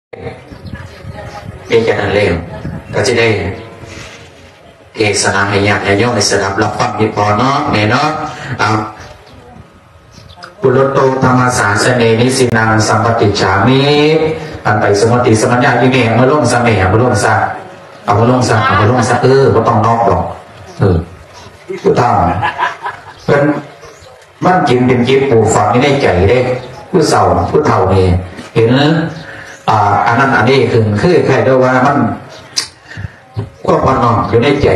ເຮັດຈັ່ງນັ້ນແລ້ວ ກໍຊິໄດ້ເທສະນາໃຫ້ຍາດໃຫ້ໂຍມໄດ້ສະດັບຮັບຟັງຢູ່ພໍເນາະ ແມ່ເນາະ. ເອົາ ປຸໂຣດໂຕທຳມະສາສະເນ ນິຊິນັງ ສຳປະຕິດຈາມິ. ອັນໄປສຸມະຕິສະມັນຍາ ອີແມ່ ເອົາມາລົງຊະແມ່ ເອົາມາລົງຊະ ເອົາມາລົງຊະ ເອົາມາລົງຊະ. ເອີ ບໍ່ຕ້ອງນອກດອກ. ເອີ ຜູ້ເຖົ້າເພິ່ນ ມັນຈຶ່ງເປັນຈິດປູກຝັງຢູ່ໃນໃຈເດ້. ຜູ້ເຖົ້າ ຜູ້ເຖົ້ານີ້ເຫັນ ອ່າ ອັນນັ້ນອັນນີ້ຂຶ້ນ ຄືຄ້າຍໆ ແບບວ່າມັນ ຄວາມອ່ອນນ້ອມຢູ່ໃນໃຈ.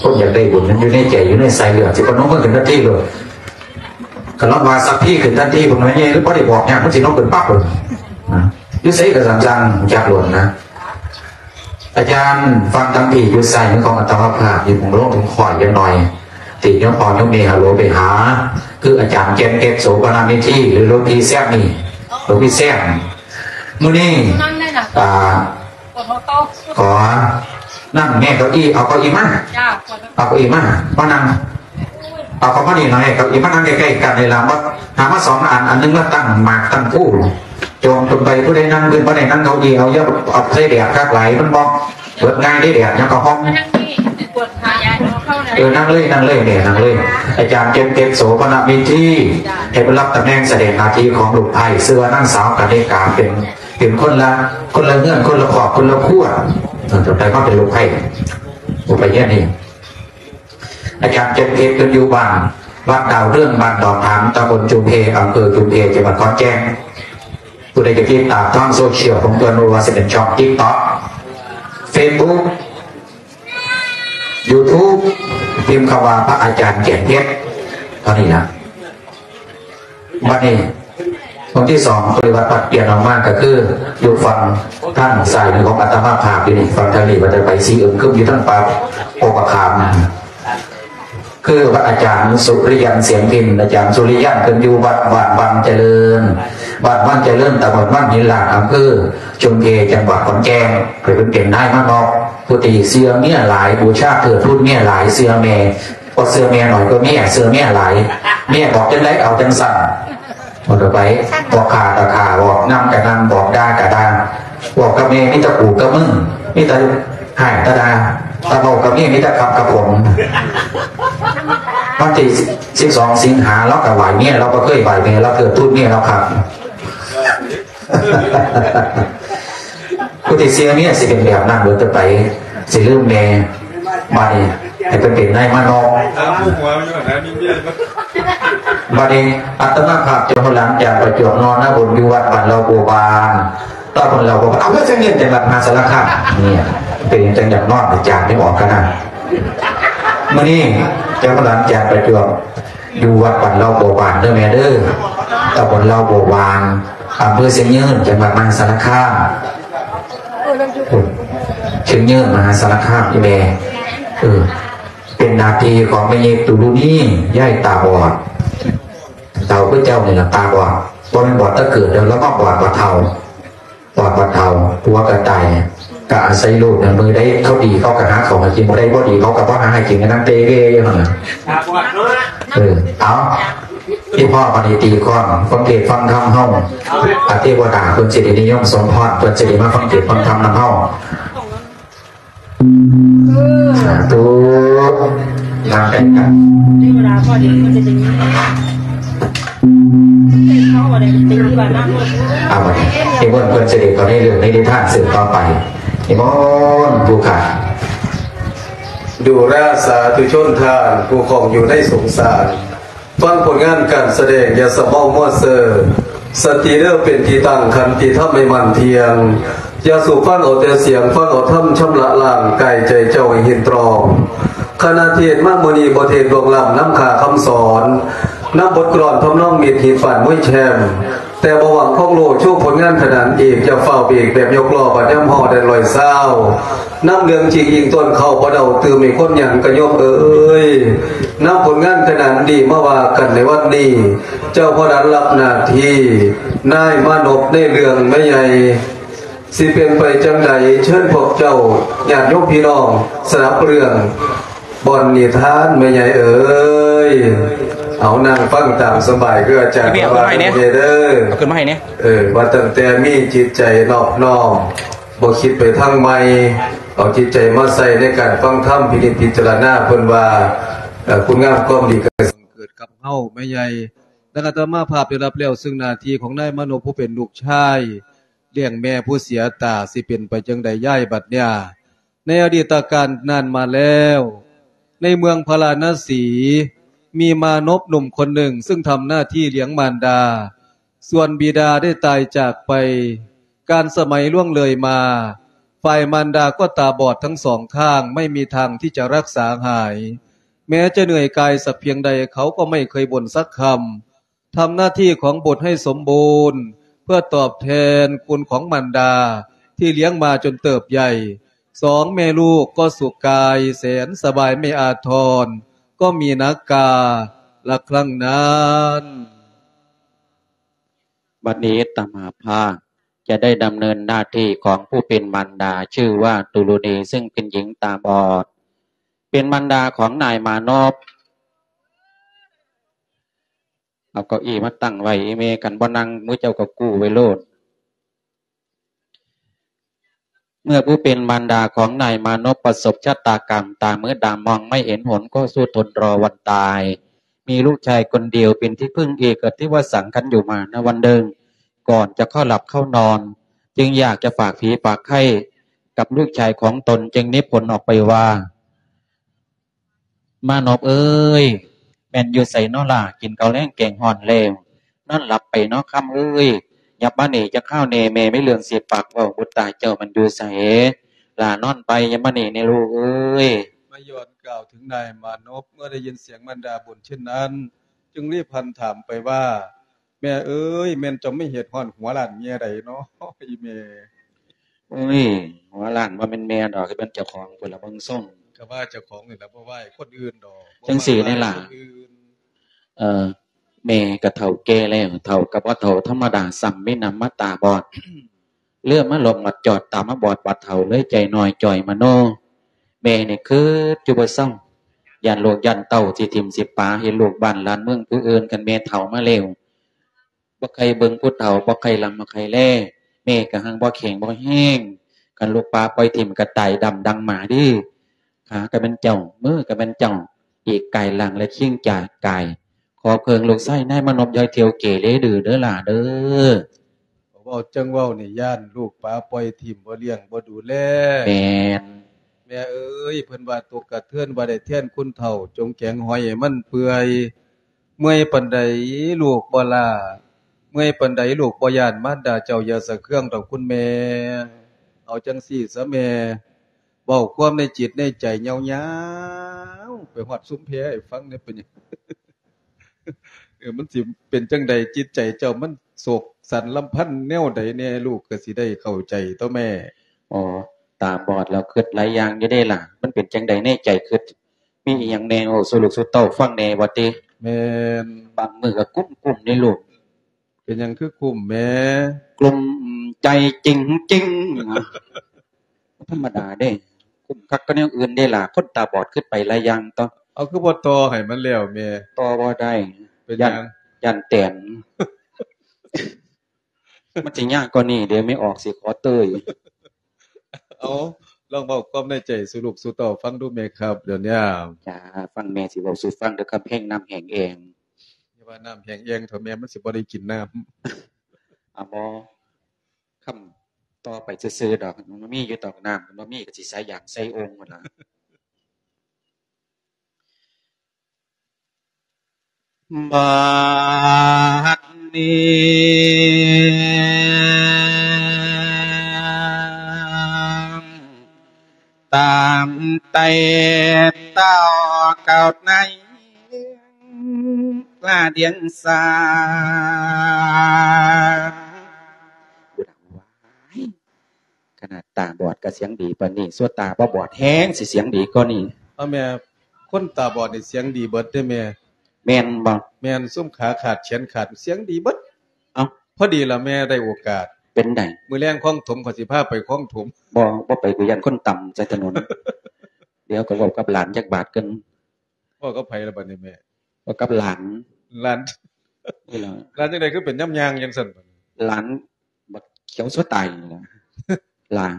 ຄົນຢາກໄດ້ບຸນມັນຢູ່ໃນໃຈ ຢູ່ໃນສາຍເລືອດ ຊິປະນົມມືຂຶ້ນທັນທີໂລດ. ກໍລອງວ່າສັບພີ້ຂຶ້ນທັນທີ ເພິ່ນວ່າໃຫຍ່ ຫຼືບໍ່ໄດ້ບອກຫຍັງ ມັນຊິນົມຂຶ້ນປັບໂລດ. ນະ ຢູ່ໃສກໍຊ່າງ ຊ່າງຮູ້ຈັກໂລດນະ. ອາຈານຟັງທາງພີ້ ຢູ່ຊ້າຍມືຂອງອາດຕະມະພາບ ຢູ່ໝ່ອງລົງຂອຍຈັກໜ່ອຍ ທີ່ໂຍມພໍ່ໂຍມແມ່ຮັບໂຫຼໄປຫາ ຄືອາຈານແກ່ນເພັດ ໂສພະນະເມທີ ຫຼືຫຼວງພີ່ແຊມນີ້ ຫຼວງພີ່ແຊມ. ມື້ນີ້ ອ່າ ຂໍ ນັ້ນແມ່ເກົ້າอี้ ເອົາເກົ້າอี้ມາ ເອົາເກົ້າอี้ມາ ມານັ່ງ ເອົາເຂົ້າມານີ້ໜ່ອຍ ເກົ້າอี้ມານັ່ງໃກ້ໆກັນນີ້ລະ. ມາ ຫາມາສອງອັນ ອັນໜຶ່ງມາຕັ້ງໝາກຕັ້ງພູ ຈອງຈົນໄປ ຜູ້ໃດນັ່ງພື້ນບໍ່ໄດ້ນັ່ງເກົ້າອີ່ ເອົາ ຢ່າເອົາໃສ່ແດດຄັກຫຼາຍ ມັນບໍ່ເບິດງ່າຍເດ້ ແດດຫຍັງກໍຮ້ອນ. ເອີ ນັ່ງເລີຍ ນັ່ງເລີຍແມ່ ນັ່ງເລີຍ. ອາຈານເຈັນເພັດ ໂສພະນະເມທີ ໃຫ້ເພິ່ນຮັບຕຳແໜ່ງສະແດງໜ້າທີ່ຂອງລູກໃພ້ ຊື່ວ່ານາງສາວກະນິກາ ເປັນ ເປັນຄົນລະ ຄົນລະເຮືອນ ຄົນລະຄອບຄົນລະຄົວ ເອີ ຕໍ່ໄປມາເປັນລູກໃພ້ ຜູ້ໄປຮຽນນີ້. ອາຈານເຈັນເພັດ ເພິ່ນຢູ່ບ້ານ ວັດດາວເຮືອງ ບ້ານດອນຖາມ ຕຳບົນຈຸມເພ ອຳເພີຈຸມເພ ຈັງຫວັດຂອນແກ່ນ. ຜູ້ໃດຈະຕິດຕາມທາງໂຊຊຽວຂອງເພິ່ນ ບໍ່ວ່າຊິເປັນຊ່ອງ TikTok Facebook YouTube ພິມຄຳວ່າ ພະອາຈານເຈັນເພັດ ເທົ່ານີ້ນະ. ບັດນີ້ ອົງທີສອງ ປະລິວາດປັດປ່ຽນອອກມາ ກໍຄືຢູ່ຝັ່ງທາງຊ້າຍມືຂອງອາດຕະມາພາບຢູ່ນີ້ ຝັ່ງທາງນີ້ ບັດໄປສີອຶ້ງຄຶມຢູ່ທາງປ່າໂພບະຂາມ ຄືພະອາຈານສຸລິຍັນ ສຽງພິນ. ອາຈານສຸລິຍັນ ເພິ່ນຢູ່ວັດ ວັດວັງຈະເລີນ ວັດວັງຈະເລີນ ຕຳບົນວັງຫີນລ້ານ ອຳເພີຈຸມເພ ຈັງຫວັດຂອນແກ່ນ. ເພິ່ນເປັນນາຍມານອກ ຜູ້ທີ່ເຊື່ອເມຍຫຼາຍ ບູຊາເທີດທູນເມຍຫຼາຍ ເຊື່ອແມ່ ບໍ່ເຊື່ອແມ່ໜ້ອຍກວ່າເມຍ ເຊື່ອເມຍຫຼາຍ ເມຍບອກຈັ່ງໃດເອົາຈັ່ງຊັ້ນ. ບອກໄປ ບອກຂ້າກໍຂ້າ ບອກນຳກໍນຳ ບອກດ່າກໍດ່າ ບອກກັບແມ່ມີແຕ່ກູກັບມຶງ ມີແຕ່ຮ້າຍແຕ່ດ່າ ຖ້າເວົ້າກັບເມຍມີແຕ່ຄັບກັບຜົມ. ວັນທີສິບສອງສິງຫາ ລາວກໍໄຫວ້ເມຍ ລາວບໍ່ເຄີຍໄຫວ້ແມ່ ລາວເກີດທຸດເມຍລາວຄັບ. ຜູ້ທີ່ເຊື່ອເມຍຊິເປັນແບບນັ້ນເບິດຕໍ່ໄປ ຊິລືມແມ່. ບາດນີ້ໃຫ້ເພິ່ນເປັນນາຍມານອກ. ບາດນີ້ອາດຕະມາພາບເຈົ້າຫົວຫຼານຈານປະຈວບ ນອນນະບົນຢູ່ວັດບ້ານເລົ່າບົວບານ ຕຳບົນເລົ່າບົວບານ ອຳເພີຊຽງຍືນ ຈັງຫວັດມະຫາສາລະຄາມ. ນີ້ເປັນຫຍັງຈັ່ງຢາກນອນ ຈາກນີ້ອອກກັນນະ. ມື້ນີ້ເຈົ້າຫົວຫຼານຈານປະຈວບ ຢູ່ວັດບ້ານເລົ່າບົວບານເດີແມ່ເດີ ຕຳບົນເລົ່າບົວບານ ອຳເພີຊຽງຍືນ ຈັງຫວັດມະຫາສາລະຄາມ. ຊຽງຍືນ ມະຫາສາລະຄາມ ອີ່ແມ່. ເອີ ເປັນໜ້າທີ່ຂອງແມ່ຍິກຕຸລຸນີ ຍາຍຕາບອດ. ເຖົ້າຄືເຈົ້ານີ້ລະຕາບອດ ບໍ່ແມ່ນບອດແຕ່ເກີດເດີ ລາວມາບອດບັດເຖົ້າ. ບອດບັດເຖົ້າ ຜົວກໍຕາຍ ກໍອາໄສລູກນັ້ນ ມື້ໃດເຂົາດີເຂົາກໍຫາເຂົ້າໃຫ້ກິນ ຜູ້ໃດບໍ່ດີເຂົາກໍບໍ່ຫາໃຫ້ກິນ ກໍນັ່ງເຕເວຢູ່ຫັ້ນນະ. ເອີ ເອົາ ທີ່ພໍ່ບັດນີ້ຕີຄອນ ຟັງເທດຟັງທຳເຮົາ ອາ ເທວະດາເພິ່ນຊິໄດ້ນິຍົມສົມພອນ ເພິ່ນຊິໄດ້ມາຟັງເທດຟັງທຳນຳເຮົາ. ສາທຸ ນຳກັນກັນ ເວລາພໍດີເພິ່ນຈະໄດ້ຍິນ ເຂົາວ່າໄດ້ເປັນທີ່ວ່ານຳ ເອົາບັດນີ້ ນິມົນເພິ່ນເສດັດເຂົ້າໃນເລື່ອງໃນນິທານສືບຕໍ່ໄປ ນິມົນຜູ້ຂ້າ. ດູລາສາທຸຊົນທ່ານຜູ້ຄອງຢູ່ໃນສົງສານ ຟັງຜົນງານການສະແດງ ຢ່າສະເມົາມົວເຊີ ສະຕິເດີເປັນທີ່ຕັ້ງ ຂັນຕິທຳໃຫ້ໝັ້ນທ່ຽງ ຢ່າສູບຟັງເອົາແຕ່ສຽງ ຟັງເອົາທຳຊຳລະລ້າງ ກາຍໃຈເຈົ້າໃຫ້ເຫັນຕອງ ຄະນະເທດມາມື້ນີ້ ບໍ່ເທດລ່ວງລ້ຳ ນຳຄ່າຄຳສອນ ນຳບົດກລອນທຳນອງ ມິດຮີດປານມວຍແຊມ ແຕ່ບໍ່ຫວັງຄອງໂລ ໂຊຜົນງານຂະໜານເອກ ຢ່າຟ້າວເບກ ແບບຍົກລໍ້ ບາດຍາມຫໍ້ແດນລອຍຊາວ ນຳເລື່ອງຈິງອີງຕົ້ນເຂົ້າບໍ່ເດົາ ຕື່ມໃຫ້ຄົນຫຍັງກະໂຍມເອີຍ ນຳຜົນງານຂະໜານດີມາວ່າກັນໃນວັນນີ້ ເຈົ້າພໍ່ຫຼານຮັບໜ້າທີ່ ນາຍມານົບໃນເລື່ອງແມ່ໃຫຍ່ ຊິເປັນໄປຈັ່ງໃດ ເຊີນພວກເຈົ້າຍາດໂຍມພີ່ນ້ອງສະດັບເລື່ອງ ເ ບ່ອນນິທານແມ່ໃຫຍ່ເອີຍ ເອົານັ່ງຟັງຕາມສະບາຍ ຄືອາຈານ ພີ່ເມຍ ເອົາຂຶ້ນມາໃຫ້ແດ່ ວ່າແມ່ໃຫຍ່ເດີ ເອົາຂຶ້ນມາໃຫ້ແດ່ ເອີ ວ່າຕັ້ງແຕ່ມີຈິດໃຈນອບນ້ອມ ບໍ່ຄິດໄປທາງໃໝ່ ເອົາຈິດໃຈມາໃສ່ໃນການຟັງທຳ ພິນິດພິຈາລະນາ ເພິ່ນວ່າ ເອີ ຄຸນງາມຄວາມດີກໍເກີດກັບເຮົາແມ່ໃຫຍ່. ດັ່ງອາດຕະມາພາບໄດ້ຮັບແລ້ວ ເຊິ່ງໜ້າທີ່ຂອງນາຍມານົບຜູ້ເປັນລູກຊາຍ ລ້ຽງແມ່ຜູ້ເສຍຕາ ຊິເປັນໄປຈັ່ງໃດຍາຍບັດເນີ້ຍ? ໃນອະດີດຕະການນານມາແລ້ວ ໃນເມືອງພາລານະສີ ມີມານົບໜຸ່ມຄົນໜຶ່ງ ຊຶ່ງທຳໜ້າທີ່ລ້ຽງມານດາ ສ່ວນບິດາໄດ້ຕາຍຈາກໄປ ການສະໄໝລ່ວງເລີຍມາ ຝ່າຍມານດາກໍຕາບອດທັງສອງຂ້າງ ໄມ່ມີທາງທີ່ຈະຮັກສາຫາຍ ແມ້ຈະເໜື່ອຍກາຍສັກພຽງໃດ ເຂົາກໍໄມ່ເຄີຍບ່ນສັກຄຳ. ທຳໜ້າທີ່ຂອງບຸດໃຫ້ສົມບູນ ເພື່ອຕອບແທນຄຸນຂອງມານດາທີ່ລ້ຽງມາຈົນເຕີບໃຫຍ່ ສອງແມ່ລູກກໍສຸກກາຍແສນສະບາຍ ແມ່ອາທອນກໍມີໜັກກາລະຄັ້ງນັ້ນ. ບັດນີ້ຕະມາພາບຈະໄດ້ດຳເນີນໜ້າທີ່ຂອງຜູ້ເປັນມານດາ ຊື່ວ່າຕຸລຸນີ ຊຶ່ງເປັນຍິງຕາບອດ ເປັນມານດາຂອງນາຍມານົບ. ເອົາເກົ້າอี้ມາຕັ້ງໄວ້ອີ່ແມ່ ຄັນບໍ່ນັ່ງ ໝູ່ເຈົ້າກໍກູ້ໄວ້ໂລດ. ເມື່ອຜູ້ເປັນມານດາຂອງນາຍມານົບປະສົບຊະຕາກຳຕາມືດຳ ມອງໄມ່ເຫັນຫົນ ກໍສູ້ທົນລໍວັນຕາຍ ມີລູກຊາຍຄົນດຽວເປັນທີ່ເພິ່ງເອກະທິວະສັງ ຄັນຢູ່ມານະວັນໜຶ່ງ ກ່ອນຈະເຂົ້າຫຼັບເຂົ້ານອນ ຈຶ່ງຢາກຈະຝາກຜີຝາກໄຂ້ກັບລູກຊາຍຂອງຕົນ ຈຶ່ງນິພົນອອກໄປວ່າ ມານົບເອີຍ ແມ່ນຢູ່ໃສນໍລະ? ກິນເຂົ້າແລງແກງຮ້ອນແລ້ວ ນອນຫຼັບໄປນໍຄຳເອີຍ. ຫຍັບມານີ້ຈັກຄາວແນ່ ແມ່ມີເລື່ອງຊິປາກເວົ້າ. ບຸດຕາເຈົ້າມັນຢູ່ໃສ? ຫຼ້ານອນໄປ ຫຍັບມານີ້ແນ່ລູກເອີຍ. ມາຍ້ອນກ່າວເຖິງນາຍມານົບ ເມື່ອໄດ້ຍິນສຽງມານດາບ່ນເຊັ່ນນັ້ນ ຈຶ່ງລີບຫັນຖາມໄປວ່າ ແມ່ເອີຍ ແມ່ນເຈົ້າມີເຫດຮ້ອນຫົວລ້ານແມ່ໃດນໍ ອີ່ແມ່? ໂອ້ຍ ຫົວລ້ານບໍ່ແມ່ນແມ່ດອກ ຄືແມ່ນເຈົ້າຂອງພຸ້ນລະ ເບິ່ງຊົງ. ກໍວ່າເຈົ້າຂອງນີ້ລະ ບໍ່ວ່າໃຫ້ຄົນອື່ນດອກ ຈັ່ງຊີ້ນີ້ລະ ບໍ່ວ່າໃຫ້ຄົນອື່ນ. ເອີ ແມ່ກໍເຖົ້າແກ່ແລ້ວ ເຖົ້າກໍບໍ່ເຖົ້າທຳມະດາຊ້ຳ ມີນຳມາຕາບອດ ເຫຼືອມາຫຼອບມາຈອດ ຕາມາບອດບາດເຖົ້າ ເລີຍໃຈນ້ອຍຈ່ອຍມະໂນ. ແມ່ນີ້ຄຶດຢູ່ບໍ່ເຊົາ ຢ້ານລູກຢ້ານເຕົ້າຊິຖິ້ມຊິປາ ເຫັນລູກບ້ານຫຼານເມືອງຜູ້ອື່ນ. ຄັນແມ່ເຖົ້າມາແລ້ວ ບໍ່ໃຄ່ເບິ່ງຜູ້ເຖົ້າ ບໍ່ໃຄ່ລຳບໍ່ໃຄ່ແລ ແມ່ກໍຮັ່ງບໍ່ແຂງບໍ່ແຮງ. ຄັນລູກປາປ່ອຍຖິ້ມກໍຕາຍດຳດັ່ງໝາເດ້. ຂາກໍແມ່ນເຈົ້າ ມືກໍແມ່ນເຈົ້າ ອີກກາຍຮ່າງແລະຄີງຈາກກາຍ. ຂໍເພິ່ງລູກຊາຍນາຍມານົບ ຢ່າໃຫ້ທ່ຽວເກເລດື້ເດີຫຼ້າເດີ. ເວົ້າຈັ່ງເວົ້ານີ້ ຢ້ານລູກປາປ່ອຍຖິ້ມ ບໍ່ລ້ຽງບໍ່ດູແລ. ແມ່ນ. ແມ່ເອີຍ ເພິ່ນວ່າຕົກກະເທີນ ບໍ່ໄດ້ແທນຄົນເຖົ້າ ຈົ່ງແກງຫອຍໃຫ້ມັນເປື່ອຍ. ເມື່ອຍປານໃດລູກບໍ່ລ້າ ເມື່ອຍປານໃດລູກບໍ່ຢ້ານ ມານດາເຈົ້າຢ່າສະເຄືອງດອກຄຸນແມ່. ເອົາຈັ່ງຊີ້ຊະແມ່ ເວົ້າຄວາມໃນຈິດໃນໃຈຍາວໆ ໄປຮອດຊຸມແພໃຫ້ຟັງແດ່ ເປັນຫຍັງ? ເອີ ມັນຊິເປັນຈັ່ງໃດ? ຈິດໃຈເຈົ້າມັນໂສກສັນລຳພັນແນວໃດແດ່? ລູກກໍຊິໄດ້ເຂົ້າໃຈຕົວະແມ່. ອໍ ຕາບອດແລ້ວຄຶດຫຼາຍຢ່າງຢູ່ເດ້ລະ. ມັນເປັນຈັ່ງໃດໃນໃຈຄຶດ? ມີອີ່ຫຍັງແດ່? ເວົ້າສູ່ລູກສູ່ເຕົ້າຟັງແດ່ວ່າຕິ? ແມ່ນ. ບາງມື້ກໍກຸ້ມໆເດ້ລູກ. ເປັນຫຍັງຄືກຸ້ມແມ່? ກຸ້ມໃຈຈິງໆ. ທຳມະດາເດ້ ກຸ້ມຄັກກວ່າແນວອື່ນເດ້ລະ ຄົນຕາບອດຄຶດໄປຫຼາຍຢ່າງເຕາະ. ເອົາ ຄືບໍ່ຕໍ່ໃຫ້ມັນແລ້ວແມ່? ຕໍ່ບໍ່ໄດ້. ເປັນຫຍັງ? ຢ້ານ ຢ້ານແຕນ ມັນຊິຍາກກວ່ານີ້ເດ້ ແມ່ອອກຊິຂໍເຕີຍ. ເອົາ ລອງເວົ້າຄວາມໃນໃຈສູ່ລູກສູ່ເຕົ້າຟັງດູແມ່ຄັບ ດຽວນີ້. ຈ້າ ຟັງແມ່ຊິເວົ້າສູ່ຟັງເດີ ຄຳແຮງນ້ຳແຫ້ງແອງ. ຢ່າວ່ານ້ຳແຫ້ງແອງເຖາະແມ່ ມັນຊິບໍ່ໄດ້ກິນນ້ຳ. ອາ ບໍ່ ຄຳຕໍ່ໄປຊື່ໆດອກ ມັນມີຢູ່ດອກນ້ຳ ມັນບໍ່ມີກໍຊິໃສ່ຢາງໃສ່ໂອ່ງພຸ້ນລະ. ບາດນີ້ ຕາມແຕ່ເຕົ້າເກົ່າໃນລາດຽງສາ ຂະໜາດຕາບອດກໍສຽງດີປານນີ້ ສ່ວນຕາບໍ່ບອດແຮງຊິສຽງດີກວ່ານີ້. ເອົາແມ່ ຄົນຕາບອດນີ້ສຽງດີເບິດເດ້ແມ່. ແມ່ນບໍ່? ແມ່ນ ຊຸມຂາຂາດແຂນຂາດສຽງດີເບິດ. ເອົ້າ ພໍດີລະແມ່ໄດ້ໂອກາດ. ເປັນໃດ? ມື້ແລງຄອງຖົມ ຂ້ອຍຊິພາໄປຄອງຖົມ. ບໍ່ ບໍ່ໄປ ກູຢ້ານຄົນຕຳໃສ່ຖະໜົນ. ດຽວກໍເວົ້າກັບຫຼານຈັກບາດກ່ອນ. ເວົ້າກັບໃຜລະບັດນີ້ແມ່? ເວົ້າກັບຫຼານ. ຫຼານ ນີ້ລະ. ຫຼານຈັ່ງໃດຄືເປັນຍາມຍ່າງຈັ່ງຊັ້ນ? ຫຼານບັກຂຽວຊົ່ວຕາຍນີ້ລະ. ຫຼານ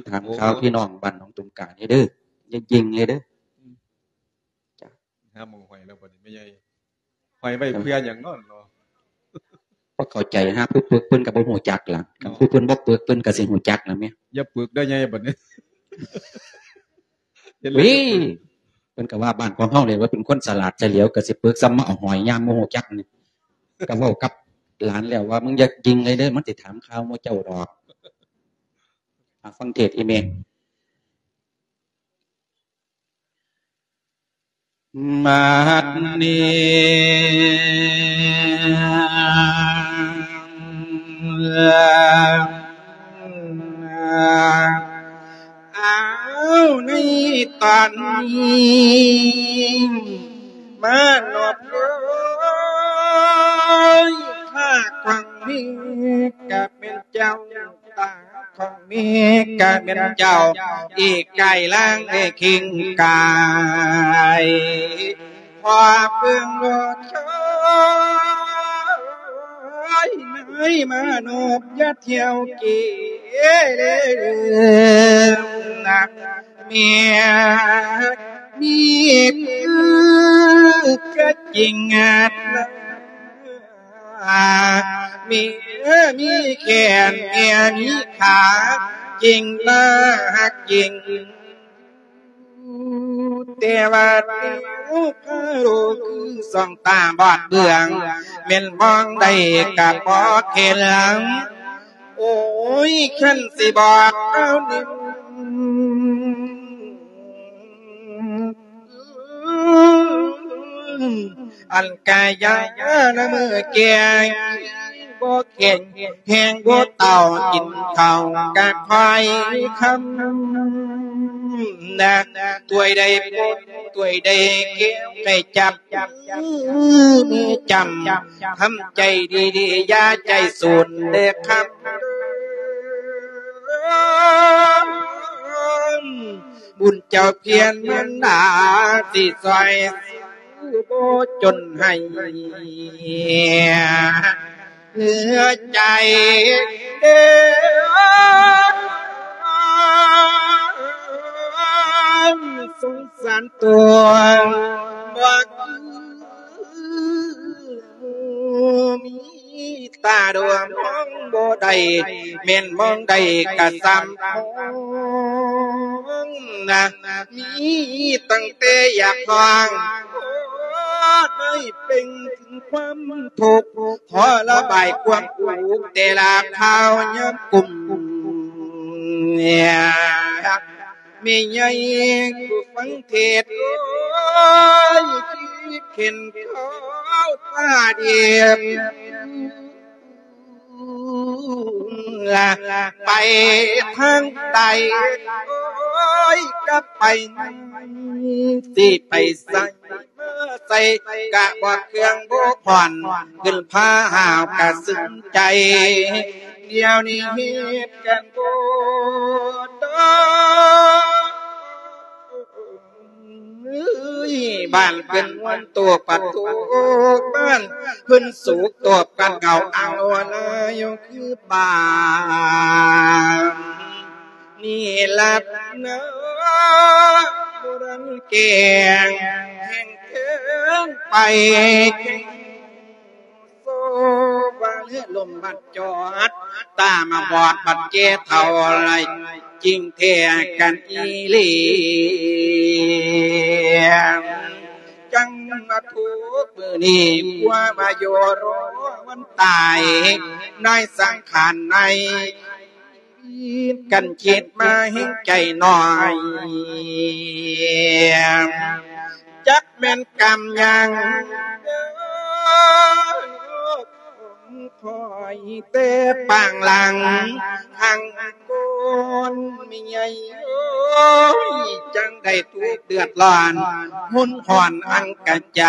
ຖາມ ໂອ້ ຂ່າວພີ່ນ້ອງບ້ານໜອງຕຸມການີ້ເດີ ຢ່າຍິງເລີຍເດີ. ຫາໝ່ອງຫ້ອຍແລ້ວບັດນີ້ແມ່ໃຫຍ່. ຫ້ອຍໄວ້ເພື່ອຫຍັງເນາະ? ບໍ່ເຂົ້າໃຈ. ຫາຜູ້ປຶກເພິ່ນກໍບໍ່ຮູ້ຈັກລະ. ຄັນ ອໍ ຜູ້ເພິ່ນບໍ່ປຶກເພິ່ນກໍຊິຮູ້ຈັກລະແມ່. ຢ່າປຶກເດີໃຫຍ່ບັດນີ້. ເອີຍ ເພິ່ນກໍວ່າບ້ານຂອງເຮົານີ້ວ່າເປັນຄົນສະຫຼາດສະຫຼຽວ ກໍຊິປຶກຊ້ຳມາເອົາຫ້ອຍຍາມບໍ່ຮູ້ຈັກນີ້. ກໍເວົ້າກັບຫຼານແລ້ວວ່າ ມຶງຢ່າຍິງເລີຍເດີ ມັນຊິຖາມຂ່າວໝູ່ເຈົ້າດອກ. ອາ ຟັງເທດອີ່ແມ່. ບັດນີ້ ເອົາໃນຕອນນີ້ ມານອບເອີຍ ຂ້າຂອງເມກະແມ່ນເຈົ້າ ຕາຂອງເມກະແມ່ນເຈົ້າ ອີກກາຍລ່າງແລະເຄັ່ງກາຍ ພໍເບິ່ງບໍ່ເຄີຍ ນາຍມານອບຢ່າທ່ຽວເກເລນະ ເມກມີຄືກະຈິງນະ. ເມຍມີແຂນ ເມຍມີຂາ ຈິງໜ້າຮັກຈິງ ແຕ່ວ່າຕິວພາໂລຄືສອງຕາບອດເບືອງ ແມ່ນມອງໃດກະບໍ່ເຫັນ. ໂອ້ຍ ຄັນຊິບອກເອົານີ້ ອັນກາຍານະເມີແກ່ ບໍ່ແຂງແຮງບໍ່ເຕົາ ກິນເຂົ້າກະຄ່ອຍຄຳນະ ຖ້ວຍໃດປົນຖ້ວຍໃດແກ້ວ ໃຫ້ຈັບ ມີຈຳ ທຳໃຈດີໆ ຢ່າໃຈສູນເດີຄຳ ບຸນເຈົ້າພຽນມັນດາ ຊິຊ່ອຍ ບໍ່ຈົນໃຫ້ເຫຼືອໃຈເດີ ສົງສານຕົວ ບໍ່ຄືມີຕາດວງມອງບໍ່ໄດ້ ແມ່ນມອງໄດ້ກະສ່ຳມອງນະ ມີຕັ້ງແຕ່ຢາກຮ້ອງ ໄດ້ເປັ່ງເຖິງຄວາມທຸກ ຂໍລະບາຍຄວາມທຸກ ແຕ່ລະຄາວຍາມກຸ້ມ ແມ່ໃຫຍ່ຜູ້ຟັງເທດ ໂອ້ຍ ຄິດເຂັນເຂົາຕາດຽບ ລະໄປທາງໃດ ໂອ້ຍ ກະໄປນັ້ນ ຊິໄປໃສ ມາໃສກະບໍ່ເຄື່ອງບໍ່ຜ່ອນ ຂຶ້ນພາຫາວກະຊຶມໃຈ ດຽວນີ້ເຮັດກັນບໍ່ໄດ້ ເອີຍ ບ້ານເພິ່ນມ່ວນໂຕກປະໂຕກ ບ້ານເພິ່ນໂສກໂຕກກັນເຫງົາ ເອົາລະຢູ່ຄືບ້ານນີ້ລະນະ ບໍ່ທັນແກ່ງແຫ່ງເທິງໄປ ໂຊບາເລືອລົມບັດຈອດ ຕາມາບອດບັດແກ່ເຖົ້າໄຫຼ ຈິງແທ້ກັນອີ່ຫຼີ ຈັ່ງມາທຸກມື້ນີ້ ກົວມາຢູ່ລໍວັນຕາຍ ໃນສັງຂານໃນ ກັນຄິດມາແຮງໃຈໜ້ອຍ ຈັກແມ່ນກຳຫຍັງ ຄອຍແຕ່ປາງຫຼັງ ທັງຄົນແມ່ໃຫຍ່ເອີຍ ຈັ່ງໄດ້ທຸກເດືອດຮ້ອນ ຮຸນຮ້ອນອັນກະໃຈ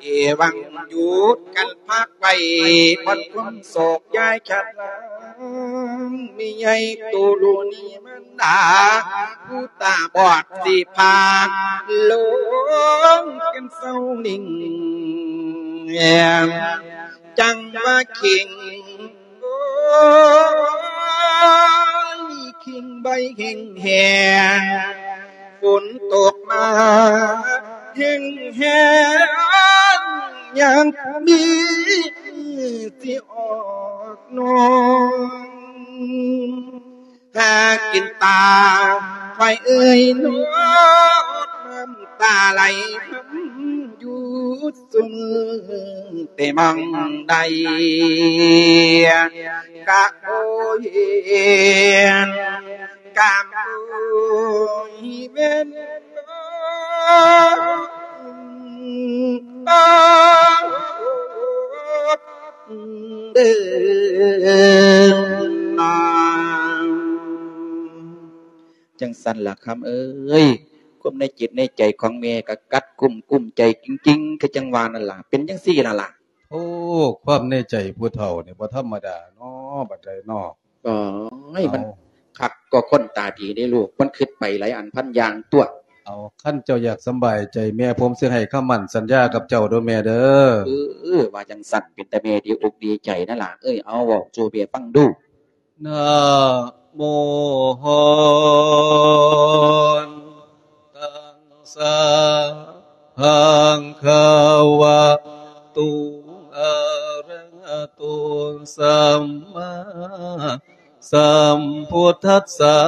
ເອວັງ ຢຸດກັນພັກໄວ້ ຜ່ອນຄວາມໂສກ ຢ່າໃຫ້ຂາດລາງ ແມ່ໃຫຍ່ໂຕໂລນີ້ມາ ຕາ ຜູ້ຕາບອດຊິພາລົງເປັນເສົາຫຼີ່ງ ຈັ່ງວ່າເຄັ່ງ ໂອ້ຍ ເຄັ່ງໃບແຫ້ງໆ ຝົນຕົກມາແຫ້ງໆ ຍັງມີຊິອອກໜອງ ຫາກິນຕາ ຂ້ອຍເອີຍເນາະ ນ້ຳຕາໄຫຼຮຳຢູ່ຊຸມ ແຕ່ໝ່ອງໃດກະໂອຍ ກະໂອຍແມ່ນ ເດີນາງ. ຈັ່ງຊັ້ນລະຄຳເອີຍ ຄວາມໃນຈິດໃນໃຈຂອງແມ່ກໍກັດກຸ້ມກຸ້ມໃຈຈິງໆ ຄືຈັ່ງວ່ານັ້ນລະ ເປັນຈັ່ງຊີ້ນັ້ນລະ. ໂອ້ ຄວາມໃນໃຈຜູ້ເຖົ້ານີ້ບໍ່ທຳມະດາເນາະ ບັດໃດເນາະ. ໂອ້ຍ ເອົາ ມັນຄັກກໍຄົນຕາດີເດ້ລູກ ມັນຄິດໄປຫຼາຍອັນພັນຢ່າງຕົວະ. ເອົາ ຄັນເຈົ້າຢາກສຳບາຍໃຈແມ່ ຜົມຊິໃຫ້ຄຳໝັ້ນສັນຍາກັບເຈົ້າເດີແມ່ເດີ. ເອີ ເອີ ວ່າຈັ່ງຊັ້ນ ເປັນຕາແມ່ດີອົກດີໃຈນະຫຼານເອີຍ. ເອົາ ເວົ້າສູ່ແມ່ຟັງດູ. ນະໂມຫັ້ນ ຕັງສະ ພະຄະວະໂຕ ອະຣະຫະໂຕ ສຳມາສຳພຸດທັດສະ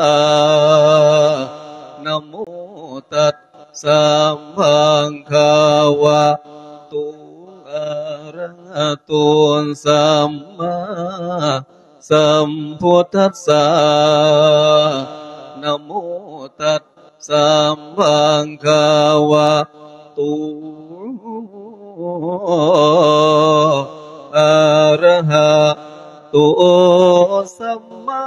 ນະໂມຕັດສະ ພະຄະວະໂຕ ອະຣະຫະໂຕ ສຳມາ ສຳພຸດທັດສະ ນະໂມຕັດສະ ພະຄະວະໂຕ ອະຣະຫະໂຕ ສຳມາ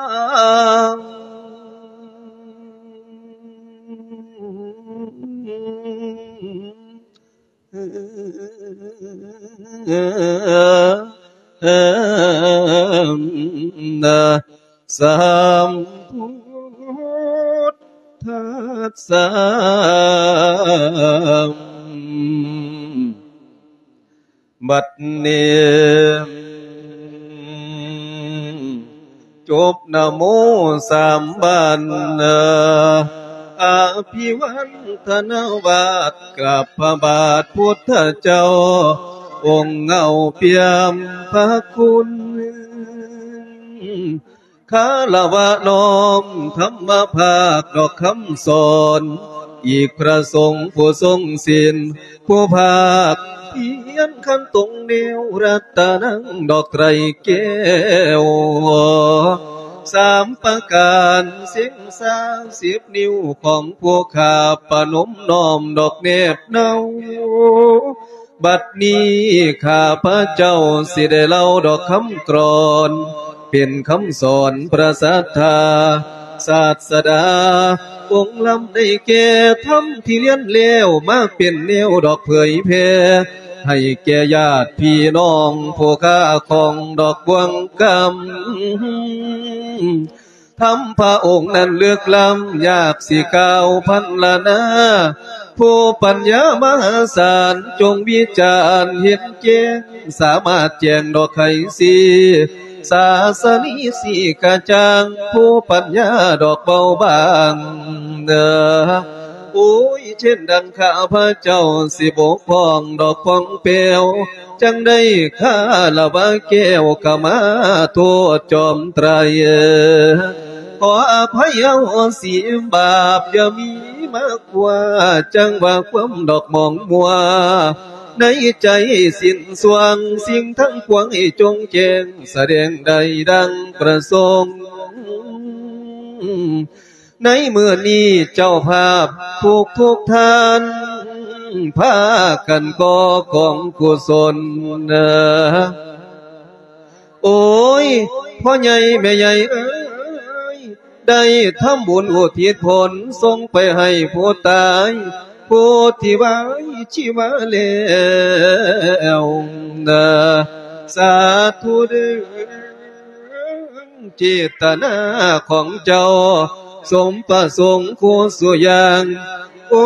ນະ ສຳພຸດທັດສະ ບັດນີ້ ຈົບນະໂມສາມບານ ອະພິວັນທະນາບາດ ກາບພະບາດພຸດທະເຈົ້າ ອົງເງົາປ່ຽມພະຄຸນ ຄາລະວະນ້ອມທຳມະພາກດອກຄຳສອນ ອີກພະສົງຜູ້ຊົງສິນ ຜູ້ພາກພຽນຂັນຕົງແນວ ລັດຕະນັງດອກໄຕແກ້ວ ສາມປະການ ເສັງຊາສິບນິ້ວຂອງຜູ້ຂ້າ ປະນົມນ້ອມດອກແນບເນົາ ບັດນີ້ຂ້າພະເຈົ້າຊິໄດ້ເລົ່າດອກຄຳກລອນ ເປັນຄຳສອນພະສັດທາ ສາດສະດາອົງລຳໄດ້ແກ່ທຳທີ່ລຽນແລ້ວ ມາເປັນແນວດອກເຜີຍແຜ່ ໃຫ້ແກ່ຍາດພີ່ນ້ອງຜູ້ຄ້າຂອງດອກບ່ວງກຳ ທຳພະອົງນັ້ນເລິກລ້ຳ ຢາກຊິກ່າວພັນລະນາ ຜູ້ປັນຍາມະຫາສານ ຈົ່ງວິຈານເຫັນແຈ້ງ ສາມາດແຈ້ງດອກໄຂສີ ສາສະນີສີກະຈ່າງ ຜູ້ປັນຍາດອກເບົາບາງ ໂອ້ຍ ເຊັ່ນດັ່ງຂ້າພະເຈົ້າ ຊິບົກຜ່ອງດອກຜ່ອງແປ້ວ ຈັ່ງໄດ້ຄາລະວະແກ້ວ ກະມາໂທດຈອມໄຕ ຂໍອະໄພອະໂຫສິບາບ ຢ່າມີມາກວ່າ ຈັ່ງວ່າຄວາມດອກໝອງມົວ ໃນໃຈສິ້ນຊ່ວງ ສິ່ງທັງປວງໃຫ້ຈົ່ງແຈ້ງ ສະແດງໄດ້ດັ່ງປະສົງ ໃນມື້ນີ້ເຈົ້າພາບທຸກໆທ່ານ ພາກັນກໍ່ກອງກຸສົນ ໂອ້ຍ ພໍ່ໃຫຍ່ແມ່ໃຫຍ່ເອີຍ ໄດ້ທຳບຸນອຸທິດຜົນ ສົ່ງໄປໃຫ້ຜູ້ຕາຍ ຜູ້ທີ່ວາຍຊີວາແລ້ວ ສາທຸເດີ ເຈດຕະນາຂອງເຈົ້າ ສົມປະສົງຄູ່ສູ່ຢ່າງ ໂອ້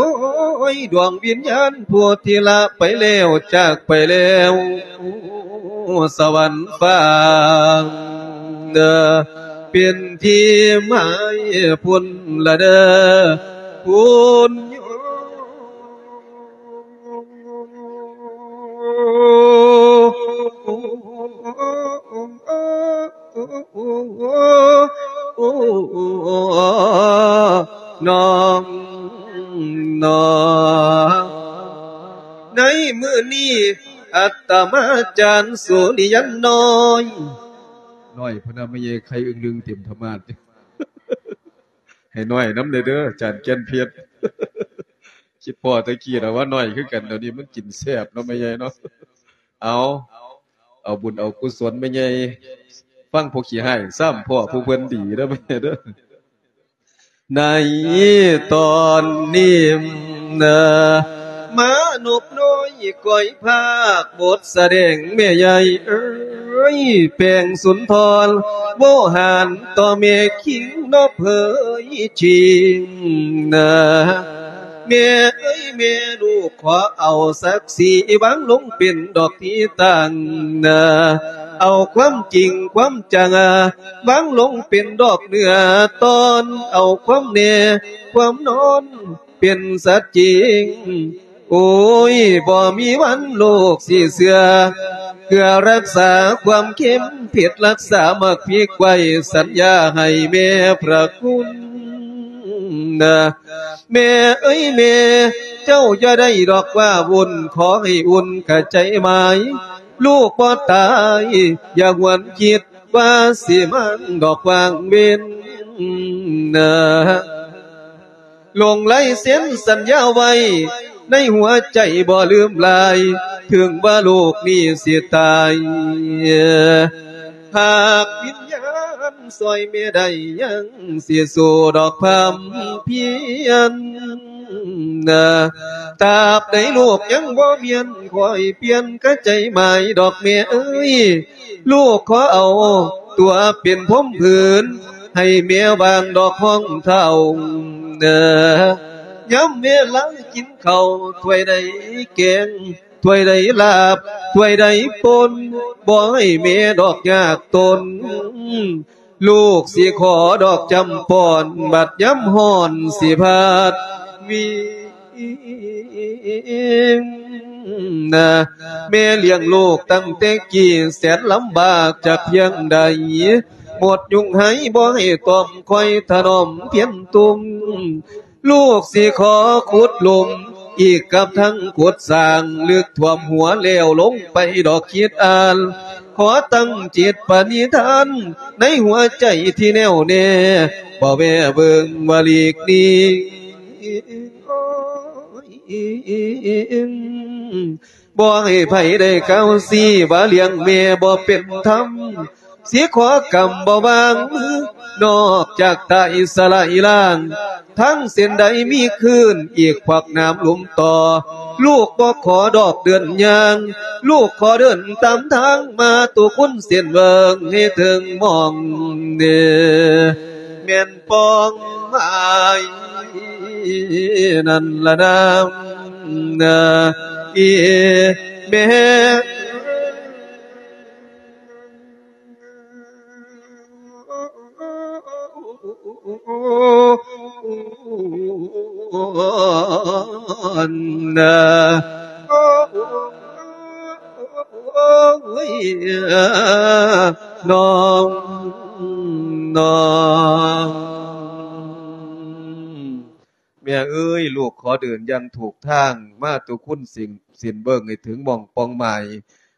ຍ ດວງວິນຍານຜູ້ທີ່ລະໄປແລ້ວ ຈາກໄປແລ້ວສະຫວັນຟ້າ ເປັນທີ່ໝາຍພຸ້ນລະເດີ ພຸ້ນ ນ້ອງ ນ້ອງ ໃນມື້ນີ້ ອັດຕະມາຈານສຸລິຍັນນ້ອຍ ນ້ອຍພະນະ ແມ່ໃຫຍ່ໄຂ່ອຶ່ງລຶ່ງເຕັມທະມາດ ໃຫ້ນ້ອຍນຳແດ່ເດີ ອາຈານແກ່ນເພັດ ຄິດພໍ້ແຕ່ກີ້ລະວ່ານ້ອຍຄືກັນ ດຽວນີ້ມັນກິນແຊບເນາະແມ່ໃຫຍ່ເນາະ. ເອົາ ເອົາບຸນເອົາກຸສົນແມ່ໃຫຍ່ ຟັງຜູ້ຂີ້ຮ້າຍຊ້ຳພໍ້ຜູ້ເພິ່ນດີເດີແມ່ໃຫຍ່ເດີ. ໃນຕອນນີ້ນະ ມານົບນ້ອຍກ້ອຍພາກບົດສະແດງແມ່ໃຫຍ່ເອີຍ ແປງສຸນທອນ ໂວຫານຕໍ່ແມ່ຄິງເນາະເຜີຍຈິງນະ ແມ່ເອີຍແມ່ລູກ ຂໍເອົາສັກສີວາງລົງເປັນດອກທີ່ຕັ້ງນະ ເອົາຄວາມຈິງຄວາມຈັງ ວາງລົງເປັນດອກເນື້ອຕອນ ເອົາຄວາມແນ່ຄວາມນອນເປັນສັດຈິງ. ໂອ້ຍ ບໍ່ມີວັນໂລກຊິເຊື່ອ ເພື່ອຮັກສາຄວາມເຄັມເຜັດ ຮັກສາໝາກພິກໄວ້ ສັນຍາໃຫ້ແມ່ພະຄຸນນະ ແມ່ເອີຍແມ່ ເຈົ້າຢ່າໄດ້ດອກວ່າວຸ່ນ ຂໍໃຫ້ອຸ່ນກະໃຈໝາຍ ລູກບໍ່ຕາຍ ຢ່າຫວນຄິດວ່າຊິມາດອກຫວ່າງເວັນນະ ລົງລາຍເຊັນສັນຍາໄວ້ໃນຫົວໃຈບໍ່ລືມລາຍ ເຖິງວ່າໂລກນີ້ຊິຕາຍ ຫາກວິນຍານຊ່ອຍແມ່ໄດ້ ຍັງຊິສູ້ດອກຄວາມພຽນນະ ຕາບໃດລູກຍັງບໍ່ມຽນ ຂ້ອຍປ່ຽນກະໃຈໝາຍດອກແມ່ເອີຍ ລູກຂໍເອົາຕົວເປັນພົມຜືນ ໃຫ້ແມ່ວາງດອກຮອງເທົ້າເດີ ຍາມເວລາກິນເຂົ້າ ຖ້ວຍໃດແກງ ຖ້ວຍໃດລາບ ຖ້ວຍໃດປົ່ນ ບໍ່ໃຫ້ແມ່ດອກຍາກຕົນ ລູກຊິຂໍດອກຈຳປ່ອນ ບັດຍາມຮ້ອນຊິພັດວິງນະ ແມ່ລ້ຽງລູກຕັ້ງແຕ່ກີ້ ແສນລຳບາກຈັກພຽງໃດ ໝົດຍຸງໄຫ ບໍ່ໃຫ້ຕ້ອມ ຄອຍຖະໜອມພຽນຕຸ່ມ ລູກຊິຂໍຂຸດຫຼຸມ ອີກກັບທັງຂຸດສ້າງ ເລິກຖ້ວມຫົວແລ້ວລົງໄປດອກຄິດອ່ານ ຂໍຕັ້ງຈິດປະນິທານ ໃນຫົວໃຈທີ່ແນ່ວແນ່ ບໍ່ແວ່ເບິ່ງວ່າຫຼີກໜີ ບໍ່ໃຫ້ໃຜໄດ້ກ່າວຊີ້ ວ່າລ້ຽງແມ່ບໍ່ເປັນທຳ ຊິຂໍກຳບໍ່ວາງມື ນອກຈາກຕາຍສະລາຍລ່າງ ທາງເສັ້ນໃດມີຄື້ນ ອີກຂວັກນ້ຳລຸ່ມຕໍ່ ລູກບໍ່ຂໍດອກເດີນຍ່າງ ລູກຂໍເດີນຕາມທາງ ມາຕຸຄຸນເສັ້ນເບິ່ງໃຫ້ເຖິງໝ່ອງເດີ ແມ່ນ ປ້ອງໝາຍນັ້ນລະນາ ນະ ອີແມ່ ນະ ໂອ້ຍ ນ້ອງ ນ້ອງ ແມ່ເອີຍ ລູກຂໍເດີນຢ່າງຖືກທາງ ມາຕຸຄຸນເສັ້ນເບິ່ງໃຫ້ເຖິງໝ່ອງປ່ອງໝາຍ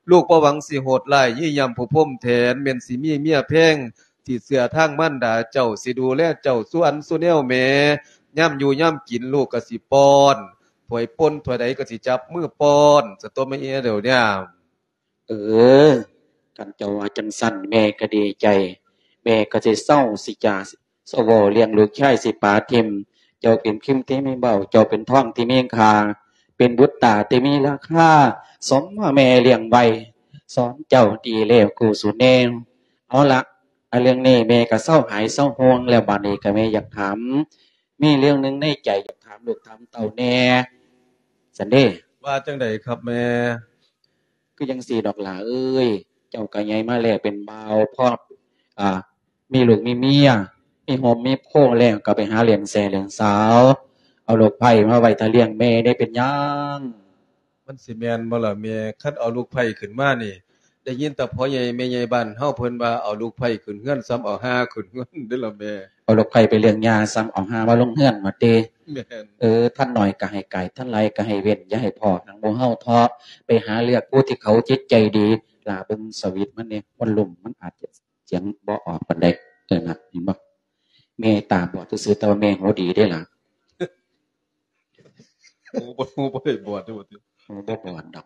ລູກບໍ່ຫວັງຊິໂຫດຮ້າຍ ຢ້ຽມຜູ້ພົມແທນ ແມ່ນຊິມີເມຍແພງ ຊິເຊື່ອທາງມານດາເຈົ້າ ຊິດູແລເຈົ້າສູ່ອັນສູ່ແນວແມ່ ຍາມຢູ່ຍາມກິນ ລູກກະຊິປ້ອນ ຖ້ວຍປົ່ນຖ້ວຍໃດກະຊິຈັບມືປ້ອນ ສະຕົວແມ່ເອີຍ ດຽວນີ້ ເອີ ຄັນເຈົ້າວ່າຈັ່ງຊັ້ນ ແມ່ກະດີໃຈ ແມ່ກະຊິເຊົາຊິຈາ ສະເວົ້າລ້ຽງລູກຊາຍຊິປະຖິ້ມ ເຈົ້າເປັນພິມທີ່ມີເບົ້າ ເຈົ້າເປັນທອງທີ່ມີຄ່າ ເປັນບຸດຕາທີ່ມີລາຄາ ສົມວ່າແມ່ລ້ຽງໄວ້ ສອນເຈົ້າດີແລ້ວກູສູ່ແນວ ເອົາລະ ອັນເລື່ອງນີ້ແມ່ກໍເຊົາຫາຍເຊົາຫ່ວງແລ້ວ ບາດນີ້ກໍແມ່ຢາກຖາມ ມີເລື່ອງໜຶ່ງໃນໃຈຢາກຖາມລູກຖາມເຕົ້າແດ່ ຊັ້ນເດ້. ວ່າຈັ່ງໃດຄັບແມ່? ຄືຈັ່ງຊີ້ດອກຫຼ້າເອີຍ ເຈົ້າກໍໃຫຍ່ມາແລ້ວເປັນບ່າວ ພໍ ອ່າ ມີລູກມີເມຍ ມີໂຮມມີໂພແລ້ວ ກໍໄປຫາຫຼິ້ນແຊຫຼິ້ນສາວ ເອົາລູກໃພ້ມາໄວ້ຖ້າລ້ຽງແມ່ໄດ້ເປັນຫຍັງ? ມັນຊິແມ່ນບໍ່ລະແມ່? ຄັນເອົາລູກໃພ້ຂຶ້ນມານີ້ ໄດ້ຍິນແຕ່ພໍ່ໃຫຍ່ແມ່ໃຫຍ່ບ້ານເຮົາເພິ່ນວ່າ ເອົາລູກໃພ້ຂຶ້ນເຮືອນສ່ຳເອົາຫ່າຂຶ້ນເຮືອນເດ້ລະແມ່. ເອົາລູກໃພ້ໄປລ້ຽງຍ່າສ່ຳເອົາຫ່າມາລົງເຮືອນວ່າຕິ? ແມ່ນ. ເອີ ທັນໜ້ອຍກໍໃຫ້ກາຍ ທັນຫຼາຍກໍໃຫ້ເວັ້ນ ຢ່າໃຫ້ພໍ້ໜັງໝູ່ເຮົາເທາະ. ໄປຫາເລືອກຜູ້ທີ່ເຂົາຈິດໃຈດີ. ຫຼ້າເບິ່ງສະວິດມັນແດ່ ວໍລຸ່ມມັນອາດຈະສຽງບໍ່ອອກປານໃດ. ເອີ ນະ ເຫັນບໍ່? ແມ່ຕາບອດຊື່ໆ ແຕ່ວ່າແມ່ຫູດີເດ້ຫຼ້າ. ໂອ້ ບໍ່ ບໍ່ໄດ້ບອດເດ້ບໍ່ຕິ? ໂອ້ ບໍ່ບອດດອກ.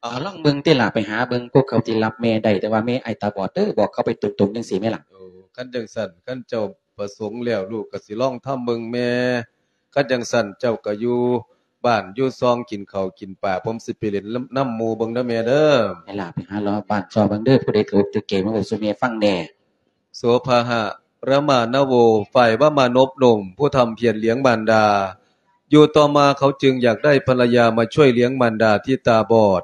ເອົາ ລອງເບິ່ງຕິຫຼ້າ ໄປຫາເບິ່ງພວກເຂົາທີ່ຮັບແມ່ໄດ້ ແຕ່ວ່າແມ່ອ້າຍຕາບອດເດີ ບອກເຂົາໄປຕົງໆ ຈັ່ງຊີ້ແມ່ລະ. ໂອ້ ຄັນຈັ່ງຊັ້ນ ຄັນເຈົ້າປະສົງແລ້ວ ລູກກໍຊິລອງທຳເບິ່ງແມ່. ຄັນຈັ່ງຊັ້ນ ເຈົ້າກໍຢູ່ບ້ານຢູ່ຊ່ອງ ກິນເຂົ້າກິນປາ ຜົມຊິໄປຫຼິ້ນນຳ ນຳໝູ່ເບິ່ງເດີແມ່ເດີ. ໃຫ້ຫຼ້າໄປຫາເລາະບ້ານຊອກເບິ່ງເດີ ຜູ້ໃດຖືກຖືກເກມາເວົ້າສູ່ແມ່ຟັງແດ່. ໂສພະຫະ ຣະມານະໂວ ຝ່າຍວ່າມານົບນົມ ຜູ້ທຳພຽນລ້ຽງມານດາ. ຢູ່ຕໍ່ມາເຂົາຈຶ່ງຢາກໄດ້ພັນລະຍາມາຊ່ວຍລ້ຽງມານດາທີ່ຕາບອດ.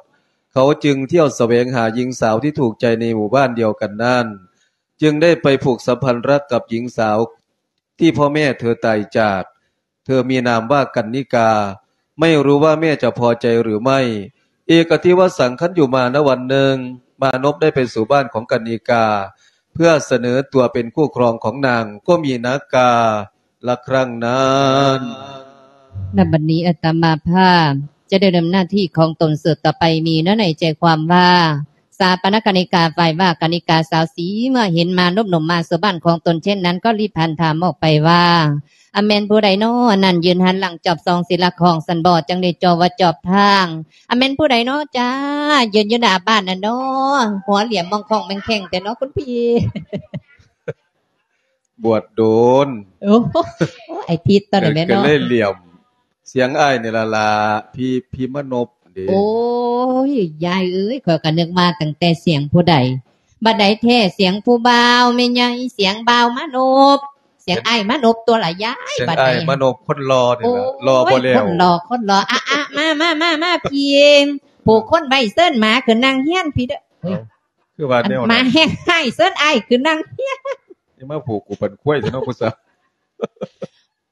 ເຂົາຈຶ່ງທ່ຽວສະແຫວງຫາຍິງສາວທີ່ຖືກໃຈໃນໝູ່ບ້ານດຽວກັນນັ້ນ, ຈຶ່ງໄດ້ໄປຜູກສຳພັນລັກກັບຍິງສາວທີ່ພໍ່ແມ່ເທີຕາຍຈາກ. ເທີມີນາມວ່າກັນນິກາ, ໄມ່ຮູ້ວ່າແມ່ຈະພໍໃຈຫຼືໄມ່. ເອກະທິວະສັງ ຄັນຢູ່ມານະວັນໜຶ່ງ ມານົບໄດ້ໄປສູ່ບ້ານຂອງກັນນິກາ ເພື່ອສະເໜີຕົວເປັນຄູ່ຄອງຂອງນາງ ກໍມີນາກາລະຄັ້ງນັ້ນ. ນະບັດນີ້ອາດຕະມາພາບຈະໄດ້ດຳເນີນໜ້າທີ່ຂອງຕົນສືບຕໍ່ໄປ ມີເນື້ອໃນໃຈຄວາມວ່າ ສາປະນະກະນິກາ ຝ່າຍວ່າກະນິກາສາວສີ ເມື່ອເຫັນມານົບນົມມາສູ່ບ້ານຂອງຕົນເຊັ່ນນັ້ນ ກໍລີບຫັນຖາມອອກໄປວ່າ ອາ ແມ່ນຜູ້ໃດນໍນັ້ນ ຢືນຫັນຫຼັງຈອບສ່ອງສີລະຄອງຊັ້ນບໍ ຈັ່ງໄດ້ຈ່ອວ່າຈອບທາງ ອາ ແມ່ນຜູ້ໃດນໍຈ້າ ຢືນຢູ່ໜ້າບ້ານນັ້ນນໍ ຫົວຫຼ້ຽມມອງຂ້ອງແມງແຂ້ງແທ້ນໍຄຸນພີ່. ບວດໂດນ. ໂອ້ ໄອ້ທິດຕອນນັ້ນແມ່ນເນາະ ກໍເລີຍຫຼ້ຽມ. ສຽງອ້າຍນີ້ລະລະ ພີ່ ພີ່ມານົບເດ້. ໂອ້ຍ ຍາຍເອີຍ ຂ້ອຍກໍນຶກວ່າຕັ້ງແຕ່ສຽງຜູ້ໃດ ບັດໃດແທ້ສຽງຜູ້ບ່າວແມ່ໃຫຍ່ ສຽງບ່າວມານົບ ສຽງອ້າຍມານົບຕົວລະຍາຍ. ສຽງອ້າຍມານົບຄົນຫຼໍ່ນີ້ລະ ຫຼໍ່ບໍ່ແລ້ວ ຄົນຫຼໍ່ ຄົນຫຼໍ່. ອະ ອະ ມາ ມາ ມາ ມາ ພີ່ ຜູກຄົນໄວ້ ເຊີນໝາຂຶ້ນນັ່ງຮຽນພີ້ເດີ. ເອົ້າ ຄືວ່າແນວນັ້ນ ໝາແຮງຮ້າຍ ເຊີນອ້າຍຂຶ້ນນັ່ງຮຽນ. ນີ້ມາຜູກກູປັນຄວາຍແທ້ເນາະຜູ້ສາວ.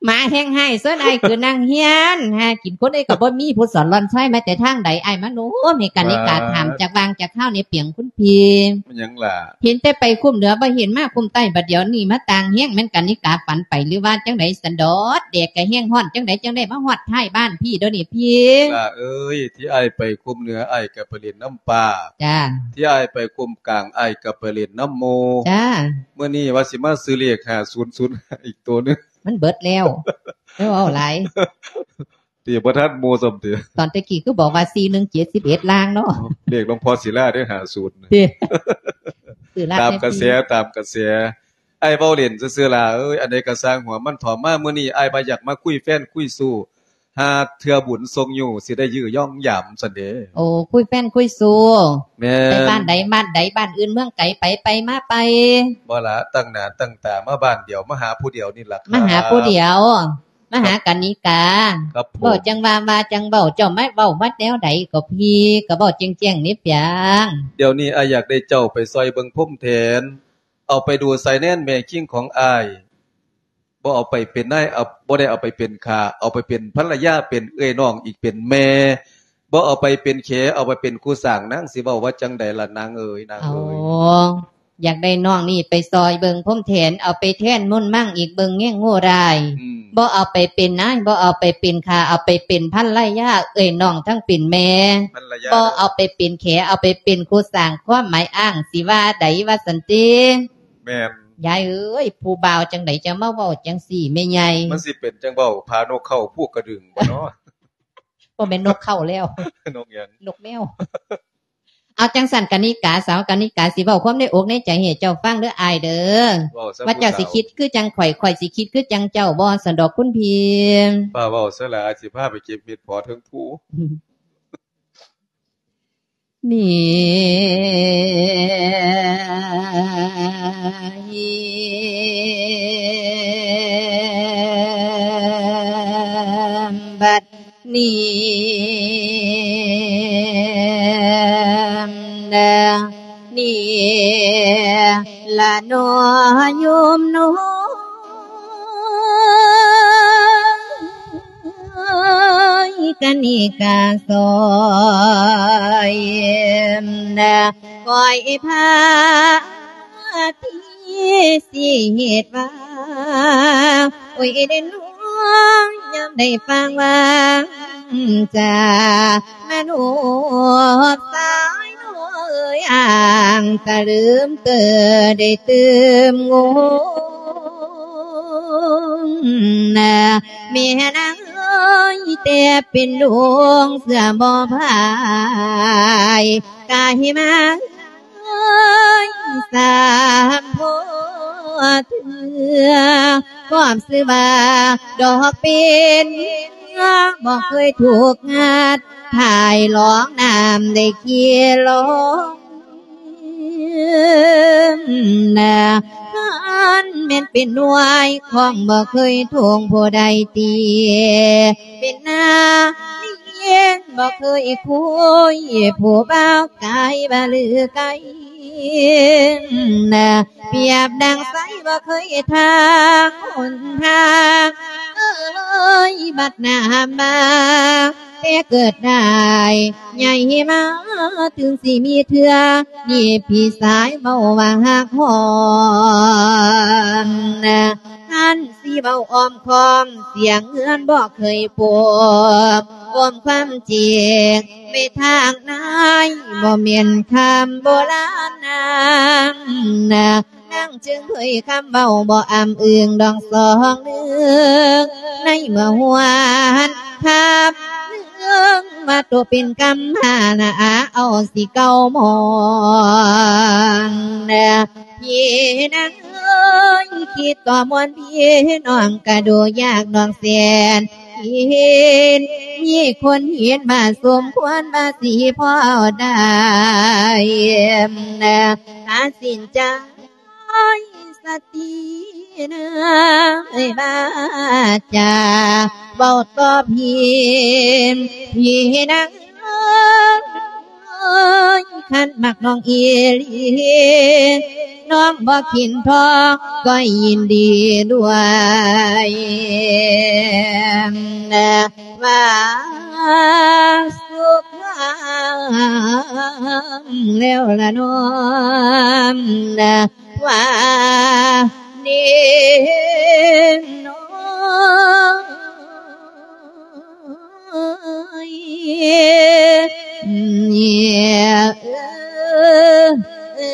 ໝາແຮງຮ້າຍ ເຊີນອ້າຍຂຶ້ນນັ່ງຮຽນ. ຫາກິນຄົນເອີຍກໍບໍ່ມີ ຜູ້ສອນລອນຊອຍມາແຕ່ທາງໃດ? ອ້າຍມາໂນ້ມໃຫ້ກັນນິກາຖາມຈັກວ່າງຈັກຄາວແດ່ ປຽງຄຸນພີ່. ແມ່ນຫຍັງລະ? ເຫັນແຕ່ໄປຄຸ້ມເໜືອ ບໍ່ເຫັນມາຄຸ້ມໃຕ້ ບັດດຽວນີ້ມາຕ່າງແຮງ ແມ່ນກັນນິກາຝັນໄປ ຫຼືວ່າຈັ່ງໃດສັນດອກ? ແດດກໍແຮງ ຮ້ອນຈັ່ງໃດ ຈັ່ງໄດ້ມາຮອດທ້າຍບ້ານພີ່ດຽວນີ້ພີ່. ຫຼ້າເອີຍ ທີ່ອ້າຍໄປຄຸ້ມເໜືອ ອ້າຍກໍໄປຫຼິ້ນນຳປ້າ. ຈ້າ. ທີ່ອ້າຍໄປຄຸ້ມກາງ ອ້າຍກໍໄປຫຼິ້ນນຳໝູ່. ຈ້າ. ມື້ນີ້ວ່າຊິມາຊື້ເລກຫ້າສູນສູນຫ້າອີກໂຕໜຶ່ງ ມັນເບິດແລ້ວ. ເຈົ້າເວົ້າຫຼາຍ ຕິ ບໍ່ທັນໝູ່ຊ້ຳຕິ. ຕອນແຕ່ກີ້ຄືບອກວ່າສີ່ໜຶ່ງເຈັດສິບເອັດລາງເນາະ. ເລກຫຼວງພໍ່ສີລາເດ້ ຫ້າສູນ ຕິ ຕາມກະແສ ຕາມກະແສ. ອ້າຍເວົ້າຫຼິ້ນຊື່ໆ ຫຼ້າເອີຍ ອັນໃດກໍຊ່າງຫົວມັນເຖາະ. ມາມື້ນີ້ອ້າຍວ່າຢາກມາຄຸຍແຟນຄຸຍຊູ້ ຫາເທື່ອບຸນສົ່ງຢູ່ ຊິໄດ້ຢື້ຢອງຢາມຊັ້ນເດ້. ໂອ້ ຄຸຍແຟນຄຸຍຊູ້. ແມ່ນ. ໄປບ້ານໃດບ້ານໃດ ບ້ານອື່ນເມືອງໄກ ໄປໄປມາໄປ. ບໍ່ລະ ຕັ້ງໜ້າຕັ້ງຕາມາບ້ານດຽວ ມາຫາຜູ້ດຽວນີ້ລະ ມາຫາຜູ້ດຽວ ມາຫາກັນນິກາ. ເວົ້າຈັ່ງວ່າ ວ່າຈັ່ງເວົ້າ ເຈົ້າມາເວົ້າມາແນວໃດກໍພີ່ ກໍເວົ້າແຈ້ງໆ ນີ້ປຽງ. ດຽວນີ້ອ້າຍຢາກໄດ້ເຈົ້າໄປຊ່ອຍເບິ່ງພົມແທນ ເອົາໄປດູສາຍແນນແມ່ຄີງຂອງອ້າຍ. ບໍ່ເອົາໄປເປັນນາຍ ເອົາ ບໍ່ໄດ້ເອົາໄປເປັນຂ້າ ເອົາໄປເປັນພັນລະຍາ ເປັນເອື້ອຍນ້ອງອີກ ເປັນແມ່. ບໍ່ເອົາໄປເປັນແຂ ເອົາໄປເປັນຄູ່ສ້າງ. ນາງຊິເວົ້າວ່າຈັ່ງໃດລະນາງເອີຍ ນາງເອີຍ? ອໍ ຢາກໄດ້ນ້ອງນີ້ໄປຊ່ອຍເບິ່ງພົມແທນ ເອົາໄປແທນມຸນມັງອີກ ເບິ່ງແຍງໂງ່ຮ້າຍ. ອືມ. ບໍ່ເອົາໄປເປັນນາຍ ບໍ່ເອົາໄປເປັນຂ້າ ເອົາໄປເປັນພັນລະຍາ ເອື້ອຍນ້ອງທັງເປັນແມ່. ພັນລະຍາ. ບໍ່ເອົາໄປເປັນແຂ ເອົາໄປເປັນຄູ່ສ້າງ. ຄວາມໝາຍອ້າງຊິວ່າໃດວ່າຊັ້ນຕິ? ແມ່ນ. ຍາຍເອີຍ ຜູ້ບ່າວຈັ່ງໃດຈະມາເວົ້າຈັ່ງຊີ້ແມ່ໃຫຍ່? ມັນຊິເປັນຈັ່ງເວົ້າ ຜານົກເຂົາພູກກະດຶງບໍ່ເນາະ? ບໍ່ແມ່ນນົກເຂົາແລ້ວ. ນົກຫຍັງ? ນົກແມວ. ເອົາ ຈັ່ງຊັ້ນກະນິກາ ສາວກະນິກາຊິເວົ້າຄວາມໃນອົກໃນໃຈໃຫ້ເຈົ້າຟັງເດີອ້າຍເດີ ວ່າເຈົ້າຊິຄິດຄືຈັ່ງຂ້ອຍ ຂ້ອຍຊິຄິດຄືຈັ່ງເຈົ້າບໍ່ ຊັ້ນດອກຄຸນພີ່. ຟ້າວເວົ້າຊະຫຼ້າ ອ້າຍຊິພາໄປເກັບເຫັດເຜາະເທິງພູ. ນີ້ ບັດນີ້ ນີ້ລະໜໍໂຍມນ້ອງ ກະນິກາຊອຍ ນະ ຄອຍພາທີ່ຊິເຮັດວ່າ ໂອ້ຍ ເດນວງ ຍາມໄດ້ຟັງວາຈາ ມະໂນດສາຍນ້ອຍ ອ່າງຕະລຶມເຕີ ໄດ້ຕື່ມງົງ ນະ ແມ່ນາງເອີຍ ແຕ່ເປັນດວງເສືອບໍ່ພາຍ ກາຍມາເອີຍ ສາມພໍເທື່ອ ຄວາມຊື່ວ່າດອກເປັນ ບໍ່ເຄີຍຖືກງັດ ຖ່າຍລອງນ້ຳໄດ້ຂີ້ລົງ ນະ ຄັນແມ່ນເປັນໜ່ວຍ ຄອງບໍ່ເຄີຍທົ່ງຜູ້ໃດຕີ ເປັນນາເມຍນບໍ່ເຄີຍຄຸຍ ຜູ້ບ່າວກາຍວ່າລືໄກ ນະ ປຽບດັ່ງໄສບໍ່ເຄີຍທາງຫົນທາງ ເອີຍ ບັດໜ້າມາ ແຕ່ເກີດໄດ້ໃຫຍ່ມາ ເຖິງຊິມີເທື່ອ ນີ້ພີ່ຊາຍເວົ້າວ່າຮັກຮອງ ນະ ຄັນຊິເວົ້າອ້ອມຄ້ອມ ສຽງເຮືອນບໍ່ເຄີຍປົມ ອົມຄວາມຈິງ ແມ່ທາງນາຍ ບໍ່ແມ່ນຄຳໂບລານນາງ ນະ ນາງຈຶ່ງເຜີຍຄຳເວົ້າບໍ່ອ້ຳອຶງດອງສອງໜຶ່ງ ໃນເມື່ອຫົວຫັນຄຳໜຶ່ງ ວ່າໂຕເປັນກຳມານະອາ ເອົາຊິເກົ່າມອງ ນະ ພີ່ນາງເອີຍ ຄິດກໍມ່ວນ ພີ່ນ້ອງກະດູຍາກ ນ້ອງແສນເຫັນ ມີຄົນເຫັນວ່າສົມຄວນ ວ່າຊິພໍໄດ້ ນະ ຕັດສິນໃຈ ສະຕິນາຍ ວາຈາເວົ້າຕໍ່ພີ່ ພີ່ນາງເອີຍ ຄັນມັກນ້ອງອີ່ຫຼີ ນ້ອງບໍ່ຄິນທອງ ກໍຍິນດີດ້ວຍ ວ່າສຸຂາງ ແລ້ວລະນ້ອງ ວ່ານີ້ນ້ອງ ເອີຍ ເອີຍ ເອີຍ ເອີຍ ເອີ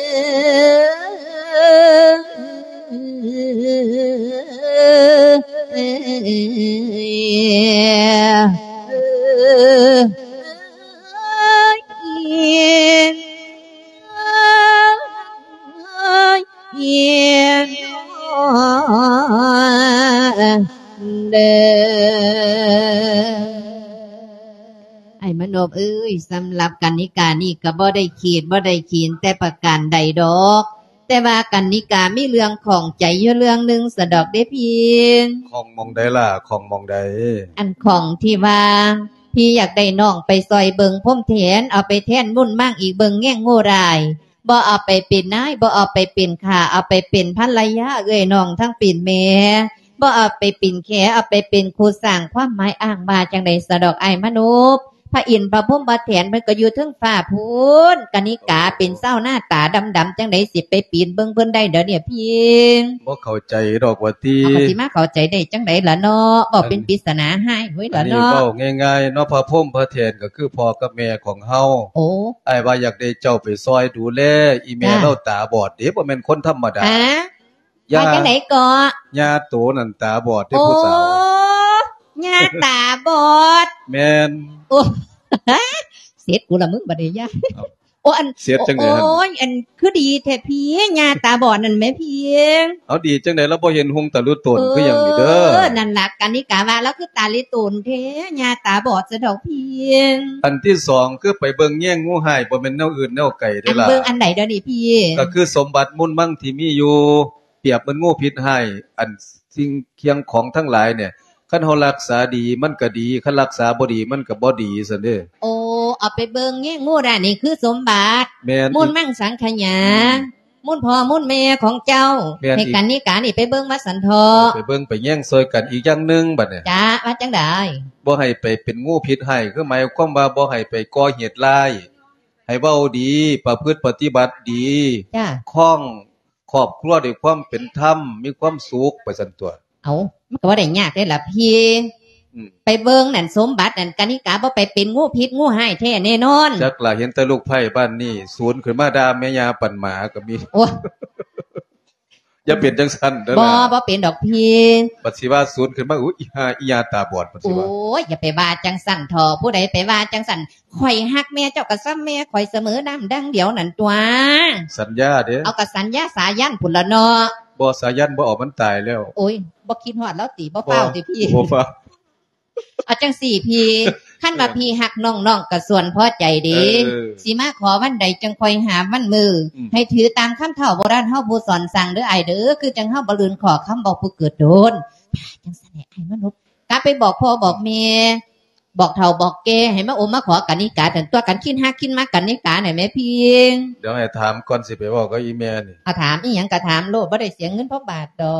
ຍ ເອີຍ ເອີຍ ເອີຍ ເດີ ອ້າຍມະນົບເອີຍ, ສຳລັບກັນນິການີ້ກໍບໍ່ໄດ້ຂີດບໍ່ໄດ້ຂີນແຕ່ປະການໃດດອກ, ແຕ່ວ່າກັນນິກາມີເລື່ອງຂ້ອງໃຈຢູ່ເລື່ອງໜຶ່ງສະດອກເດ້ພີ່. ຂ້ອງໝ່ອງໃດລະ? ຂ້ອງໝ່ອງໃດ? ອັນຂ້ອງທີ່ວ່າ ພີ່ຢາກໄດ້ນ້ອງໄປຊ່ອຍເບິ່ງພົມແທນ, ເອົາໄປແທນບຸນມາງອີກເບິ່ງແງງໂງ່ຫຼາຍ. ບໍ່ເອົາໄປເປັນນາຍ, ບໍ່ເອົາໄປເປັນຂ້າ, ເອົາໄປເປັນພັນລະຍາເອື້ອຍນ້ອງທັງເປັນແມ່, ບໍ່ເອົາໄປເປັນແຂ, ເອົາໄປເປັນຄູ່ສ້າງຄວາມໝາຍອ້າງວ່າຈັ່ງໃດສະດອກອ້າຍມະນົບ. ພະອິນພະພົມພະແທນເພິ່ນກໍຢູ່ເທິງຟ້າພຸ້ນ, ກະນິກາເປັນຊາວນາຕາດຳໆ ຈັ່ງໃດຊິໄປປີນເບິ່ງເພິ່ນໄດ້ດຽວນີ້ພີ່? ບໍ່ເຂົ້າໃຈດອກວ່າຕິ. ເຮົາກໍຊິມາເຂົ້າໃຈໄດ້ຈັ່ງໃດລະເນາະ, ເວົ້າເປັນ ອັນ ປິດສະໜາຫາຍເວີຍລະເນາະ. ອັນນີ້ເວົ້າງ່າຍໆເນາະ, ພະພົມພະແທນກໍຄືພໍ່ກັບແມ່ຂອງເຮົາ. ໂອ້ ອ້າຍວ່າຢາກໄດ້ເຈົ້າໄປຊ່ອຍດູແລອີ່ແມ່ ຈ້າ ລາວຕາບອດເດ້, ບໍ່ແມ່ນຄົນທຳມະດາ. ຫາ? ຢ້າ ວ່າຈັ່ງໃດເກາະ? ຍ່າໂຕນັ້ນຕາບອດເດ້ ໂອ້ ຜູ້ສາວ. ຍ່າຕາບອດ? ແມ່ນ. ໂອ້ ເສັດກູລະມຶງບັດນີ້ ຍ່າ. ເອົ້າ. ອັນ ເສຍດຈັ່ງໃດຫັ້ນ? ໂອ້ຍ ອັນ ຄືດີແທ້ພີ່ ຍ່າຕາບອດນັ້ນແໝ່ພີ່. ເອົາ ດີຈັ່ງໃດ ລາວບໍ່ເຫັນຮຸ່ງຕາລຸໂຕນຄືຫຍັງນີ້ເດີ? ເອີ ນັ້ນລະ ກະນິກາວ່າລາວຄືຕາລິໂຕນແທ້ ຍ່າຕາບອດຊະດອກພີ່. ອັນທີສອງ ຄືໄປເບິ່ງແຍງງູຮ້າຍ ບໍ່ແມ່ນແນວອື່ນແນວໄກເດ້ລະ. ອັນເບິ່ງອັນໃດດຽວນີ້ພີ່? ກໍຄືສົມບັດມູນມັງທີ່ມີຢູ່ ປຽບເໝືອນງູພິດຮ້າຍ ອັນສິ່ງຄຽງຂອງທັງຫຼາຍນີ້ ຄັນເຮົາຮັກສາດີມັນກໍດີ ຄັນຮັກສາບໍ່ດີມັນກໍບໍ່ດີຊັ້ນເດ້. ໂອ້ ເອົາໄປເບິ່ງແຍງງູດ້ານນີ້ຄືສົມບັດ ແມ່ນ ມູນມັງສັງຂະຫຍາ ອືມ ມູນພໍ່ມູນແມ່ຂອງເຈົ້າ ແມ່ນ ໃຫ້ກັນນິການີ້ໄປເບິ່ງວ່າຊັ້ນເຖາະ. ໄປເບິ່ງໄປແຍງຊ່ອຍກັນ. ອີກຢ່າງໜຶ່ງບັດນີ້ ຈ້າ ວ່າຈັ່ງໃດ? ບໍ່ໃຫ້ໄປເປັນງູພິດຮ້າຍ ຄືໝາຍຄວາມວ່າບໍ່ໃຫ້ໄປກໍ່ເຫດຮ້າຍ ໃຫ້ເວົ້າດີ ປະພຶດປະຕິບັດດີ ຈ້າ ຄອງ ຄອບຄົວດ້ວຍຄວາມເປັນທຳ ມີຄວາມສຸກໄປຊັ້ນຕົວະ. ເອົ້າ ມັນກໍບໍ່ໄດ້ຍາກເດ້ລະພີ່. ອືມ ໄປເບິ່ງນັ້ນ ສົມບັດນັ້ນ ກະນິກາບໍ່ໄປເປັນງູພິດງູຮ້າຍແທ້ແນ່ນອນ. ຈັກລະ ເຫັນແຕ່ລູກໃພ້ບ້ານນີ້ສູນຂຶ້ນມາດ່າແມ່ຍ່າປັນໝາກໍມີ. ໂອ້ ຢ່າເປັນຈັ່ງຊັ້ນເດີ. ບໍ່ ບໍ່ເປັນດອກພີ່. ບັດຊິວ່າສູນຂຶ້ນມາ ອຸ້ຍ ອີຫ່າ ອີຍ່າຕາບອດ ບັດຊິວ່າ. ໂອ້ຍ ຢ່າໄປວ່າຈັ່ງຊັ້ນເຖາະ. ຜູ້ໃດໄປວ່າຈັ່ງຊັ້ນ ຂ້ອຍຮັກແມ່ເຈົ້າກໍສ່ຳແມ່ຂ້ອຍສະເໝີ ນ້ຳດັ່ງດຽວນັ້ນຕົວະ. ສັນຍາເດ້. ເອົາ ກໍສັນຍາສາຢັນພຸ້ນລະເນາະ. ບໍ່ ສາຢັນບໍ່ເອົາ ມັນຕາຍແລ້ວ. ໂອ້ຍ ບໍ່ຄິດຮອດລາວຕິ? ບໍ່ຟ້າວຕິພີ່? ບໍ່ຟ້າວ. ເອົາຈັ່ງຊີ້ພີ່ ຄັນວ່າ ເອີ ພີ່ຮັກນ້ອງ ນ້ອງກໍສ່ວນພໍໃຈເດ້. ເອີ ຊິມາຂໍວັນໃດຈັ່ງຄ່ອຍຫາວັນມື້. ອືມ ໃຫ້ຖືຕາມຄຳເຖົ້າໂບລານເຮົາຜູ້ສອນສັ່ງເດີອ້າຍເດີ. ຄືຈັ່ງເຮົາບໍ່ລືມຂໍ້ຄຳບອກຜູ້ເກີດດົນ. ຖ້າຈັ່ງຊັ້ນໃຫ້ອ້າຍມານົບ ກັບໄປບອກພໍ່ບອກແມ່ ບອກເຖົ້າບອກແກ່ໃຫ້ມາອົມມາຂໍກັນນິກາ ຫັ້ນຕົວະ. ກັນຄິນຮັກຄິນມັກກັນນິການັ້ນແໝ່ພີ່. ດຽວໃຫ້ຖາມກ່ອນ ຊິໄປເວົ້າກັບອີ່ແມ່ນີ້. ເອົາ ຖາມອີ່ຫຍັງກໍຖາມໂລດ ບໍ່ໄດ້ເສຍເງິນພະບາດດອ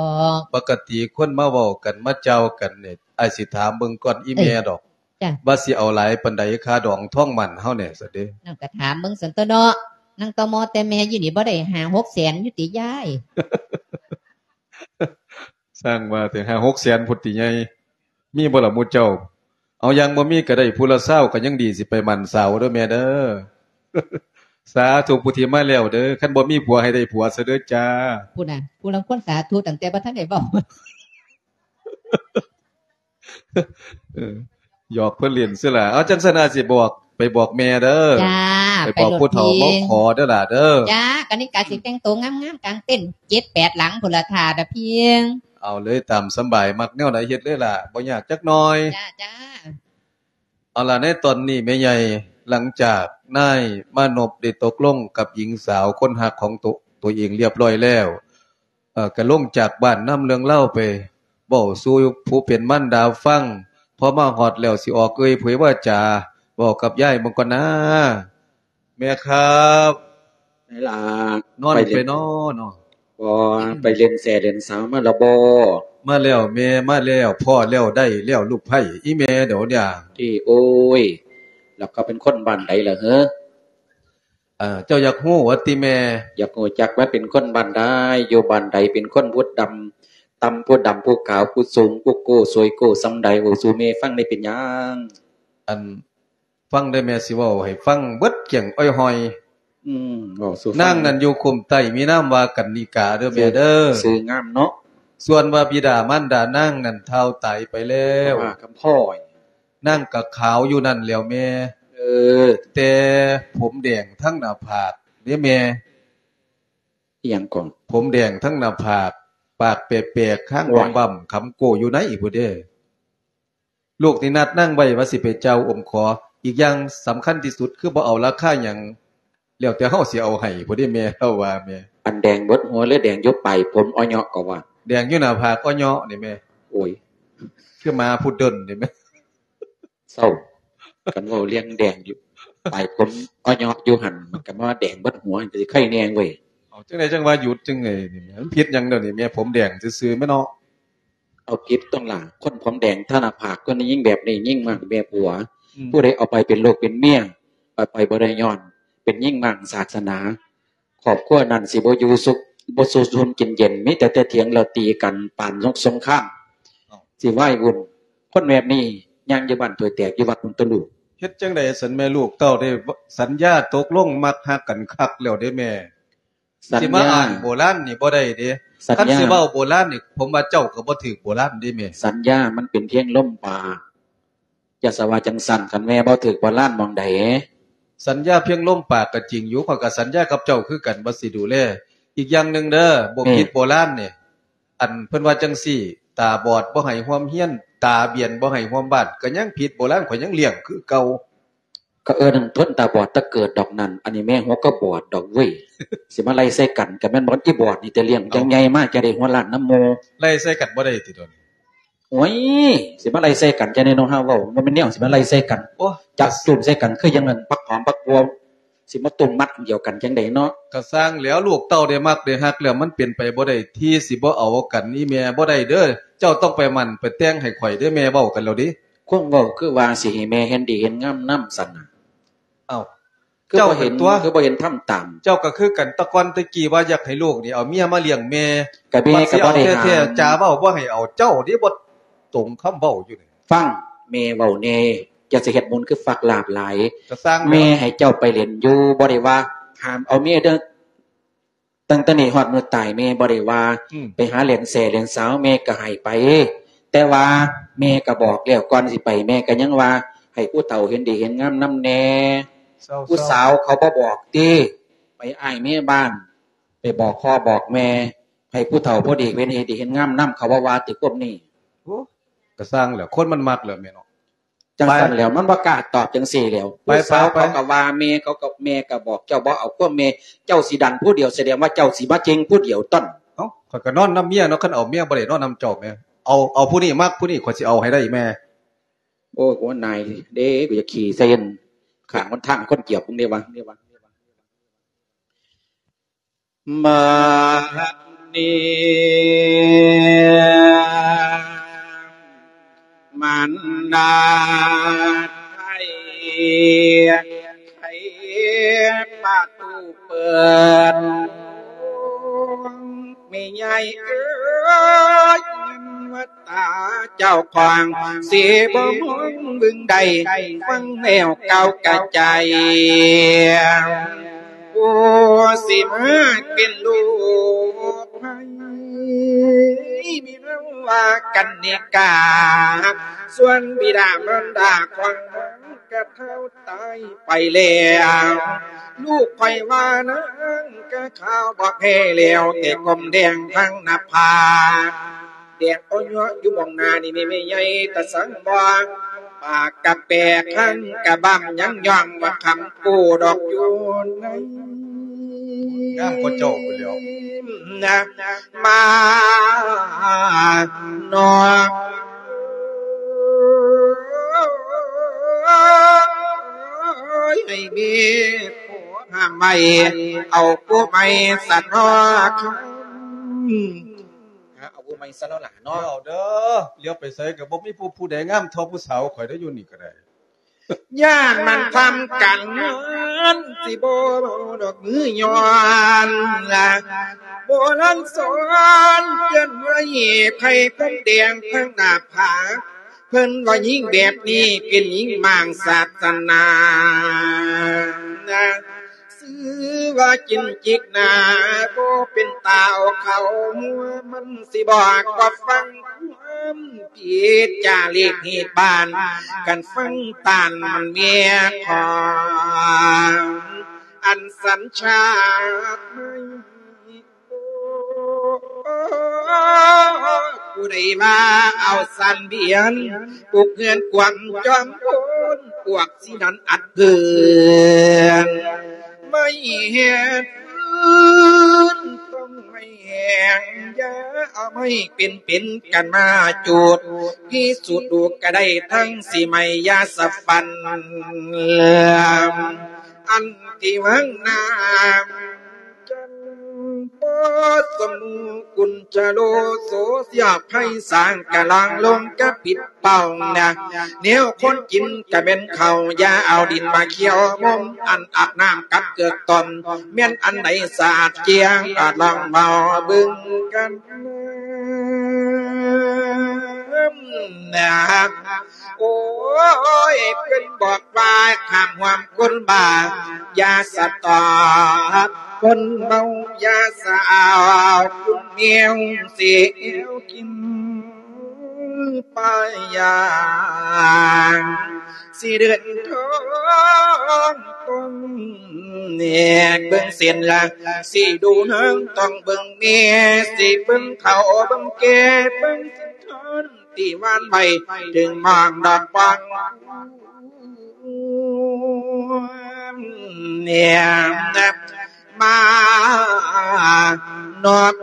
ກ. ປົກກະຕິຄົນມາເວົ້າກັນມາເຈົ້າກັນນີ້ ອ້າຍຊິຖາມເບິ່ງກ່ອນອີ່ແມ່ດອກ. ເອີ ຈ້ະ ວ່າຊິເອົາຫຼາຍປານໃດ ຄ່າດອງທອງໝັ້ນເຮົາແດ່ຊັ້ນເດ້. ນັ້ນກໍຖາມເບິ່ງຊັ້ນຕົວະເນາະ. ນາງຕະມໍແຕ່ແມ່ຢູ່ນີ້ບໍ່ໄດ້ຫ້າຫົກແສນຢູ່ຕິຍາຍ? ສ້າງວ່າແຕ່ຫ້າຫົກແສນພຸ້ນຕິໃຫຍ່. ມີບໍ່ລະໝູ່ເຈົ້າ? ເອົາ ຍັງບໍ່ມີກໍໄດ້ຜູ້ລະຊາວກໍຍັງດີ ຊິໄປໝັ້ນສາວເດີແມ່ເດີ. ສາທຸຜູ້ທີ່ມາແລ້ວເດີ. ຄັນບໍ່ມີຜົວໃຫ້ໄດ້ຜົວຊະເດີຈ້າ. ພຸ້ນນະ ຜູ້ລາງຄົນສາທຸຕັ້ງແຕ່ບໍ່ທັນໄດ້ເວົ້າ. ເອີ ຢອກເພິ່ນຫຼິ້ນຊື່ລະ. ເອົາ ຈັ່ງຊັ້ນອາດຊິບອກ ໄປບອກແມ່ເດີ. ຈ້າ ໄປບອກຜູ້ເຖົ້າມາຂໍເດີຫຼ້າເດີ. ຈ້າ ກະນິກາຊິແຕ່ງໂຕງາມໆກາງເຕັ້ນເຈັດແປດຫຼັງພຸ້ນລະ ຖ້າດະພຽງ. ເອົາເລີຍ ຕາມສະບາຍ ມັກແນວໃດເຮັດເລີຍຫຼ້າ ບໍ່ຍາກຈັກໜ້ອຍ. ຈ້າ ຈ້າ. ເອົາລະ ໃນຕອນນີ້ແມ່ໃຫຍ່ ຫຼັງຈາກນາຍມານົບໄດ້ຕົກລົງກັບຍິງສາວຄົນຮັກຂອງໂຕ ໂຕເອງລຽບຮ້ອຍແລ້ວ ເອີ ກະລົງຈາກບ້ານນຳເລື່ອງລາວໄປເວົ້າສູ່ຜູ້ເປັນມານດາຟັງ. ພໍມາຮອດແລ້ວຊິອອກເອີ່ຍເຜີຍວາຈາ ເວົ້າກັບຍາຍເບິ່ງກ່ອນນາ. ແມ່ຄັບ ໄດ້ລະ ນອນໄປເນາະ ໄປເນາະ. ບໍ່ ໄປຫຼິ້ນແຊຫຼິ້ນສາວມາລະບໍ່? ມາແລ້ວແມ່ ມາແລ້ວ ພໍ້ແລ້ວໄດ້ແລ້ວລູກໃພ້. ອີ່ແມ່ດຽວນີ້ ຕິ ໂອ້ຍ ແລ້ວກໍເປັນຄົນບ້ານໃດລະເຫີ? ເອີ ເຈົ້າຢາກຮູ້ວ່າຕິແມ່? ຢາກຮູ້ຈັກວ່າເປັນຄົນບ້ານໃດ ຢູ່ບ້ານໃດ ເປັນຄົນຜູ້ດຳ ຕ່ຳ ຜູ້ດຳ ຜູ້ຂາວ ຜູ້ສູງ ຜູ້ໂກ້ ສວຍໂກ້ ສ່ຳໃດ ເວົ້າສູ່ແມ່ຟັງໄດ້ເປັນຫຍັງ? ອັນ ຟັງເດີແມ່ ຊິເວົ້າໃຫ້ຟັງເບິດແກ້ງອ້ອຍຫ້ອຍ. ອືມ ເວົ້າສູ່ຟັງ. ນາງນັ້ນຢູ່ຄຸ້ມໃຕ້ ມີນາມວ່າກັນນິກາເດີແມ່ເດີ. ຊື່ງາມເນາະ. ສ່ວນວ່າບິດາມານດານາງນັ້ນທ້າວຕາຍໄປແລ້ວ. ວ່າຄຳພ້ອຍ. ນາງກໍຂາວຢູ່ນັ້ນແຫຼ້ວແມ່. ເອີ ແຕ່ຜົມແດງທັງໜ້າຜາກເດ້ແມ່. ອີ່ຫຍັງກໍ? ຜົມແດງທັງໜ້າຜາກ ປາກແປກໆ ຄາງ ວ້າຍ ບຳໆ ຂຳໂກ້ຢູ່ໃນພຸ້ນເດ້. ລູກນີ້ນັດນາງໄວ້ວ່າຊິໄປເຈົ້າອົມຂໍ. ອີກຢ່າງສຳຄັນທີ່ສຸດຄືບໍ່ເອົາລາຄາຫຍັງ ແລ້ວແຕ່ເຮົາຊິເອົາໃຫ້ພຸ້ນເດ້ແມ່ ລາວວ່າແມ່. ອັນແດງເບິດຫົວ ຫຼື ແດງຢູ່ປາຍຜົມອ້ອເຍາະກໍວ່າ? ແດງຢູ່ໜ້າຜາກອ້ອເຍາະນີ້ແມ່. ໂອ້ຍ ຄືໝາພຸດເດິນນີ້ແມ່. ເຊົາ ຄັນເວົ້າເລື່ອງແດງຢູ່ປາຍຜົມອ້ອເຍາະຢູ່ຫັ້ນ ມັນກໍມາແດງເບິດຫົວ ມັນກໍຊິໄຄແດ່ເວີຍ. ເອົາ ຈັ່ງໃດຈັ່ງວ່າຢຸດຈັ່ງໃດນີ້ແມ່? ມັນຜິດຫຍັງດຽວນີ້ແມ່? ຜົມແດງຊື່ໆແມ່ເນາະ. ເອົາຜິດຕົງຫຼະ ຄົນຜົມແດງທາໜ້າຜາກ ຄົນຍິງແບບນີ້ ຍິງມັກແມ່ຜົວ. ອືມ ຜູ້ໃດເອົາໄປເປັນລູກເປັນເມຍ ໄປ ໄປບໍ່ໄດ້ ຍ້ອນເປັນຍິງມັກສາສະໜາ. ຄອບຄົວນັ້ນຊິບໍ່ຢູ່ສຸກ ບໍ່ສູ່ຊົມກິນເຢັນ ມີແຕ່ແຕ່ຖຽງແລ້ວຕີກັນປານສົງຄາມ. ເອົ້າ ຊິວາຍວຸ່ນ ຄົນແບບນີ້ຍ່າງຢູ່ບ້ານຖ້ວຍແຕກ ຢູ່ວັດພຸ້ນຕົວະລູກ. ເຮັດຈັ່ງໃດຊັ້ນແມ່ ລູກເຕົ້າໄດ້ສັນຍາຕົກລົງມັກຮັກກັນຄັກແລ້ວເດ້ແມ່. ສັນຍາ ຊິມາອ້າງໂບລານນີ້ບໍ່ໄດ້ເດ້. ຄັນຊິເວົ້າໂບລານນີ້ ຜົມວ່າເຈົ້າກໍບໍ່ຖືກໂບລານເດ້ແມ່. ສັນຍາມັນເປັນພຽງລົມປາກ. ຢ່າສະວ່າຈັ່ງຊັ້ນ ຄັນແມ່ບໍ່ຖືກໂບລານໝ່ອງໃດ ສັນຍາພຽງລົມປາກກໍຈິງຢູ່ ຂ້ອຍກໍສັນຍາກັບເຈົ້າຄືກັນວ່າຊິດູແລ. ອີກຢ່າງໜຶ່ງເດີ ໂບ ອືມ ຜິດໂບລານນີ້ ອັນເພິ່ນວ່າຈັ່ງຊີ້ ຕາບອດບໍ່ໃຫ້ຮ່ວມຮຽນ ຕາບຽນບໍ່ໃຫ້ຮ່ວມບ້ານ ກໍຍັງຜິດໂບລານ ຂ້ອຍຍັງລ້ຽງຄືເກົ່າ. ກໍເອີ້ນຄົນຕາບອດແຕ່ເກີດດອກນັ້ນ ອັນນີ້ແມ່ຫົວກໍບອດດອກເວີຍ ຊິມາໄລ່ໃສ່ກັນ ກໍແມ່ນບໍ່ ອີບອດນີ້ແຕ່ລ້ຽງ ເອົ້າ ຈັ່ງໃຫຍ່ມາຈະໄດ້ຫົວລ້ານນຳໝູ່ ໄລ່ໃສ່ກັນບໍ່ໄດ້ຕິດອດນີ້. ໂອ້ຍ ຊິມາໄລ່ໃສ່ກັນຈັ່ງໃດເນາະ ເຮົາເວົ້າ ມັນບໍ່ແມ່ນແນວຊິມາໄລ່ໃສ່ກັນ. ໂອ້ ຈັບຈຸ້ມໃສ່ກັນຄືຫຍັງນັ້ນ ບັກຫອມບັກບົວ ຊິມາຕຸ້ມມັດດຽວກັນຈັ່ງໃດເນາະ. ກະຊ່າງແລ້ວ ລູກເຕົ້າໄດ້ມັກໄດ້ຮັກແລ້ວ ມັນເປັນໄປບໍ່ໄດ້ທີ່ຊິບໍ່ເອົາກັນ ອີ່ແມ່ ບໍ່ໄດ້ເດີ. ເຈົ້າຕ້ອງໄປໝັ້ນໄປແຕ່ງໃຫ້ຂ້ອຍເດີ ແມ່ເວົ້າກັນແລ້ວເດ. ຄວາມເວົ້າຄືວ່າຊິໃຫ້ແມ່ເຫັນດີເຫັນງາມນຳຊັ້ນນະ. ເອົ້າ ຄື ເຈົ້າ ບໍ່ເຫັນ ເປັນຕົວ ຄືບໍ່ເຫັນທຳຕາມ. ເຈົ້າກໍຄືກັນ ແຕ່ກ່ອນແຕ່ກີ້ວ່າຢາກໃຫ້ລູກນີ້ເອົາເມຍມາລ້ຽງແມ່ ກໍແມ່ກໍບໍ່ໄດ້ຫ້າມ ບັດຊິເອົາແທ້ໆ ຈາເວົ້າບໍ່ໃຫ້ເອົາ ເຈົ້ານີ້ບໍ່ຕົງຄຳເວົ້າຢູ່ນີ້. ຟັງແມ່ເວົ້າແດ່ ຢ່າຊິເຮັດບຸນຄືຝັກລາບຫຼາຍ. ກໍຊ່າງແລ້ວ ແມ່ໃຫ້ເຈົ້າໄປຫຼິ້ນຢູ່ ບໍ່ໄດ້ວ່າຫ້າມເອົາເມຍເດີ. ຕັ້ງແຕ່ນີ້ຮອດມື້ຕາຍແມ່ບໍ່ໄດ້ວ່າ ອືມ ໄປຫາຫຼິ້ນແຊຫຼິ້ນສາວ ແມ່ກໍໃຫ້ໄປ ແຕ່ວ່າແມ່ກໍບອກແລ້ວ ກ່ອນຊິໄປແມ່ກໍຍັງວ່າ ໃຫ້ຜູ້ເຖົ້າເຫັນດີເຫັນງາມນຳແດ່. ເຊົາໆ ຜູ້ສາວເຂົາບໍ່ບອກຕິ ໄປອ້າຍແມ່ບ້ານ ໄປບອກພໍ່ບອກແມ່ ໃຫ້ຜູ້ເຖົ້າຜູ້ດີເຫັນ ເຫັນດີເຫັນງາມນຳ ເຂົາບໍ່ວ່າຕິ ພວກນີ້. ໂອ້ ກໍຊ່າງແຫຼະ ຄົນມັນມັກແຫຼະແມ່ເນາະ. ຈັ່ງຊັ້ນແລ້ວ ໄປ ມັນບໍ່ກ້າຕອບຈັ່ງຊີ້ແລ້ວ. ໄປ ຜູ້ສາວ ໄປ ເຂົາກໍວ່າແມ່ ເຂົາກໍ ແມ່ກໍບອກເຈົ້າບໍ່ເອົາຄວາມແມ່ ເຈົ້າຊິດັນຜູ້ດຽວ ສະແດງວ່າເຈົ້າຊິມາເຈັງຜູ້ດຽວຕົນ. ເອົ້າ ຂ້ອຍກໍນອນນຳເມຍເນາະ ຄັນເອົາເມຍບໍ່ໄດ້ນອນນຳເຈົ້າແມ່. ເອົາ ເອົາຜູ້ນີ້ມັກ ຜູ້ນີ້ຂ້ອຍຊິເອົາໃຫ້ໄດ້ແມ່. ໂອ້ຍ ຫົວນາຍເດ້ ກູຢາກຂີ່ໃສ່ ຂ້າງຫົນທາງຄົນກຽບມຶງເດ້ວະ. ມານີ້ ມານດາໄທ ໄຂປະຕູເປີດ ແມ່ໃຫຍ່ເອີຍ ເງິນວ່າ ຕາເຈົ້າຂອງ ຊິບໍ່ມອງເບິ່ງໃດ ຟັງແລ້ວກ່າວກະໃຈ ຜູ້ຊິມາເປັນລູກໃຜ ມີນາມວ່າກັນນິກາ ສ່ວນບິດາມານດາຂອງນາງກະເຖົ້າຕາຍໄປແລ້ວ ລູກຂ້ອຍວ່ານາງກະຂາວບໍ່ແພ້ແລ້ວ ແຕ່ກົມແດງທັງໜ້າຜາກ ແດງອ່ອນຍົວະຢູ່ໝ່ອງໜ້ານີ້ແມ່ໃຫຍ່ຕາສັງບໍ່ ປາກກະແປກ ຄາງກະບຳ ຍັງຍ້ອງວ່າຄຳກູດອກຢູ່ໃນ ງາມກວ່າເຈົ້າພຸ້ນແລ້ວນະ ມາເນາະ ໃຫ້ມີຜູ້ຫ້າມໄວ້ ເອົາຜູ້ໃໝ່ສະເນາະ ເອົາຜູ້ໃໝ່ຊະເນາະຫຼາເນາະ ເອົາເດີ ຫຼຽວໄປໃສກໍບໍ່ມີຜູ້ ຜູ້ໃດງາມເທົ່າຜູ້ສາວຂ້ອຍເດ້ ຢູ່ນີ້ກໍໄດ້ ຢ້ານມັນທຳການງານ ຊິບໍ່ເວົ້າດອກມືຍ້ອນລະ ໂບລານສອນເຕືອນໄວ້ ໃຜຄົນແດງທາງໜ້າຜາກ ເພິ່ນວ່າຍິງແບບນີ້ເປັນຍິງມ້າງສາສະໜາ ຊື່ວ່າຈິນຈິກໜ້າ ບໍ່ເປັນຕາເອົາເຂົ້າຫົວ ມັນຊິບອກວ່າຟັງຄວາມຜິດຈາລີກຮີດບ້ານ ຄັນຟັງຕານມັນເມຍຂອງ ອັນສັນຊາດໃໝ່ ຜູ້ໃດວ່າເອົາສັນບຽນ ປຸກເຮືອນກວມຈອມໂພນ ພວກ ຊິນັ້ນອັດເພິ່ນ ໄມ້ແຮດຟືນ ຕ້ອງໄມ້ແຫ້ງ ຢ່າເອົາໄມ້ເປັນໆກັນມາຈູດ ພິສູດດູກະໄດ້ທັງຊິໄໝ້ ຢ່າສະຝັນ ອັນທີ່ຫວັງນາມ ຈັນປອດສະໝູກຸນຈະໂລໂສ ສຽບໄພສາງກະລາງລົງກະປິດເປົ້ານະ ແນວຄົນກິນກະແມ່ນເຂົ້າ ຢ່າເອົາດິນມາຂຽວມົມ ອັນອາບນ້ຳກັບເກືອກຕົ້ນ ແມ່ນອັນໃດສະອາດກ້ຽງ ອາດລອງເວົ້າເບິ່ງກັນນະ. ໂອ້ຍ ເພິ່ນບອກວ່າຫ້າມຮ່ວມຄົນບ້າ ຢ່າສະຕອບຄົນເມົາ ຢ່າສະເອົາຄຸນແມວຊິແອວກິນ. ໄປຢ່າງຊິເດີນທາງຕ້ອງແນກເບິ່ງເສັ້ນລາງ ຊິດູນາງຕ້ອງເບິ່ງແມ່ ຊິເບິ່ງເຖົ້າເບິ່ງແກ່ ເບິ່ງເສັ້ນທາງທີ່ວານໄວ້ ເຖິງມາງດອກບາງ ແນມມານອກ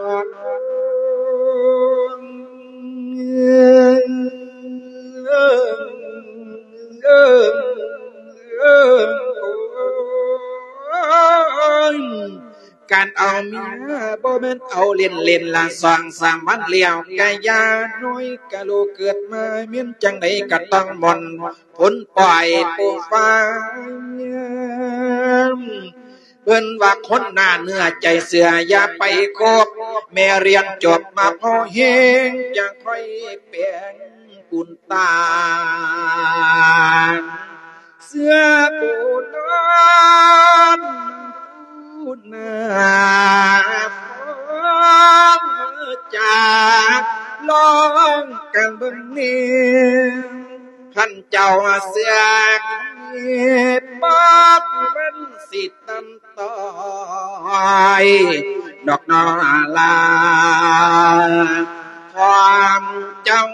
ການເອົາເມຍບໍ່ແມ່ນເອົາເລ່ນໆ ລະສອງສາມວັນແລ້ວກະຢ່າ ນ້ອຍກະລູກເກີດມາແມ່ນຈັ່ງໃດກະຕ້ອງມ່ອນ ຜົນປ່ອຍຜູ້ຟັງ ເພິ່ນວ່າຄົນໜ້າເນື້ອໃຈເຊື່ອ ຢ່າໄປຄົບ ແມ່ຮຽນຈົບມາພໍແຮງ ຈັ່ງຄ່ອຍແປງບຸນຕາ ເຊື່ອໂບລານ ຜູ້ໜ້າຟັງຈາ ລອງກັງເບິ່ງແນ່ ຄັນເຈົ້າເຊື່ອບອກມັນຊິຕັນຕອຍ ດອກໜໍລາ ຄວາມເຈົ້າ.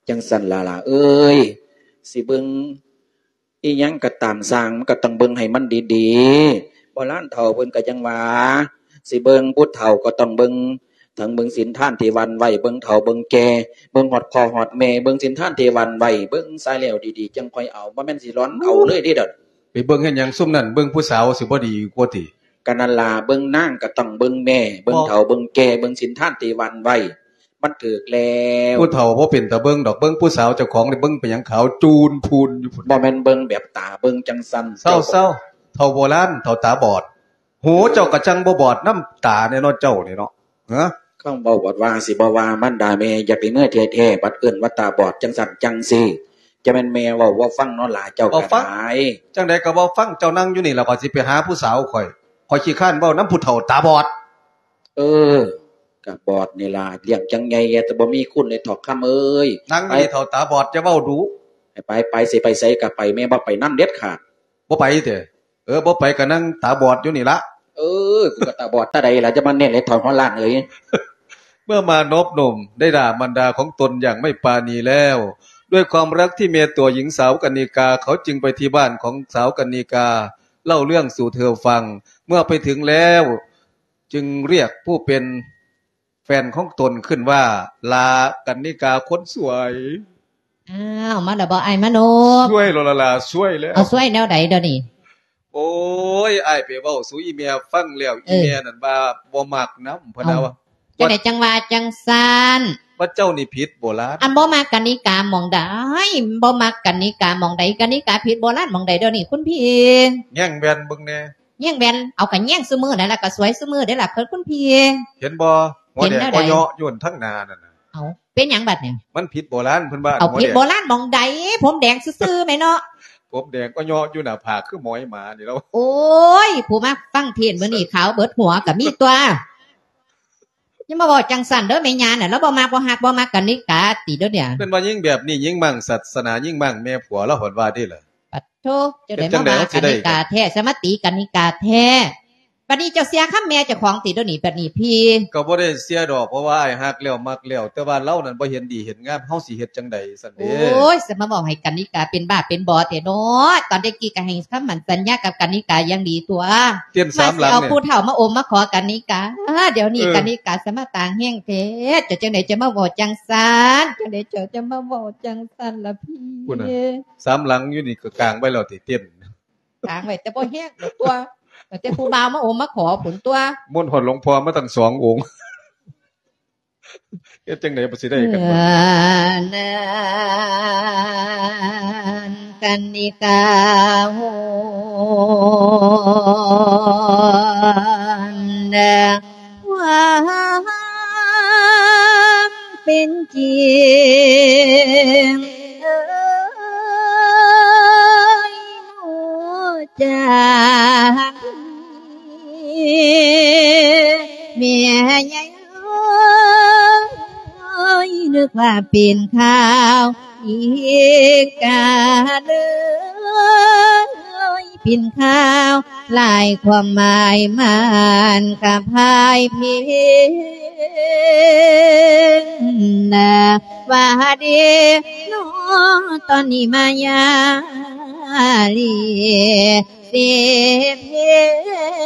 ຈັ່ງຊັ້ນລະຫຼ້າເອີຍ ຊິເບິ່ງ ອີ່ຫຍັງກໍຕາມຊ່າງ ມັນກໍຕ້ອງເບິ່ງໃຫ້ມັນດີໆ. ໂບລານເຖົ້າເພິ່ນກໍຍັງວ່າ ຊິເບິ່ງຜູ້ເຖົ້າກໍຕ້ອງເບິ່ງ ທັງເບິ່ງສິນທານທີ່ຫວ່ານໄວ້ ເບິ່ງເຖົ້າເບິ່ງແກ່ ເບິ່ງຮອດພໍ່ຮອດແມ່ ເບິ່ງສິນທານທີ່ຫວ່ານໄວ້ ເບິ່ງຊາຍແລ້ວດີໆ ຈັ່ງຄ່ອຍເອົາ ບໍ່ແມ່ນຊິຫຼອນເອົາເລີຍເດ້ດອກ. ໄປເບິ່ງເຮັດຫຍັງຊຸມນັ້ນ ເບິ່ງຜູ້ສາວຊິບໍ່ດີກວ່າຕິ? ກໍນັ້ນລະ ເບິ່ງນາງກໍຕ້ອງເບິ່ງແມ່ ເບິ່ງເຖົ້າເບິ່ງແກ່ ເບິ່ງສິນທານທີ່ຫວ່ານໄວ້ ມັນຖືກແລ້ວ. ຜູ້ເຖົ້າບໍ່ເປັນຕາເບິ່ງດອກ ເບິ່ງຜູ້ສາວເຈົ້າຂອງນີ້ ເບິ່ງໄປຫຍັງຂາວຈູນພູນຢູ່ພຸ້ນ. ບໍ່ແມ່ນເບິ່ງແບບຕາເບິ່ງຈັ່ງຊັ້ນ. ເຊົາໆ ເຖົ້າໂບລານ ເຖົ້າຕາບອດ. ຫູເຈົ້າກໍຈັ່ງບໍ່ບອດນຳຕາແດ່ເນາະ ເຈົ້ານີ້ເນາະ. ຮະ? ຄຳເວົ້າບອດວ່າ ຊິບໍ່ວ່າມານດາແມ່ ຢ່າໄປເມືອແທ້ໆ ບັດເອີ້ນວ່າຕາບອດ ຈັ່ງຊັ້ນຈັ່ງຊີ້. ຈະແມ່ນແມ່ເວົ້າບໍ່ຟັງເນາະຫຼ້າ ເຈົ້າກໍໄດ້. ຈັ່ງໃດກໍບໍ່ຟັງ ເຈົ້ານັ່ງຢູ່ນີ້ລະ ຂ້ອຍຊິໄປຫາຜູ້ສາວຂ້ອຍ. ຂ້ອຍຂີ້ຄ້ານເວົ້ານຳຜູ້ເຖົ້າຕາບອດ. ເອີ ກະບອດນີ້ລະ ລ້ຽງຈັ່ງໃຫຍ່ ແຕ່ບໍ່ມີຄຸນເລີຍເຖົ້າຄຳເອີຍ. ນັ່ງຢູ່ນີ້ເຖົ້າຕາບອດ ຢ່າເວົ້າດຸ. ໃຫ້ໄປ ໄປ ຊິໄປໃສກະໄປ ແມ່ບໍ່ໄປນຳເດັດຂາດ. ບໍ່ໄປເຕ? ເອີ ບໍ່ໄປກະນັ່ງຕາບອດຢູ່ນີ້ລະ. ເອີ ກູກະຕາບອດຕາໃດລະ ຈະມາແນມເລີຍເຖົ້າຫົວລ້ານເອີຍ. ເມື່ອมารนอบน้อมได้ด่ามารดาของตนอย่างไม่ปราณีแล้ว ด้วยความรักที่มีต่อหญิงสาวกรรณิกา เขาจึงไปที่บ้านของสาวกรรณิกา เล่าเรื่องสู่เธอฟัง เมื่อไปถึงแล้ว จึงเรียกผู้เป็นแฟนของตนขึ้นว่า หล้ากรรณิกาคนสวย. ອ້າວ ມາແລ້ວບໍ່ອ້າຍມະນົບ? ສວຍແລ້ວລະຫຼ້າ ສວຍແລ້ວ. ເອົາ ສວຍແນວໃດດຽວນີ້? ໂອ້ຍ ອ້າຍໄປເວົ້າສູ່ອີ່ແມ່ຟັງແລ້ວ ເອີ ອີ່ແມ່ນັ້ນວ່າບໍ່ມັກນຳ ເພິ່ນວ່າ. ຈັ່ງໃດຈັ່ງວ່າຈັ່ງຊັ້ນ? ວ່າເຈົ້ານີ້ຜິດໂບລານ. ອັນບໍ່ມັກກະນິກາໝ່ອງໃດ? ບໍ່ມັກກະນິກາໝ່ອງໃດ? ກະນິກາຜິດໂບລານໝ່ອງໃດດຽວນີ້ຄຸນພີ່? ແຍງແວ່ນເບິ່ງແດ່. ແຍງແວ່ນ? ເອົາ ກະແຍງຊຸມື້ນັ້ນລະ ກະສວຍຊຸມື້ເດ້ລະ ເພິ່ນຄຸນພີ່. ເຫັນບໍ່? ຫົວແດງ ເຫັນແນວໃດ? ກໍເຍາະຢູ່ທາງໜ້ານັ້ນນະ. ເອົາ ເປັນຫຍັງບັດນີ້? ມັນຜິດໂບລານ ເພິ່ນວ່າ. ເອົາ ຜິດໂບລານໝ່ອງໃດ? ຜົມແດງຊື່ໆແມ່ເນາະ. ຜົມແດງກໍເຍາະຢູ່ໜ້າຜາກຄືໝອຍໝານີ້ແລ້ວ. ໂອ້ຍ ຜູ້ມາຟັງເທດມື້ນີ້ຂາວເບິດຫົວກະມີຕົວະ. ຢ່າມາເວົ້າຈັ່ງຊັ້ນເດີແມ່ຍ່ານະ ລາວບໍ່ມັກບໍ່ຮັກບໍ່ມັກກະນິກາຕິດຽວນີ້. ເພິ່ນວ່າຍິງແບບນີ້ ຍິງມ້າງສາສະໜາ ຍິງມ້າງແມ່ຜົວ ລາວເພິ່ນວ່າເດ້ລະ. ປະໂທ ເຈົ້າໄດ້ມາວ່າກະນິກາແທ້ ສະມາຕີກະນິກາແທ້. ບັດນີ້ເຈົ້າເສຍຄຳແມ່ເຈົ້າຂອງຕິດຽວນີ້ ບັດນີ້ພີ່? ກໍບໍ່ໄດ້ເສຍດອກ ເພາະວ່າອ້າຍຮັກແລ້ວມັກແລ້ວ ແຕ່ວ່າລາວນັ້ນບໍ່ເຫັນດີເຫັນງາມ ເຮົາຊິເຮັດຈັ່ງໃດຊັ້ນເດ? ໂອ້ຍ ສະມາເວົ້າໃຫ້ກະນິກາເປັນບ້າເປັນບອແທ້ເນາະ. ຕອນແຕ່ກີ້ກໍໃຫ້ຄຳໝັ້ນສັນຍາກັບກະນິກາຢ່າງດີຕົວະ. ເຕັ້ນສາມຫຼັງ ມາຊິເອົາຜູ້ເຖົ້າມາອົມມາຂໍກະນິກາ. ດຽວນີ້ກະນິກາສະມາຕ່າງແຮງແທ້. ເຈົ້າຈັ່ງໃດຈະມາເວົ້າຈັ່ງຊັ້ນ? ຈັ່ງໃດເຈົ້າຈະມາເວົ້າຈັ່ງຊັ້ນລະພີ່? ພຸ້ນນະ ສາມຫຼັງຢູ່ນີ້ກໍກາງໄວ້ແລ້ວຕິ ເຕັ້ນ ກາງໄວ້ແຕ່ບໍ່ແຮງດອກຕົວະ ຕັ້ງແຕ່ຜູ້ບ່າວມາອົມມາຂໍພຸ້ນຕົວະ. ມົນຮອດຫຼວງພໍ່ມາຕັ້ງສອງອົງ. ເຮັດຈັ່ງໃດມັນຊິໄດ້ກັນບາດນີ້? ເອີ ນາງກັນນິກາ ໂຫ ຄວາມເປັນຈິງ ເອີຍ ຮູ້ຈັກ ແມ່ໃຫຍ່ເອີຍ ນຶກວ່າເປັນຂ່າວອີກກາເລີຍ ເປັນຂ່າວຫຼາຍຄວາມໝາຍ ມັນກະພາຍເພງນະ ວ່າເດເນາະ ຕອນນີ້ມາຍາລີ ເສດເພ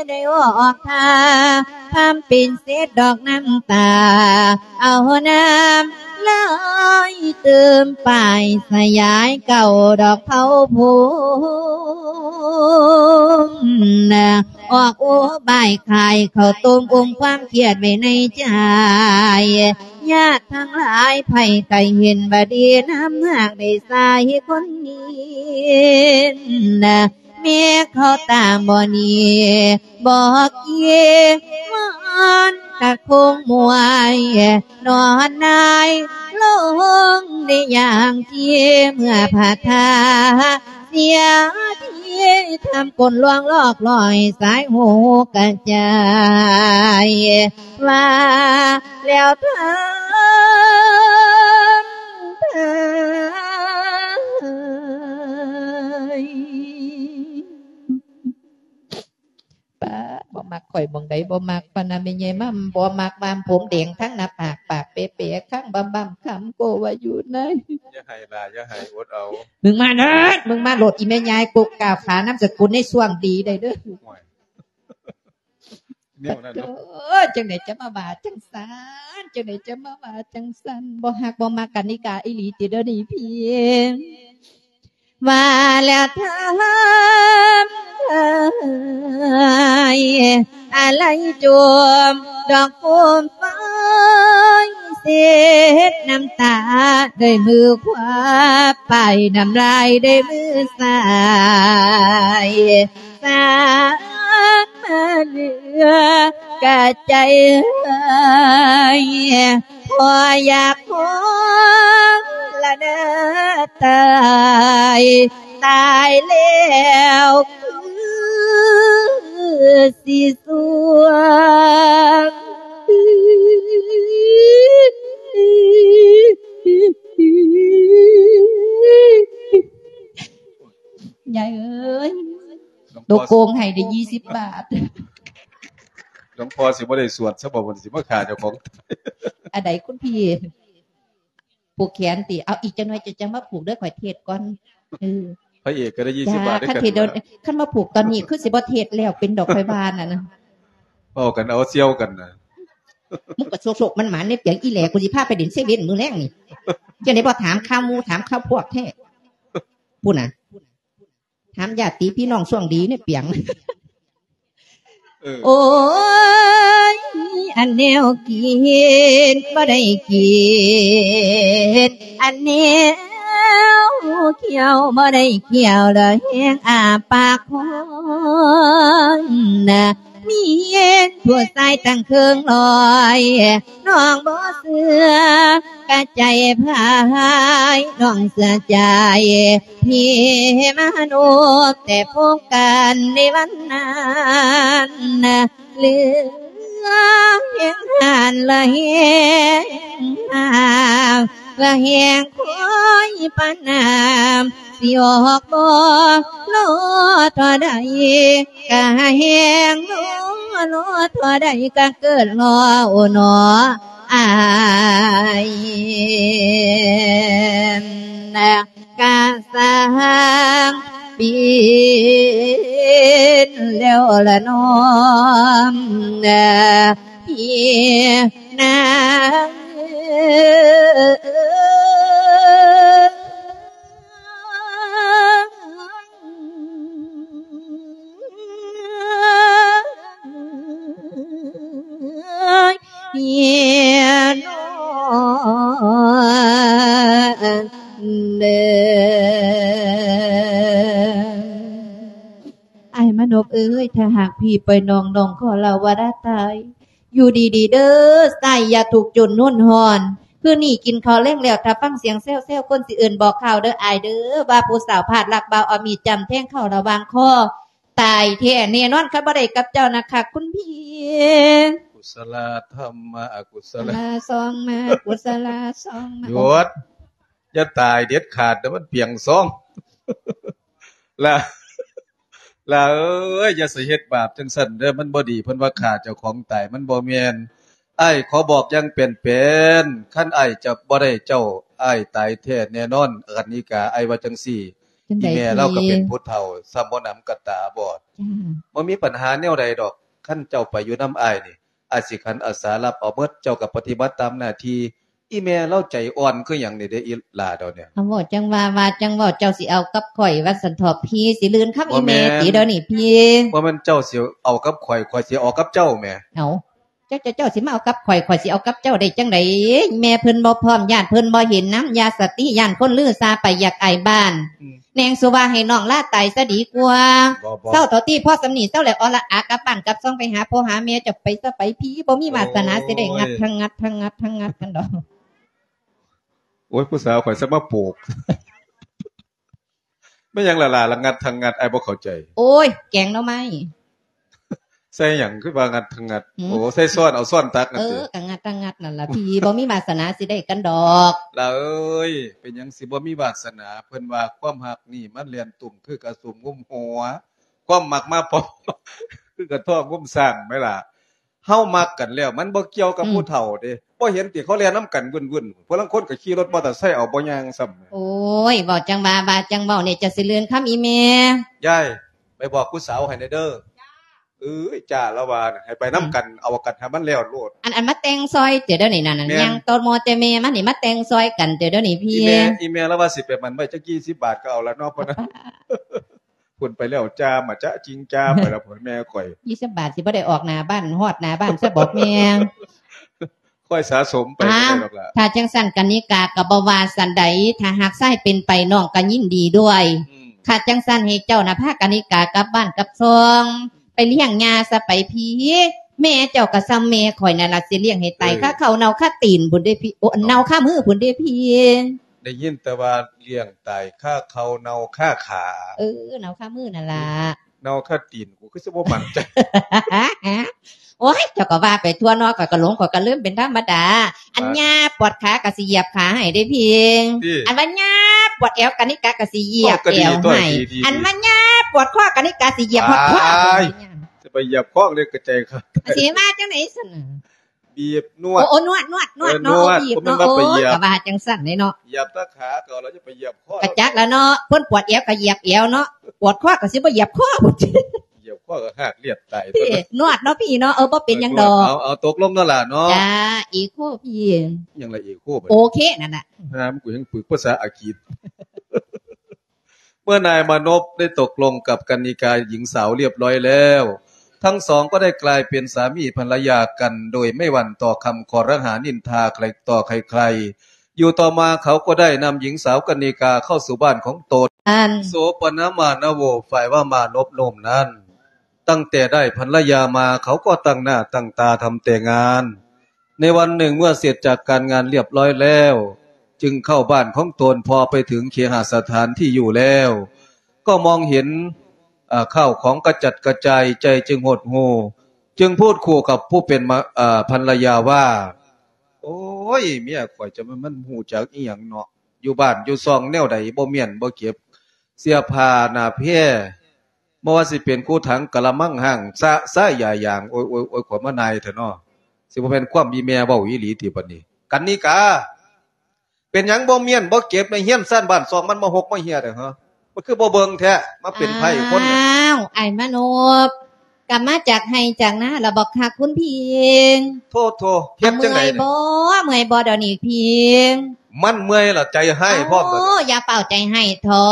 ໄດ້ອອກທ່າ ພາມເປັນເສດດອກນ້ຳຕາ ເອົານ້ຳລາຍຕື່ມປາຍ ສະຫຍາຍເກົ່າດອກເຜົາພົມນະ ອອກອຸບາຍຂາຍເຂົ້າຕົ້ມ ອົມຄວາມຄຽດໄວ້ໃນໃຈ ຍາດທັງຫຼາຍໄຜໄກເຫັນວ່າດີ ນ້ຳຫາກໄດ້ໃສ່ຄົນນີ້ນະ ແມ່ເຂົາຕາບໍ່ໜີບໍ່ກີ ມັນກະຄົງມວຍ ນອນໜາຍລົງໃນຢ່າງທີ່ເມື່ອພະທາ ເສຍທີ່ທຳກົນລວງລອກລອຍ ສາຍຫູກະຈາຍ ວ່າແລ້ວເທີ້ນເທີ້ນ ປ້າ ບໍ່ມັກ ຂ້ອຍໝ່ອງໃດບໍ່ມັກ ປານນະແມ່ໃຫຍ່ມາ ບໍ່ມັກ ວາມຜົມແດງທັງໜ້າປາກ ປາກເປະໆ ຄັງບຳໆ ຄຳໂກວ່າຢູ່ໃນ ຢ່າໄຫ້ຫຼາຍ ຢ່າໄຫ້ ອົດເອົາ ມຶງມາເນີດ ມຶງມາໂລດ ອີແມ່ຍາຍ ກົກກ້າວຂານາມສະກຸນໃນຊ່ວງດີໄດ້ເດີ ໂອ້ຍ ແນວນັ້ນເນາະ ໂອ້ຍ ຈັ່ງໃດຈະມາວ່າຈັ່ງຊັ້ນ ຈັ່ງໃດຈະມາວ່າຈັ່ງຊັ້ນ ບໍ່ຮັກບໍ່ມັກກັນນິກາອີ່ຫຼີຕິ ດຽວນີ້ພີ້ ວ່າແລ້ວທຳເອີຍ ອາໄລຈົມດອກໂຄມໄຟ ເຊັດນ້ຳຕາດ້ວຍມືຂວາ ປ້າຍນ້ຳລາຍດ້ວຍມືຊ້າຍ ສາມາເຫຼືອກະໃຈເອີຍ ພໍຢາກຮ້ອງລະເດີຕາຍ ຕາຍແລ້ວຄືຊິສວງ ຍາຍເອີຍ ໂຕໂກງໃຫ້ໄດ້ຍີ່ສິບບາດ ຫຼວງພໍ່ຊິບໍ່ໄດ້ສວດຊະບໍ່ ເພິ່ນຊິມາຂ້າເຈົ້າຂອງ ອັນໃດຄຸນພີ່? ຜູກແຂນຕິ? ເອົາ ອີກຈັກໜ່ອຍເຈົ້າຈັ່ງມາຜູກເດີ ຂ້ອຍເທດກ່ອນ ເອີ ພະເອກກໍໄດ້ຍີ່ສິບບາດເດ້ ຄັນເທດດຽວ ຄັນມາຜູກຕອນນີ້ຄືຊິບໍ່ເທດແລ້ວເປັນດອກ ຂ້ອຍວ່ານັ້ນນະ ເວົ້າກັນເອົາສ່ຽວກັນນະ ມຶງກໍໂຊກໆ ມັນໝານ ໃນປຽງອີ່ແຫຼ ກູຊິພາໄປຫຼິ້ນເຊເວັ່ນມື້ແລງນີ້ ຈັ່ງໃດບໍ່ຖາມຂ່າວໝູ່ ຖາມຂ່າວພວກແທ້ ພຸ້ນນະ. ຖາມຍາດຕິພີ່ນ້ອງຊ່ວງດີໃນປຽງ ເອີ ໂອ້ຍ ອັນແນວກິນບໍ່ໄດ້ກິນ ອັນແນວຄ້ຽວບໍ່ໄດ້ຄ້ຽວ ລະແຮງອ້າປາກຄ້ອງນະ ມີເຫັນຜູ້ຊາຍຕັ້ງເຄິ່ງຮ້ອຍ ນ້ອງບໍ່ເຊື່ອກະໃຈພາຍ ນ້ອງເຊື່ອໃຈ ທີ່ມະນຸດແຕ່ພົບກັນໃນວັນນັ້ນ ເຫຼືອແຮງຮ້ານລະແຮງຫ້າວ ລະແຮງຄອຍປານນ້ຳ ຊິອອກບໍ່ລໍທໍ່ໃດ ກະແຮງລໍລໍທໍ່ໃດ ກະເກີດລໍໂອນໍ ອ້າຍ ກະຊ່າງປິ່ນແລ້ວລະນ້ອງ ພີ່ນາງເອີຍ. ອ້າຍມານົບເອີຍ ຖ້າຫາກພີ່ປ່ອຍນ້ອງ ນ້ອງຂໍລາວາລາຕາຍ ຢູ່ດີໆເດີ ຊາຍຢ່າທຸກຈົນຮຸນຮ້ອນ ຄືນີ້ກິນເຂົ້າແລງແລ້ວ ຖ້າຟັງສຽງແຊວໆ ຄົນຊິເອີ້ນບອກຂ່າວເດີອ້າຍເດີ ວ່າຜູ້ສາວພາດລັກບ່າວເອົາມີດຈ້ຳແທງເຂົ້າລະຫວ່າງຄໍ ຕາຍແທ້ແນ່ນອນ ຄັນບໍ່ໄດ້ກັບເຈົ້ານະຄັກຄຸນພີ່. ກຸສະລະທຳມະອະກຸສະລະ ລະສອງມາ ກຸສະລະສອງມາ ຢຸດ ຢ່າຕາຍເດັດຂາດເດີ ມັນປຽງຊອງ ລະ ລະເອີຍ ຢ່າຊິເຮັດບາບຈັ່ງຊັ້ນເດີ ມັນບໍ່ດີ ເພິ່ນວ່າຂ້າເຈົ້າຂອງຕາຍ ມັນບໍ່ແມ່ນ. ອ້າຍຂໍບອກຢ່າງແປນໆ ຄັນອ້າຍຈະບໍ່ໄດ້ເຈົ້າ ອ້າຍຕາຍແທ້ແນ່ນອນ ກັນນິກາ ອ້າຍວ່າຈັ່ງຊີ້. ຈັ່ງໃດ ອີແມ່ລາວກໍເປັນຜູ້ເຖົ້າ ສ່ຳບໍ່ໜຳກໍຕາບອດ. ບໍ່ມີບັນຫາແນວໃດດອກ ຄັນເຈົ້າໄປຢູ່ນຳອ້າຍນີ້ ອ້າຍຊິຂັນອາສາຮັບເອົາໝົດ ເຈົ້າກໍປະຕິບັດຕາມໜ້າທີ່. ອີແມ່ລາວໃຈອ່ອນຄືຫຍັງນີ້ເດ້ ອີຫຼ້າດອກນີ້. ເອົາ ເວົ້າຈັ່ງວ່າ ວ່າຈັ່ງເວົ້າ ເຈົ້າຊິເອົາກັບຂ້ອຍວ່າຊັ້ນເຖາະ ພີ່ຊິລື່ນຄຳອີແມ່ຕິດຽວນີ້ພີ່. ບໍ່ແມ່ນເຈົ້າຊິເອົາກັບຂ້ອຍ ຂ້ອຍຊິເອົາກັບເຈົ້າແໝ. ເອົາ ເຈົ້າ ເຈົ້າ ເຈົ້າຊິມາເອົາກັບຂ້ອຍ ຂ້ອຍຊິເອົາກັບເຈົ້າໄດ້ຈັ່ງໃດ? ແມ່ເພິ່ນບໍ່ພ້ອມ ຢ້ານເພິ່ນບໍ່ເຫັນນຳ ຢ່າສະຕິ ຢ້ານຄົນລືຊາໄປຢາກອາຍບ້ານ. ອືມ ແນງສຸວ່າໃຫ້ນ້ອງລາຕາຍຊະດີກວ່າ. ບໍ່ ບໍ່ ເຊົາເທົ່າທີ່ພໍສ່ຳນີ້ ເຊົາແລ້ວ ອໍລະອາ ກັບບ້ານກັບຊ່ອງ ໄປຫາພໍ່ຫາແມ່ ເຈົ້າໄປຊະໄປ ພີ່ບໍ່ມີວາສະໜາ ໂອ້ຍ ຊິໄດ້ງັດທັງງັດ ທັງງັດ ທັງງັດກັນດອກ. ໂອ້ຍ ຜູ້ສາວຂ້ອຍຊະມາໂປກ ແມ່ນຫຍັງລະຫຼ້າ ລະງັດທັງງັດ ອ້າຍບໍ່ເຂົ້າໃຈ. ໂອ້ຍ ແກງໜໍ່ໄມ້. ໃສ່ຫຍັງຄືວ່າງັດທັງງັດ? ຫືມ? ໂອ້ ໃສ່ຊ້ອນ ເອົາຊ້ອນຕັກນັ້ນຕິ. ເອີ ກະງັດທັງງັດນັ້ນລະພີ່ ບໍ່ມີວາສະໜາຊິໄດ້ກັນດອກ. ຫຼ້າເອີຍ ເປັນຫຍັງຊິບໍ່ມີວາສະໜາ? ເພິ່ນວ່າຄວາມຮັກນີ້ມັນແລ່ນຕຸ້ມຄືກະສຸມງຸມຫົວ ຄວາມມັກມາພ້ອມ ຄືກະທ້ອງງຸມຊ້າງແມ່ນລະ. ເຮົາມັກກັນແລ້ວ ມັນບໍ່ກ່ຽວກັບ ອືມ ຜູ້ເຖົ້າເດ້. ບໍ່ເຫັນຕິ ເຂົາແລ່ນນຳກັນວືນໆ ຜູ້ລາງຄົນກໍຂີ່ລົດມໍເຕີໄຊເອົາ ບໍ່ຍ່າງຊ້ຳ. ໂອ້ຍ ເວົ້າຈັ່ງວ່າ ວ່າຈັ່ງເວົ້ານີ້ ເຈົ້າຊິລື່ນຄຳອີແມ່. ຍາຍ ໄປບອກຜູ້ສາວໃຫ້ແດ່ເດີ. ເອີຍ ຈ້າລາວວ່າ ໃຫ້ໄປນຳກັນ ອືມ ເອົາກັນໃຫ້ມັນແລ້ວໂລດ. ອັນ ອັນມາແຕ່ງຊອຍເຕີດຽວນີ້ນະ ນະ ຍ່າງໂຕໂມແຕ່ແມ່ມັນນີ້ ມາແຕ່ງຊອຍກັນເຕີດຽວນີ້ພີ່. ອີແມ່ ອີແມ່ລາວວ່າຊິໄປໝັ້ນໄວ້ຈັກສີ່ສິບ ບາດກໍເອົາລະເນາະ ພຸ້ນໄປແລ້ວ ຈາມາຈະຈິງຈາໄປແລ້ວ ແມ່ຂ້ອຍ. ຍີ່ສິບບາດຊິບໍ່ໄດ້ອອກໜ້າບ້ານ ຮອດໜ້າບ້ານຊະບອກແມ່. ຄ່ອຍສະສົມໄປ ອ່າ ກໍໄດ້ດອກລະ. ຖ້າຈັ່ງຊັ້ນກະນິກາກໍບໍ່ວ່າຊັ້ນໃດ ຖ້າຫາກຊາຍເປັນໄປ ນ້ອງກໍຍິນດີດ້ວຍ. ອືມ ຖ້າຈັ່ງຊັ້ນໃຫ້ເຈົ້ານະພາກະນິກາກັບບ້ານກັບຊ່ອງ ໄປລ້ຽງຍ່າຊະໄປພີ່. ແມ່ເຈົ້າກໍສ່ຳແມ່ຂ້ອຍນັ້ນລະ ຊິລ້ຽງໃຫ້ຕາຍ ເອີ ຄາເຂົ້າເນົ່າຄາຕີນພຸ້ນເດ້ພີ່. ໂອ້ ເນົ່າຄາມືພຸ້ນເດ້ພີ່. ໄດ້ຍິນແຕ່ວ່າລ້ຽງຕາຍຄາເຂົ້າເນົ່າຄາຂາ. ເອີ ເນົ່າຄາມືນັ້ນລະ ເນົ່າຄາຕີນ ກູຄືຊິບໍ່ໝັ້ນໃຈ. ໂອ້ຍ ເຈົ້າກໍວ່າໄປທົ່ວເນາະ ຂ້ອຍກໍຫຼົງ ຂ້ອຍກໍລືມເປັນທຳມະດາ. ອັນ ອ່າ ຍ່າປວດຂາກໍຊິຢຽບຂາໃຫ້ເດ້ພີ່. ຕິ ອັນວ່າຍ່າປວດແອວກະນິກາກໍຊິຢຽບແອວໃຫ້. ເວົ້າກໍດີຕົວະ ດີໆໆ. ອັນວ່າຍ່າປວດຄໍກະນິກາຊິຢຽບຮອດຄໍ. ອ້າຍ ຊິໄປຢຽບຄໍເລີຍກະໃຈຂາດ. ຊິວ່າຈັ່ງໃດຊັ້ນນະ? ບີບນວດ. ໂອ້ ໂອ້ ນວດ ນວດ ນວດ ເອີ ເນາະ ນວດ ໂອ້ ບີບເນາະ. ບໍ່ແມ່ນວ່າໄປຢຽບ ໂອ້ ກໍວ່າຈັ່ງຊັ້ນເດເນາະ. ຢຽບແຕ່ຂາກໍແລ້ວ ຈະໄປຢຽບຄໍ. ກະຈັກລະເນາະ ເພິ່ນປວດແອວກໍຢຽບແອວເນາະ ປວດຄໍກໍຊິບໍ່ຢຽບຄໍພຸ້ນ. ຢຽບຄໍກໍຮາກລຽບຕາຍ. ນວດເນາະພີ່ເນາະ. ເອີ ບໍ່ເປັນຫຍັງດອກ. ເອີ ນວດ. ເອົາ ເອົາ ຕົກລົງເນາະຫຼ້າເນາະ. ຈ້າ ເອໂຄພີ່. ຫຍັງລະເອໂຄ? ໂອເຄນັ້ນລະ. ຫາ ກູຍັງຝຶກພາສາອັງກິດ. ເມື່ອນາຍມານົບໄດ້ຕົກລົງກັບກັນນິກາ ຍິງສາວລຽບລ້ອຍແລ້ວ ທັງສອງກໍໄດ້ກາຍເປັນສາມີພັນລະຍາກັນ ໂດຍໄມ່ຫວັ່ນຕໍ່ຄຳຄໍລະຫານິນທາໃຄຕໍ່ໃຄໆ. ຢູ່ຕໍ່ມາເຂົາກໍໄດ້ນຳຍິງສາວກັນນິກາເຂົ້າສູ່ບ້ານຂອງຕົນ. ອັນ ໂສປະນະມານະໂວ ຝ່າຍວ່າມານົບໂນ້ມນັ້ນ ຕັ້ງແຕ່ໄດ້ພັນລະຍາມາ ເຂົາກໍຕັ້ງໜ້າຕັ້ງຕາທຳແຕ່ງານ. ໃນວັນໜຶ່ງເມື່ອເສັດຈາກການງານລຽບລ້ອຍແລ້ວ ຈຶ່ງເຂົ້າບ້ານຂອງຕົນ. ພໍໄປເຖິງເຄຫະສະຖານທີ່ຢູ່ແລ້ວ ກໍມອງເຫັນ ເອີ ເຂົ້າຂອງກະຈັດກະຈາຍ ໃຈຈຶ່ງຫົດຫູ່ ຈຶ່ງພູດຄູ່ກັບຜູ້ເປັນມະ ເອີ ພັນລະຍາວ່າ ໂອ້ຍ ເມຍຂ້ອຍຈະແມ່ນມັນຮູ້ຈັກອີ່ຫຍັງເນາະ ຢູ່ບ້ານຢູ່ຊ່ອງແນວໃດບໍ່ມ້ຽນບໍ່ເກັບ ເສື້ອຜ້າໜ້າແພ ບໍ່ວ່າຊິເປັນກູຖັງກະລະມັງຫ້າງ ສະສາຍຢາຢາງ ໂອ້ຍ ໂອ້ຍ ໂອ້ຍ ຂ້ອຍມານາຍແທ້ເນາະ. ຊິບໍ່ແມ່ນຄວາມອີ່ແມ່ເວົ້າອີ່ຫຼີຕິບັດນີ້? ກັນນິກາ ເປັນຫຍັງບໍ່ມ້ຽນບໍ່ເກັບໃນເຮືອນຊານບ້ານຊ່ອງ ມັນມາຫົກມາເຫຍແທ້ ຮະ? ມັນຄືບໍ່ເບິ່ງແທ້ ມາເປັນໄພຄົນ. ອ້າວ ອ້າຍມານົບ ກະມາຈາກໄຮ່ຈາກນາລະບໍຄະຄຸນພີ່? ໂທ້ໆ ເຮັດຈັ່ງໃດນີ້? ເມື່ອຍບໍ່ ເມື່ອຍບໍ່ດຽວນີ້ພີ່? ມັນເມື່ອຍລະ ໃຈຮ້າຍພ້ອມ. ໂອ້ ຢ່າຟ້າວໃຈຮ້າຍເທາ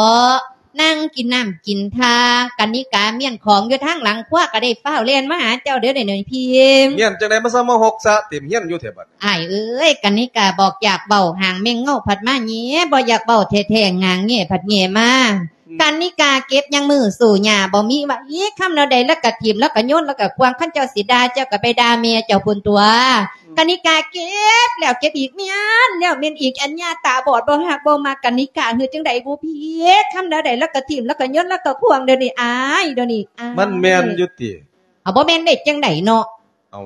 ະ. ນັ່ງກິນນ້ຳກິນທ່າ ກະນິກາມ້ຽນຂອງຢູ່ທາງຫຼັງຄົວ ກະໄດ້ຟ້າວແລ່ນມາຫາເຈົ້າເດີ ເດ ພີ່. ມ້ຽນຈັ່ງໃດ ມາຊະມາຫົກສະເຕັມເຮືອນຢູ່ແທ້ບັດ. ອ້າຍເອີຍ ກະນິກາບອກຢາກເວົ້າ ຫາງແມ່ງເງົາພັດມາແຫຍ່ ບໍ່ຢາກເວົ້າແທ້ໆ ຫາງແຫຍ່ພັດແຫຍ່ມາ. ອືມ ກະນິກາເກັບຍັງມືສູ້ຫຍ້າບໍ່ມີວ່າອີກ ຄຳແນວໃດລະກະຖິ້ມ ລະກະໂຍນ ລະກະຂວ້າງ ຄັນເຈົ້າຊິດ່າ ເຈົ້າກະໄປດ່າແມ່ເຈົ້າພຸ້ນຕົວະ. ອືມ ກະນິກາເກັບແລ້ວເກັບອີກ ມ້ຽນແລ້ວມ້ຽນອີກ ອັນຫຍ້າຕາບອດບໍ່ຮັກບໍ່ມັກກະນິກາ ເຮັດຈັ່ງໃດບຸພີ້ ຄຳແນວໃດລະກະຖິ້ມ ລະກະໂຍນ ລະກະຂວ້າງ ດຽວນີ້ອ້າຍ ດຽວນີ້ອ້າຍ ມັນແມ່ນຢູ່ຕິ? ເອົາ ບໍ່ແມ່ນໄດ້ຈັ່ງໃດເນາະ? ເອົາ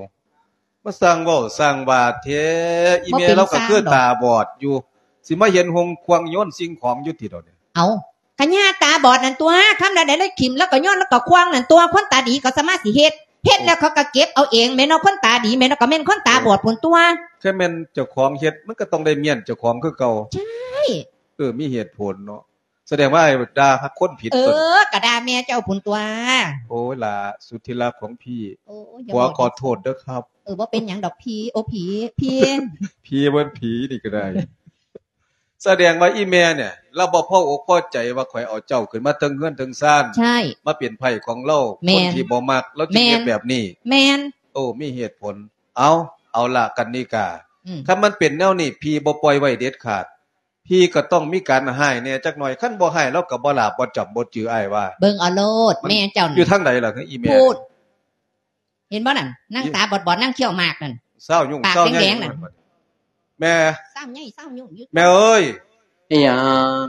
ມາສ້າງເວົ້າສ້າງວ່າແທ້ ອີ່ແມ່ລາວກະຄືຕາບອດຢູ່ ຊິມາເຫັນຫົ່ງຂວ້າງໂຍນສິ່ງຂອງຢູ່ຕິດອກນີ້. ເອົາ ກະຫຍ້າຕາບອດນັ້ນຕົວະ ຄຳໃດລະຖິ້ມລະກະໂຍນລະກະຂວ້າງນັ້ນຕົວະ ຄົນຕາດີເຂົາສາມາດຊິເຮັດ ເຮັດແລ້ວເຂົາກະເກັບເອົາເອງແມ່ນເນາະ ຄົນຕາດີແມ່ນເນາະ ກະແມ່ນຄົນຕາບອດພຸ້ນຕົວະ. ຄືແມ່ນເຈົ້າຂອງເຮັດ ມັນກະຕ້ອງໄດ້ມ້ຽນເຈົ້າຂອງຄືເກົ່າ. ໃຊ່ ເອີ ມີເຫດຜົນເນາະ. ສະແດງວ່າອ້າຍດ່າຄົນຜິດ. ເອີ ຕົວະ ກະດ່າແມ່ເຈົ້າພຸ້ນຕົວະ. ໂອ້ຍ ຫຼ້າສຸດທີ່ລັກຂອງພີ່ ໂອ້ຍ ຂໍ ຂໍໂທດເດີຄັບ. ເອີ ບໍ່ເປັນຫຍັງດອກພີ່ ໂອ ຜີ ພີ່ ຜີ ບໍ່ແມ່ນຜີນີ້ກະໄດ້. ສະແດງວ່າອີ່ແມ່ນີ້ ລາວບໍ່ພໍອົກພໍໃຈວ່າຂ້ອຍເອົາເຈົ້າຂຶ້ນມາເທິງເຮືອນເທິງຊານ ໃຊ່ ມາເປັນໃພ້ຂອງລາວ ແມ່ນ ຄົນທີ່ບໍ່ມັກ ລາວຈຶ່ງເຮັດແບບນີ້. ແມ່ນ ໂອ້ ມີເຫດຜົນ. ເອົາ ເອົາລະ ກັນນິກາ ອືມ ຄັນມັນເປັນແນວນີ້ ພີ່ບໍ່ປ່ອຍໄວ້ເດັດຂາດ. ພີ່ກະຕ້ອງມີການຮ້າຍແດ່ຈັກໜ່ອຍ ຄັນບໍ່ຮ້າຍລາວກະບໍ່ຫຼາບບໍ່ຈຳບໍ່ຈື່ ອ້າຍວ່າ. ເບິ່ງເອົາໂລດ ມັນ ແມ່ເຈົ້ານັ້ນ ຢູ່ທາງໃດລະ ອີ່ແມ່ ພຸ້ນ ເຫັນບໍ່ນັ້ນ ນາງຕາບອດໆ ນາງຄ້ຽວໝາກນັ້ນ ຊາວຍຸງ ປາກແດງໆນັ້ນ. ແມ່ ຊາວໃຫຍ່ຊາວຍຸງຢູ່ ແມ່ເອີຍ. ອີ່ຫຍັງ?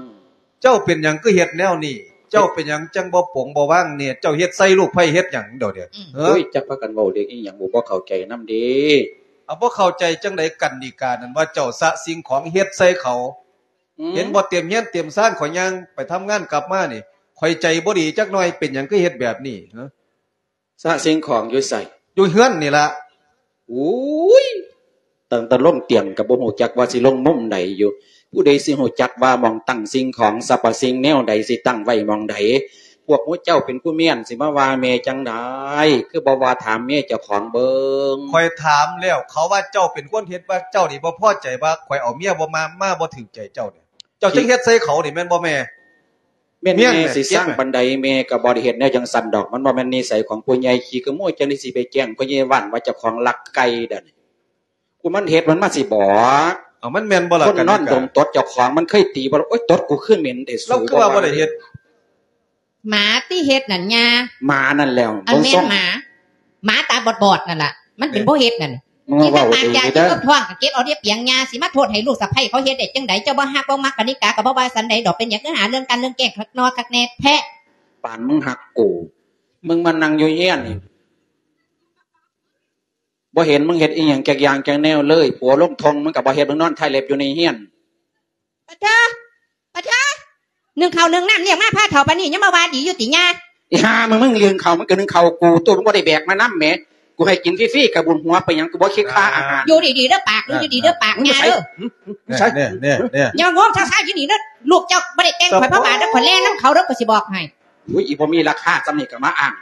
ເຈົ້າເປັນຫຍັງຄືເຮັດແນວນີ້? ເຈົ້າເປັນຫຍັງຈັ່ງບໍ່ປົງບໍ່ວາງແດ່? ເຈົ້າເຮັດໃສ່ລູກໃຜເຮັດຫຍັງດຽວນີ້? ອືມ ເອີ ໂອ້ຍ ຈັກພາກັນເວົ້າເລື່ອງອີ່ຫຍັງ ບໍ່ເຂົ້າໃຈນຳເດ. ເອົາ ບໍ່ເຂົ້າໃຈຈັ່ງໃດ ກັນນິການັ້ນວ່າເຈົ້າສະສິ່ງຂອງເຮັດໃສ່ເຂົາ. ອືມ ເຫັນບໍ່ ເຕັມເຮືອນເຕັມຊານ ຂ້ອຍຍ່າງໄປທຳງານກັບມານີ້ ຂ້ອຍໃຈບໍ່ດີຈັກໜ່ອຍ ເປັນຫຍັງຄືເຮັດແບບນີ້? ຮະ ສະສິ່ງຂອງຢູ່ໃສ? ຢູ່ເຮືອນນີ້ລະ. ໂອ້ຍ ຕັ້ງແຕ່ລົງຕຽງກະບໍ່ຮູ້ຈັກວ່າຊິລົງມຸມໃດຢູ່. ຜູ້ໃດຊິຮູ້ຈັກວ່າໝ່ອງຕັ້ງສິ່ງຂອງ ສັບພະສິ່ງແນວໃດຊິຕັ້ງໄວ້ໝ່ອງໃດ? ພວກໝູ່ເຈົ້າເປັນຜູ້ມ້ຽນ ຊິມາວ່າແມ່ຈັ່ງໃດ? ຄືບໍ່ວ່າຖາມເມຍເຈົ້າຂອງເບິ່ງ? ຂ້ອຍຖາມແລ້ວ ເຂົາວ່າເຈົ້າເປັນຄົນເຮັດ ວ່າເຈົ້ານີ້ບໍ່ພໍໃຈວ່າຂ້ອຍເອົາເມຍບໍ່ມາ ມາບໍ່ຖືກໃຈເຈົ້ານີ້ ເຈົ້າຈຶ່ງເຮັດໃສ່ເຂົານີ້ ແມ່ນບໍ່ແມ່? ແມ່ນແມ່ ຊິສ້າງປານໃດ ແມ່ກະບໍ່ໄດ້ເຮັດແນວຈັ່ງຊັ້ນດອກ ມັນບໍ່ແມ່ນນິໄສຂອງຜູ້ໃຫຍ່ ຂີ້ຂະໂມຍຈັ່ງໃດຊິໄປແຈ້ງພໍ່ໃຫຍ່ບ້ານວ່າເຈົ້າຂອງລັກໄກ່ດຽວນີ້. ຜູ້ມັນເຮັດມັນມາຊິບອກ. ເອົາ ມັນແມ່ນບໍ່ລະ ຄົນນອນດົມຕົດເຈົ້າຂອງ ມັນເຄີຍຕີບໍ່ລະ? ໂອ້ຍ ຕົດກູຄືເໝັນແທ້ ລາວຄືວ່າບໍ່ໄດ້ເຮັດ. ໝາຕິເຮັດນັ້ນຍ່າ. ໝານັ້ນແຫຼະ ອັນແມ່ນໝາ ໝາຕາບອດໆນັ້ນລະ ມັນເປັນຜູ້ເຮັດນັ້ນ. ກິນແຕ່ປາກຢາກກິນກັບທ້ອງກະເກັບເອົາເດປຽງຍ່າ ຊິມາໂທດໃຫ້ລູກສະໃພ້ເຂົາເຮັດໄດ້ຈັ່ງໃດ? ເຈົ້າບໍ່ຮັກບໍ່ມັກກະນິກາກະບໍ່ວ່າສັນໃດດອກ ເປັນຫຍັງຄືຫາເລື່ອງກັນເລື່ອງແກ້ງຄັກນໍຄັກແນ່ແທ້. ປານມຶງຮັກກູ ມຶງມານັ່ງຢູ່ເຮືອນນີ້ ບໍ່ເຫັນມຶງເຮັດອີ່ຫຍັງຈັກຢ່າງຈັກແນວເລີຍ. ຜົວລົງທົ່ງ ມຶງກະບໍ່ເຮັດ ມຶງນອນຖ່າຍເລັບຢູ່ໃນເຮືອນ. ປະເທີ ປະເທີ ໜຶ້ງເຂົ້າໜຶ້ງນ້ຳລ້ຽງມາພາເຖົ້າປານນີ້ ຍັງມາວ່າດີຢູ່ຕິຍ່າ? ອີຫ່າ ມຶງ ມຶງໜຶ້ງເຂົ້າ ມັນກະໜຶ້ງເຂົ້າກູ ໂຕ ມຶງບໍ່ໄດ້ແບກມານຳແໝ. ກູໃຫ້ກິນຟຣີໆ ກະບຸນຫົວໄປຫຍັງ ກູບໍ່ຄິດຄ່າອາຫານ. ຢູ່ດີໆເດີປາກ ຢູ່ດີໆເດີປາກ ຫື ຍ່າເດີ. ໃສ ແນ່ໆໆ ຢ່າງວງຊາໆຢູ່ນີ້ເດີ. ລູກເຈົ້າບໍ່ໄດ້ແຕ່ງຂ້ອຍພະບາດເດີ ຂ້ອຍແລ່ນນຳເຂົາເດີ ຂ້ອຍຊິບອກໃຫ້. ໂອ້ຍ ອີບໍ່ມີລາຄາສ່ຳນີ້ກະມາອ້າງ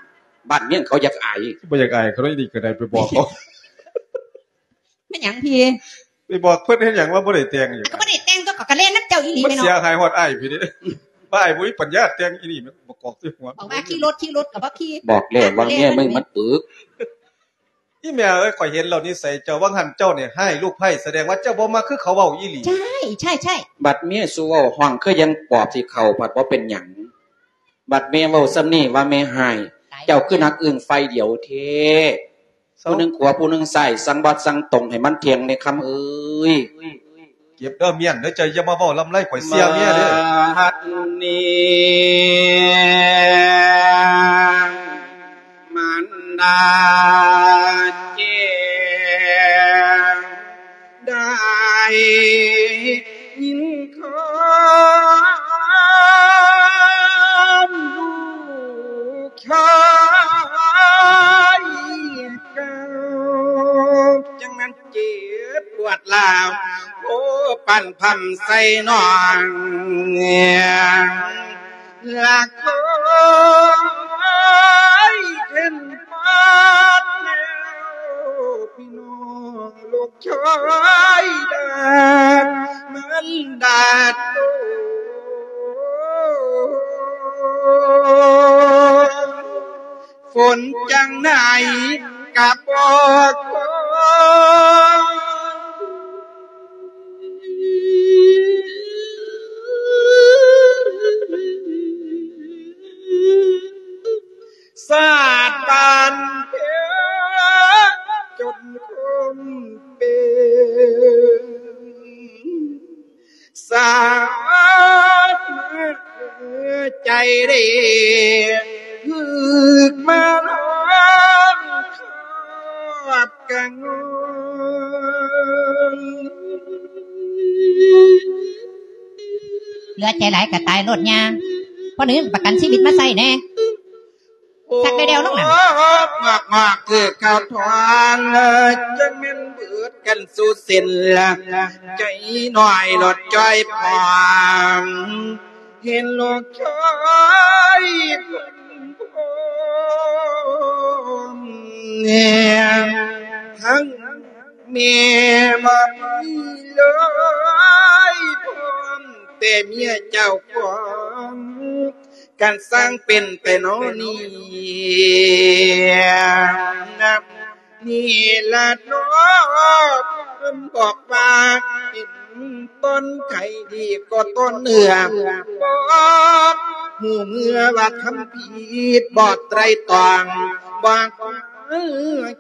ບ້ານເມືອງເຂົາຢາກອາຍ. ບໍ່ຢາກອາຍເຂົາເນາະ ອີນີ້ກະໄດ້ໄປບອກເຂົາ. ແມ່ນຫຍັງພີ່? ໄປບອກເພິ່ນເຮັດຫຍັງວ່າບໍ່ໄດ້ແຕ່ງຫຍັງ? ກະບໍ່ໄດ້ແຕ່ງຕົວະ ກະແລ່ນນຳເຈົ້າອີ່ຫຼີແມ່ເນາະ. ມັນເສຍຫາຍຮອດອ້າຍພີ້ເດ້. ວ່າອ້າຍບໍ່ມີປັນຍາແຕ່ງອີ່ນີ້ ມັນບໍ່ກອກໃສ່ຫົວ. ບອກວ່າຂີ່ລົດ ຂີ່ລົດກະບໍ່ຂີ່. ບອກແລ້ວວ່າເມຍມຶງມັນປຶກ. ອີ່ແມ່ເອີຍ ຂ້ອຍເຫັນແລ້ວນິໄສເຈົ້າ ວ່າງຫັ້ນເຈົ້ານີ້ຮ້າຍລູກໃພ້ ສະແດງວ່າເຈົ້າບໍ່ມັກຄືເຂົາເວົ້າອີ່ຫຼີ. ໃຊ່ ໃຊ່ ໃຊ່. ບັດເມຍສູ່ເວົ້າ ຮ້ອງຄືຍັງປອບຊິເຂົ້າ ພັດບໍ່ເປັນຫຍັງ. ບັດແມ່ເວົ້າສ່ຳນີ້ວ່າແມ່ຮ້າຍ ຕາຍ ເຈົ້າຄືນັກອຶ້ງຝ່າຍດຽວແທ້. ເຊົາ ຜູ້ໜຶ່ງຂວາ ຜູ້ໜຶ່ງຊ້າຍ ສັ່ງບາດສັ່ງຕົງໃຫ້ມັນທ່ຽງແດ່ຄຳເອີຍ. ເກັບເດີ ມ້ຽນເດີ ເຈົ້າຢ່າມາເວົ້າລຳໄລ ຂ້ອຍເສຍເມຍເດີ. ບັດນີ້ມັນໄດ້ ໄດ້ຍິນຄວາມລູກຊາຍເກົ່າ ຈັ່ງແມ່ນເຈັບປວດລາວ ໂອ້ ປັນພຳໃສ່ນ້ອງ ລະຄອຍເຫັນພາດແລ້ວ ພີ່ນ້ອງລູກຊາຍດາດ ມັນດາດໂຕ. ຝົນຈັ່ງໃດກະບໍ່ຄ່ອຍ ຊາດບ້ານເພ ຈົນຄົນເປັນ ສາດໃຈເດ້ ຖືກມາລອງຄອບກັນ ເຫຼືອໃຈຫຼາຍກະຕາຍໂລດຍ່າ ພໍໜຶ່ງປະກັນຊີວິດມາໃຊ້ແດ່. ສັກແດ່ວໆລົງນັ້ນ ງອກໆຄືເຂົາທອນ ຈັ່ງແມ່ນເບີດກັນສູ່ເສັ້ນ ໃຈນ້ອຍໂລດຈ່ອຍພອນ ເຫັນລູກຊາຍເພິ່ນພ້ອມ ທັງແມ່ບໍ່ມີເລີຍ ພ້ອມແຕ່ເມຍເຈົ້າຂອງ ການສ້າງເປັນແຕ່ນ້ອຍນີ້ ນີ້ລະເນາະ ເພິ່ນບອກວ່າ ເປັນຕ້ນໄຂ້ດີກໍຕົ້ນເນື້ອ ບໍ່ຮູ້ເມື່ອວ່າທຳຜິດ ບໍ່ໄຕຣຕອງ ບໍ່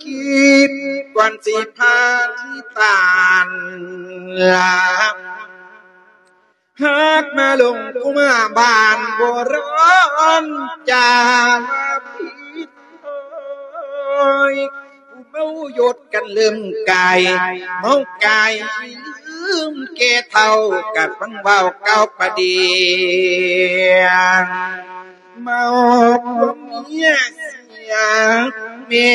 ຄິດກ່ອນຊິພາທີ່ຕານລາ ຫາກມາຫຼົງກຸມາບ້ານໂບລານ ຈາຜິດ ຜູ້ເມົາຢົດກັນລືມກາຍ ເມົາກາຍລືມແກ່ເຖົ້າ ກະຟັງເວົ້າກ່າວປະເດ ເມົາຜົວເມຍເສຍແມ່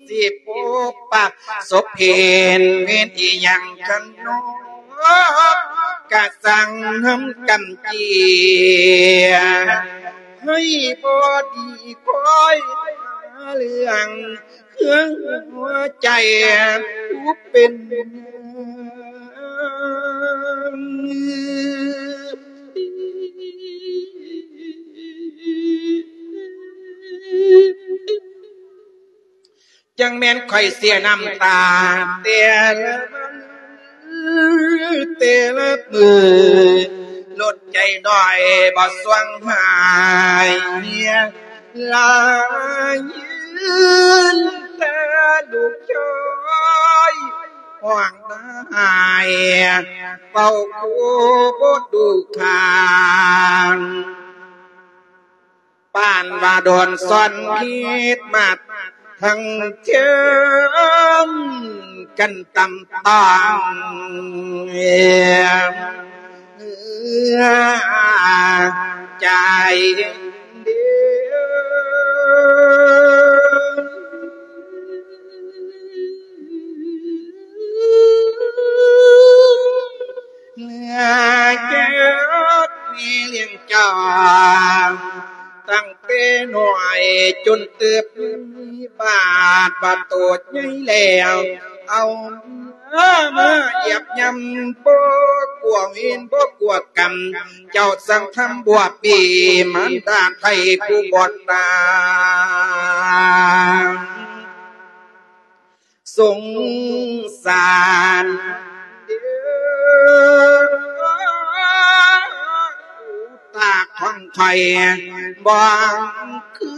ຊິປົກປັກສົບເຫັນເວນອີ່ຫຍັງກັນເນາະ ກະສັ່ງນຳກຳເກຍ ໃຫ້ບໍ່ດີຄອຍຫາເລື່ອງ ເຄື່ອງຫົວໃຈຜູ້ເປັນ ຈັ່ງແມ່ນຂ້ອຍເສຍນ້ຳຕາແຕ່ລະມື້ ແຕ່ລະມື້ ລົດໃຈໜ້ອຍບໍ່ຊ່ວງຫາຍ ລາຍຢືນແຕ່ລູກຊາຍ ຮ້ອງໄຫ້ເວົ້າຄູ່ບໍ່ດູຂ້າງ ປານວ່າໂດນຊ້ອນຜິດມາທັງເທິງ ກັນຕຳຕ້ອງ ໃຈເດີ ເມື່ອເກີດແມ່ລ້ຽງເຈົ້າ ຕັ້ງແຕ່ນ້ອຍຈົນເຕີບມີບາດ ບາດໂຕໃຫຍ່ແລ້ວ ເອົາມາຢຽບຢຳ ບໍ່ກົວເວນບໍ່ກົວກຳ ເຈົ້າສັ່ງທຳບົວປີ ມານດາໄທຜູ້ບໍ່ຕາຍ ສົງສານເດີ ຕາຂອງຂ້ອຍບໍ່ຄື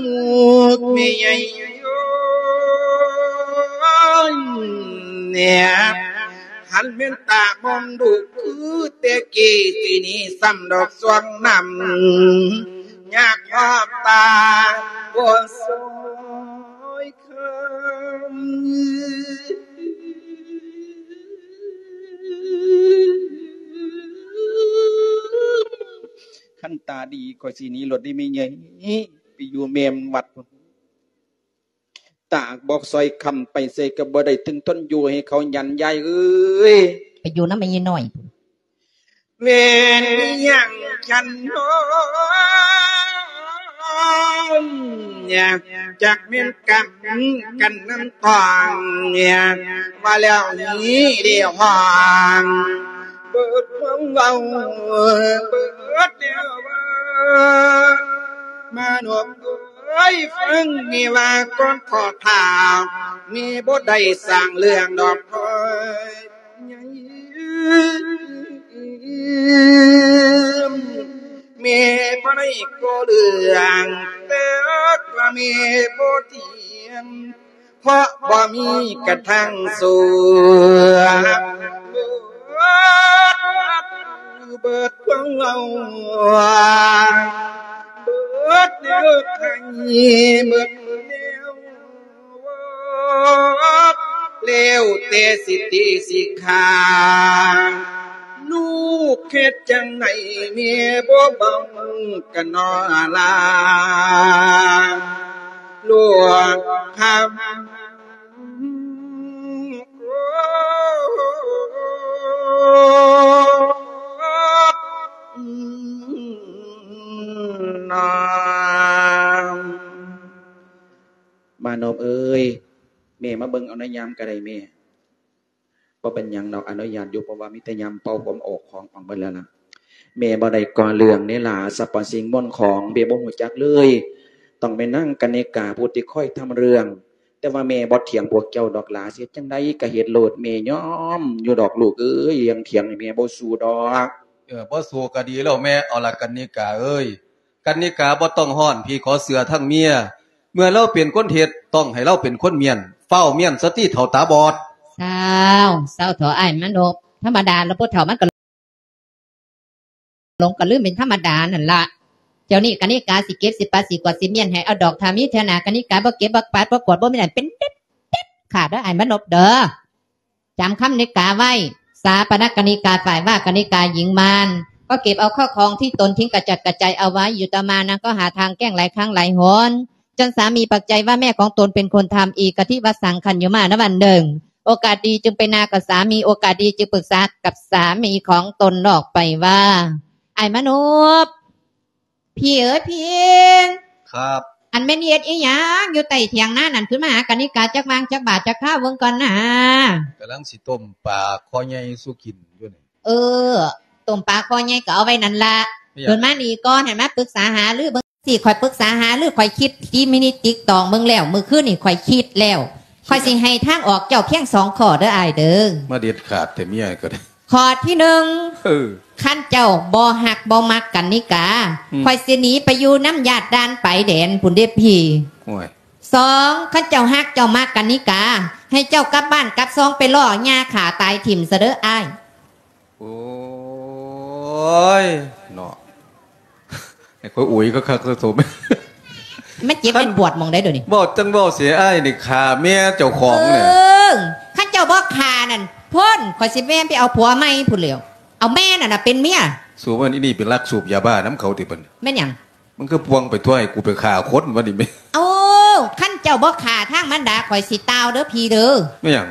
ລູກແມ່ໃຫຍ່ໂຍ ແນມ ຄັນແມ່ນຕາມອງດູຄືແຕ່ກີ້ ຊິໜີຊ້ຳດອກຊ່ວງນ້ຳ ຍາກຮອບຕາບໍ່ຊ່ອຍຄຳ ຄັນຕາດີຂ້ອຍຊິໜີໂລດເດ້ແມ່ໃຫຍ່ ໄປຢູ່ແມ່ວັດພຸ້ນ. ຕາບໍ່ຊ່ອຍຄຳ ໄປໃສກໍບໍ່ໄດ້ ເຖິງທົນຢູ່ໃຫ້ເຂົາຢັນ ຍາຍເອີຍ ໄປຢູ່ນຳແມ່ຍາຍນ້ອຍພຸ້ນ ແມ່ນອີ່ຫຍັງຊັ້ນນ້ອງ ຈັກແມ່ນກຳກັນນຳຕ້ອງ ວ່າແລ້ວນີ້ໄດ້ຮ້ອງເບິດຄວາມເວົ້າ ເບິດແນວເວົ້າ ມານົບເອີຍ ຟັງແມ່ວ່າກ່ອນຂໍຖ້າ ແມ່ບໍ່ໄດ້ສ້າງເລື່ອງດອກນ້ອຍ ແມ່ບໍ່ໄດ້ກໍ່ເລື່ອງ ແຕ່ວ່າແມ່ບໍ່ຕຽມ ເພາະບໍ່ມີກະທັງຊົ່ວ ເບິດຄວາມເວົ້າ ເບິດແນວໃຫ້ ເບິດແນວ ແລ້ວແຕ່ສິຕິສິຂາ ລູກເຮັດຈັ່ງໃດແມ່ບໍ່ເວົ້າກັນນໍລາ ຫຼວງຄຳ ມານົບເອີຍ ແມ່ມາເບິ່ງເອົາໃນຍາມກະໄດ້ແມ່. ບໍ່ເປັນຫຍັງດອກ ອະນຸຍາດຢູ່ ເພາະວ່າມີແຕ່ຍາມເປົ່າຜົມອອກຂອງອອກເບິດແລ້ວລະ. ແມ່ບໍ່ໄດ້ກໍ່ເລື່ອງເດ້ຫຼາ ສັບພະສິ່ງມົນຂອງແມ່ບໍ່ຮູ້ຈັກເລີຍ ຕ້ອງແມ່ນນາງກະນິກາຜູ້ທີ່ຄອຍທຳເລື່ອງ. ແຕ່ວ່າແມ່ບໍ່ຖຽງພວກເຈົ້າດອກຫຼາ ຊິເຮັດຈັ່ງໃດກະເຮັດໂລດ ແມ່ຍອມຢູ່ດອກລູກເອີຍ ເລື່ອງຖຽງນີ້ແມ່ບໍ່ສູ້ດອກ. ເອີ ບໍ່ສູ້ກະດີແລ້ວແມ່. ເອົາລະ ກະນິກາເອີຍ ກະນິກາບໍ່ຕ້ອງຮ້ອນ ພີ່ຂໍເຊື່ອທາງເມຍ ເມື່ອລາວເປັນຄົນເຮັດ ຕ້ອງໃຫ້ລາວເປັນຄົນມ້ຽນ ຟ້າວມ້ຽນສະຕິເຖົ້າຕາບອດ. ຊາວ ເຊົາເຖາະອ້າຍມານົບ ທຳມະດາລະ ຜູ້ເຖົ້າມັນກະຫຼົງກະລືມເປັນທຳມະດານັ້ນລະ. ດຽວນີ້ກະນິກາຊິເກັບ ຊິປັດ ຊິກວາດ ຊິມ້ຽນໃຫ້ເອົາດອກ ຖ້າມີເທື່ອໜ້າ ກະນິກາບໍ່ເກັບ ບໍ່ປັດ ບໍ່ກວາດ ບໍ່ມ້ຽນ ເປັນເດັດ ເດັດຂາດເດີອ້າຍມານົບເດີ. ຈຳຄຳນິກາໄວ້ ສາປະນະກະນິກາ ຝ່າຍວ່າກະນິກາຍິງມານ ກໍເກັບເອົາເຂົ້າຂອງທີ່ຕົນຖິ້ມກະຈັດກະຈາຍເອົາໄວ້ ຢູ່ຕໍ່ມານາງກໍຫາທາງແກ້ງຫຼາຍຄັ້ງຫຼາຍຫົນ ຈົນສາມີປັກໃຈວ່າແມ່ຂອງຕົນເປັນຄົນທຳອີກ ກະທິວະສັງຄັນຍຸມານະວັນໜຶ່ງ ໂອກາດດີຈຶ່ງໄປນາກັບສາມີ ໂອກາດດີຈຶ່ງປຶກສາກັບສາມີຂອງຕົນອອກໄປວ່າ ອ້າຍມານົບ ພີ່ເອີຍພີ່ ຄັບ ອັນແມ່ນເຮັດອີ່ຫຍັງຢູ່ໃຕ້ຖຽງນານັ້ນ ຂຶ້ນມາຫາກະນິກາຈັກຫວ່າງຈັກບາດຈັກຄາວເບິ່ງກ່ອນນາ. ກຳລັງຊິຕົ້ມປາຄໍໃຫຍ່ສູ່ກິນຢູ່ນີ້. ເອີ ຕົ້ມປາຄໍໃຫຍ່ກໍເອົາໄວ້ນັ້ນລະ ເປັນຫຍັງ? ເດີນມານີ້ກ່ອນ ໃຫ້ມາປຶກສາຫາລືເບິ່ງ. ຊິຂ້ອຍປຶກສາຫາລື ຂ້ອຍຄິດຕີມິນິດຕິກຕອງເບິ່ງແລ້ວ ມື້ຄືນນີ້ຂ້ອຍຄິດແລ້ວ ຂ້ອຍຊິໃຫ້ທາງອອກເຈົ້າພຽງສອງຂໍ້ເດີອ້າຍເດີ. ມາເດັດຂາດແທ້ເມຍກໍໄດ້. ຂໍ້ທີໜຶ່ງ ເອີ ຄັນເຈົ້າບໍ່ຮັກບໍ່ມັກກັນນິກາ ອືມ ຂ້ອຍຊິໜີໄປຢູ່ນຳຍາດດ່ານປາຍແດນພຸ້ນເດ້ພີ່. ໂອ້ຍ ສອງ ຄັນເຈົ້າຮັກເຈົ້າມັກກັນນິກາ ໃຫ້ເຈົ້າກັບບ້ານກັບຊ່ອງໄປລໍ້ຫຍ້າຂ້າຕາຍຖິ້ມຊະເດີອ້າຍ. ໂອ້ຍ ເນາະ ໃຫ້ຂ້ອຍອຸຍຄັກໆ ຊະສົມ ມັນເຈັບມັນປວດໝ່ອງໃດດຽວນີ້? ເວົ້າຈັ່ງເວົ້າເສຍ ອ້າຍນີ້ຂ້າເມຍເຈົ້າຂອງແຫຼະ. ເອີ ຄັນເຈົ້າບໍ່ຂ້ານັ້ນ ພຸ້ນ ຂ້ອຍຊິແມ່ນໄປເອົາຜົວໃໝ່ພຸ້ນແຫຼ້ວ ເອົາແມ່ນັ້ນນະເປັນເມຍ. ສູບອັນນີ້ໄປລັກສູບຢາບ້ານຳເຂົາຕິເພິ່ນ? ແມ່ນຫຍັງ? ມັນຄືປ່ວງໄປທົ່ວ ໃຫ້ກູໄປຂ້າຄົນວະນີ້ແມ່. ໂອ້ ຄັນເຈົ້າບໍ່ຂ້າທາງມັນດາ ຂ້ອຍຊິຕ່າວເດີພີ່ເດີ. ແມ່ນຫຍັງ?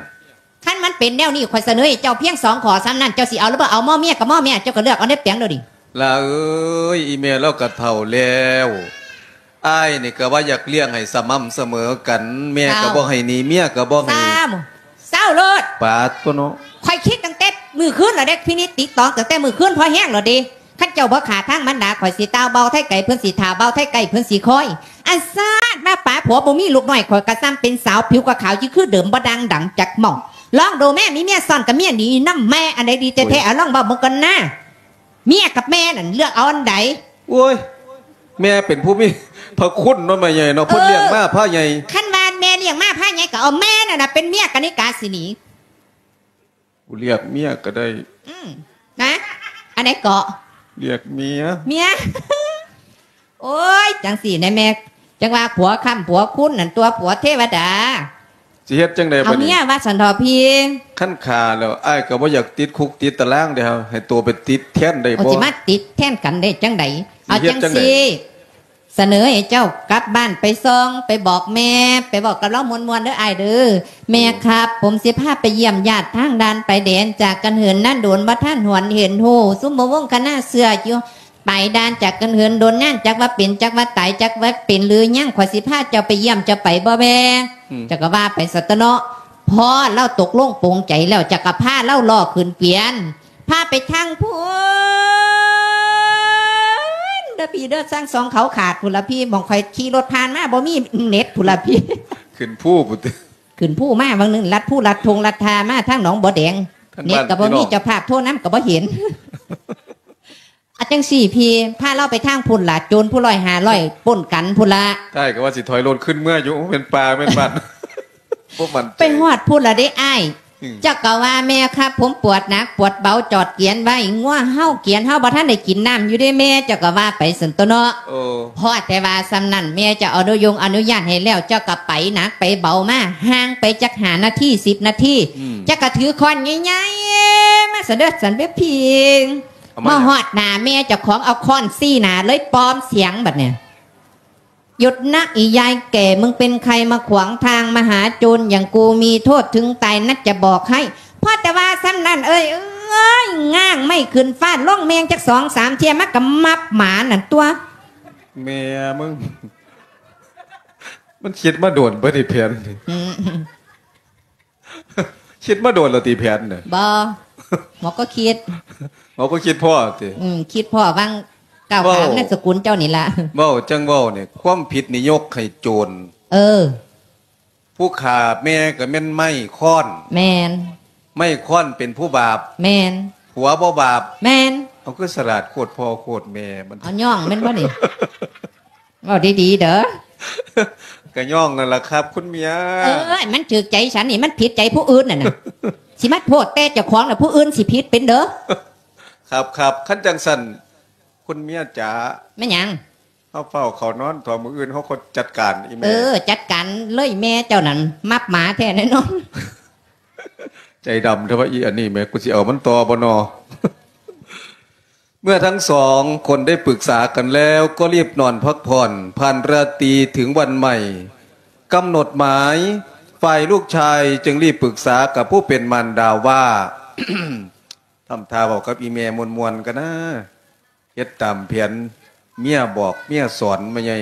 ຄັນມັນເປັນແນວນີ້ ຂ້ອຍສະເໜີໃຫ້ເຈົ້າພຽງສອງຂໍ້ສ່ຳນັ້ນ ເຈົ້າຊິເອົາຫຼືບໍ່ເອົາ? ໝໍ້ເມຍກັບໝໍ້ແມ່ ເຈົ້າກໍເລືອກເອົາໃນແປງໂລດນີ້. ຫຼ້າເອີຍ ອີ່ແມ່ລາວກໍເຖົ້າແລ້ວ ອ້າຍນີ້ກໍວ່າຢາກລ້ຽງໃຫ້ສະໝ່ຳສະເໝີກັນ ແມ່ກໍບໍ່ໃຫ້ໜີ ເມຍກໍບໍ່ໃຫ້. ເຊົາໂລດ ປາດໂທ້ເນາະ ຂ້ອຍຄິດຕັ້ງແຕ່ມື້ຄືນແລ້ວເດ້ ພິນິດຕິຕອງຕັ້ງແຕ່ມື້ຄືນພໍແຮງແລ້ວເດ້. ຄັນເຈົ້າບໍ່ຂ້າທາງມັນດາ ຂ້ອຍຊິຕ່າວເບົາໄທໄກ ເພິ່ນຊິຖ້າເບົາໄທໄກ ເພິ່ນຊິຄອຍ. ອັນຊາດມາປາຜົວບໍ່ມີລູກນ້ອຍ ຂ້ອຍກໍສ່ຳເປັນສາວຜິວກໍຂາວຢູ່ຄືເດີມ ບໍ່ດ່າງດັງຈັກໝ່ອງ. ລອງດູແມ້ ມີເມຍຊ້ອນກັບເມຍໜີນຳແມ້ ອັນໃດດີແທ້ໆ ເອົາລອງເວົ້າເບິ່ງກ່ອນນາ. ເມຍກັບແມ່ນັ້ນເລືອກເອົາອັນໃດ? ໂອ້ຍ ແມ່ເປັນຜູ້ມີພະຄຸນເນາະ ແມ່ໃຫຍ່ເນາະ ເພິ່ນລ້ຽງມາພາໃຫຍ່. ຄັນວ່າແມ່ລ້ຽງມາພາໃຫຍ່ ກໍເອົາແມ່ນັ້ນນະເປັນເມຍ ກະນິກາຊິໜີ. ກູເລືອກເມຍກໍໄດ້. ອືມ ນະ ອັນໃດເກາະ? ເລືອກເມຍ. ເມຍ ໂອ້ຍ ຈັ່ງຊີ້ນະແມ່ ຈັ່ງວ່າຜົວຄ້ຳຜົວຄຸນນັ້ນຕົວະ ຜົວເທວະດາ. ຊິເຮັດຈັ່ງໃດບາດນີ້? ເອົາເມຍວ່າຊັ້ນເຖາະພີ່. ຄັນຂ້າແລ້ວ ອ້າຍກໍບໍ່ຢາກຕິດຄຸກຕິດຕາລາງເດ້ ໃຫ້ໂຕໄປຕິດແທນໄດ້ບໍ່? ໂອ້ ຊິມາຕິດແທນກັນໄດ້ຈັ່ງໃດ? ເອົາຈັ່ງຊີ້ ສະເໜີໃຫ້ເຈົ້າກັບບ້ານໄປສ່ອງ ໄປບອກແມ່ ໄປເວົ້າກັບລາວມ່ວນໆເດີອ້າຍເດີ. ແມ່ຄັບ ຜົມຊິພາໄປຢ້ຽມຍາດທາງດ່ານປາຍແດນ ຈາກກັນເຫີນນານໂດນ ບໍ່ທັນຫວນເຫັນຮູ້ ຊຸມໝູ່ວົງຄະນະເຊື້ອຢູ່ ໄປດ່ານຈັກກັນເຫີນດົນນານ ຈັກວ່າເປັນ ຈັກວ່າຕາຍ ຈັກວ່າເປັນຫຼືຍັງ ຂ້ອຍຊິພາເຈົ້າໄປຢ້ຽມ ເຈົ້າໄປບໍ່ແວ່? ອືມ ເຈົ້າກໍວ່າໄປຊັ້ນຕົວະເນາະ. ພໍລາວຕົກລົງປົງໃຈແລ້ວ ເຈົ້າກໍພາລາວລໍ້ຂຶ້ນກວຽນ ພາໄປທາງພຸ້ນເດີ້ພີ່ເດີ້ ທາງສອງເຂົາຂາດພຸ້ນລະພີ່ ໝ່ອງຂ້ອຍຂີ່ລົດຜ່ານມາ ບໍ່ມີເນັດພຸ້ນລະພີ່. ຂຶ້ນພູພຸ້ນຕິ ຂຶ້ນພູມາຫວ່າງໜຶ່ງ ລັດພູລັດທົ່ງລັດທ່າມາທາງໜອງບໍ່ແດງ ເນັດກໍບໍ່ມີ ເຈົ້າພາບໂທນຳກໍບໍ່ເຫັນ. ອາ ຈັ່ງຊີ້ພີ່ ພາລາວໄປທາງພຸ້ນລະ ໂຈນຜູ້ຮ້ອຍຫ້າຮ້ອຍປົນກັນພຸ້ນລະ. ອ້າຍກໍວ່າຊິຖອຍລົດຂຶ້ນເມືອຢູ່ ໂອ້ ແມ່ນປ່າແມ່ນບ້ານ ບໍ່ໝັ້ນໃຈ. ໄປຮອດພຸ້ນລະເດ້ອ້າຍ. ອືມ ເຈົ້າກໍວ່າ ແມ່ຄັບ ຜົມປວດໜັກປວດເບົາ ຈອດກຽນໄວ້ ງົວເຮົາກຽນເຮົາບໍ່ທັນໄດ້ກິນນ້ຳຢູ່ເດ້ແມ່ ເຈົ້າກໍວ່າໄປຊັ້ນຕົວະເນາະ. ໂອ້ ພໍແຕ່ວ່າສ່ຳນັ້ນ ແມ່ເຈົ້າອະນຸຍົງອະນຸຍາດໃຫ້ແລ້ວ ເຈົ້າກໍໄປໜັກໄປເບົາມາ ຫ່າງໄປຈັກຫ້ານາທີ ສິບນາທີ ອືມ ເຈົ້າກໍຖືຄ້ອນໃຫຍ່ໆ ມາຊັ້ນເດີ້ ຊັ້ນເປັນພິງ ເອົາມາ ມາຮອດໜ້າແມ່ເຈົ້າຂອງ ເອົາຄ້ອນຊີ້ໜ້າເລີຍ ປອມສຽງບັດນີ້. หยุดนะอียายแก่ มึงเป็นใครมาขวางทาง มาหาโจรอย่างกู มีโทษถึงตายนะจะบอกให้ พอแต่ว่าส่ำนั้น เอ้ย เอ้ย ง้างไม้ขึ้นฟาดลงแม่งจักสองสามเที่ย มันก็มับหมานั่นตั๊ว แม่มึง มันคิดมาโดนบ่นี่แผนนี่ อืม คิดมาโดนแล้วติแผนน่ะ บ่ หมอก็คิด หมอก็คิดพ้อติ อืม คิดพ้อหว่างก้าวข้าม เว้า นามสกุลเจ้านี่ล่ะ เว้าจั่งเว้านี่ ความผิดนี่ยกให้โจร เออ ผู้ฆ่าแม่ก็แม่นไม้ค้อน แม่น ไม้ค้อนเป็นผู้บาป แม่น ผัวบ่บาป แม่น เอาคือสลัดโคตรพ่อโคตรแม่มัน เอาย่องแม่นบ่นี่ เว้าดีๆ เด้อ ก็ย่องนั่นล่ะครับ คุณเมีย เอ้ย มันถืกใจฉันนี่ มันผิดใจผู้อื่นน่ะนะ สิมาโทษแต่เจ้าของน่ะ ผู้อื่นสิผิดเป็นเด้อ ครับๆ คันจั่งซั้น คุณเมียจ๋า แม่นหยัง เฮาฟ้าวเข้านอน ถ้ามื้ออื่นเฮาค่อยจัดการอีแม่ เออ จัดการเลย แม่เจ้านั่น มับหมาแท้แน่นอน ใจดำแท้ว่าอีอันนี้แม่ กูสิเอามันต่อบ่นอ เมื่อทั้งสองคนได้ปรึกษากันแล้ว ก็รีบนอนพักผ่อน ผ่านราตรีถึงวันใหม่ กำหนดหมาย ฝ่ายลูกชายจึงรีบปรึกษากับผู้เป็นมารดาว่า ทำท่าเว้ากับอีแม่ม่วนๆ กันนะ เฮ็ดตามแผน เมียบอก เมียสอน แม่ใหญ่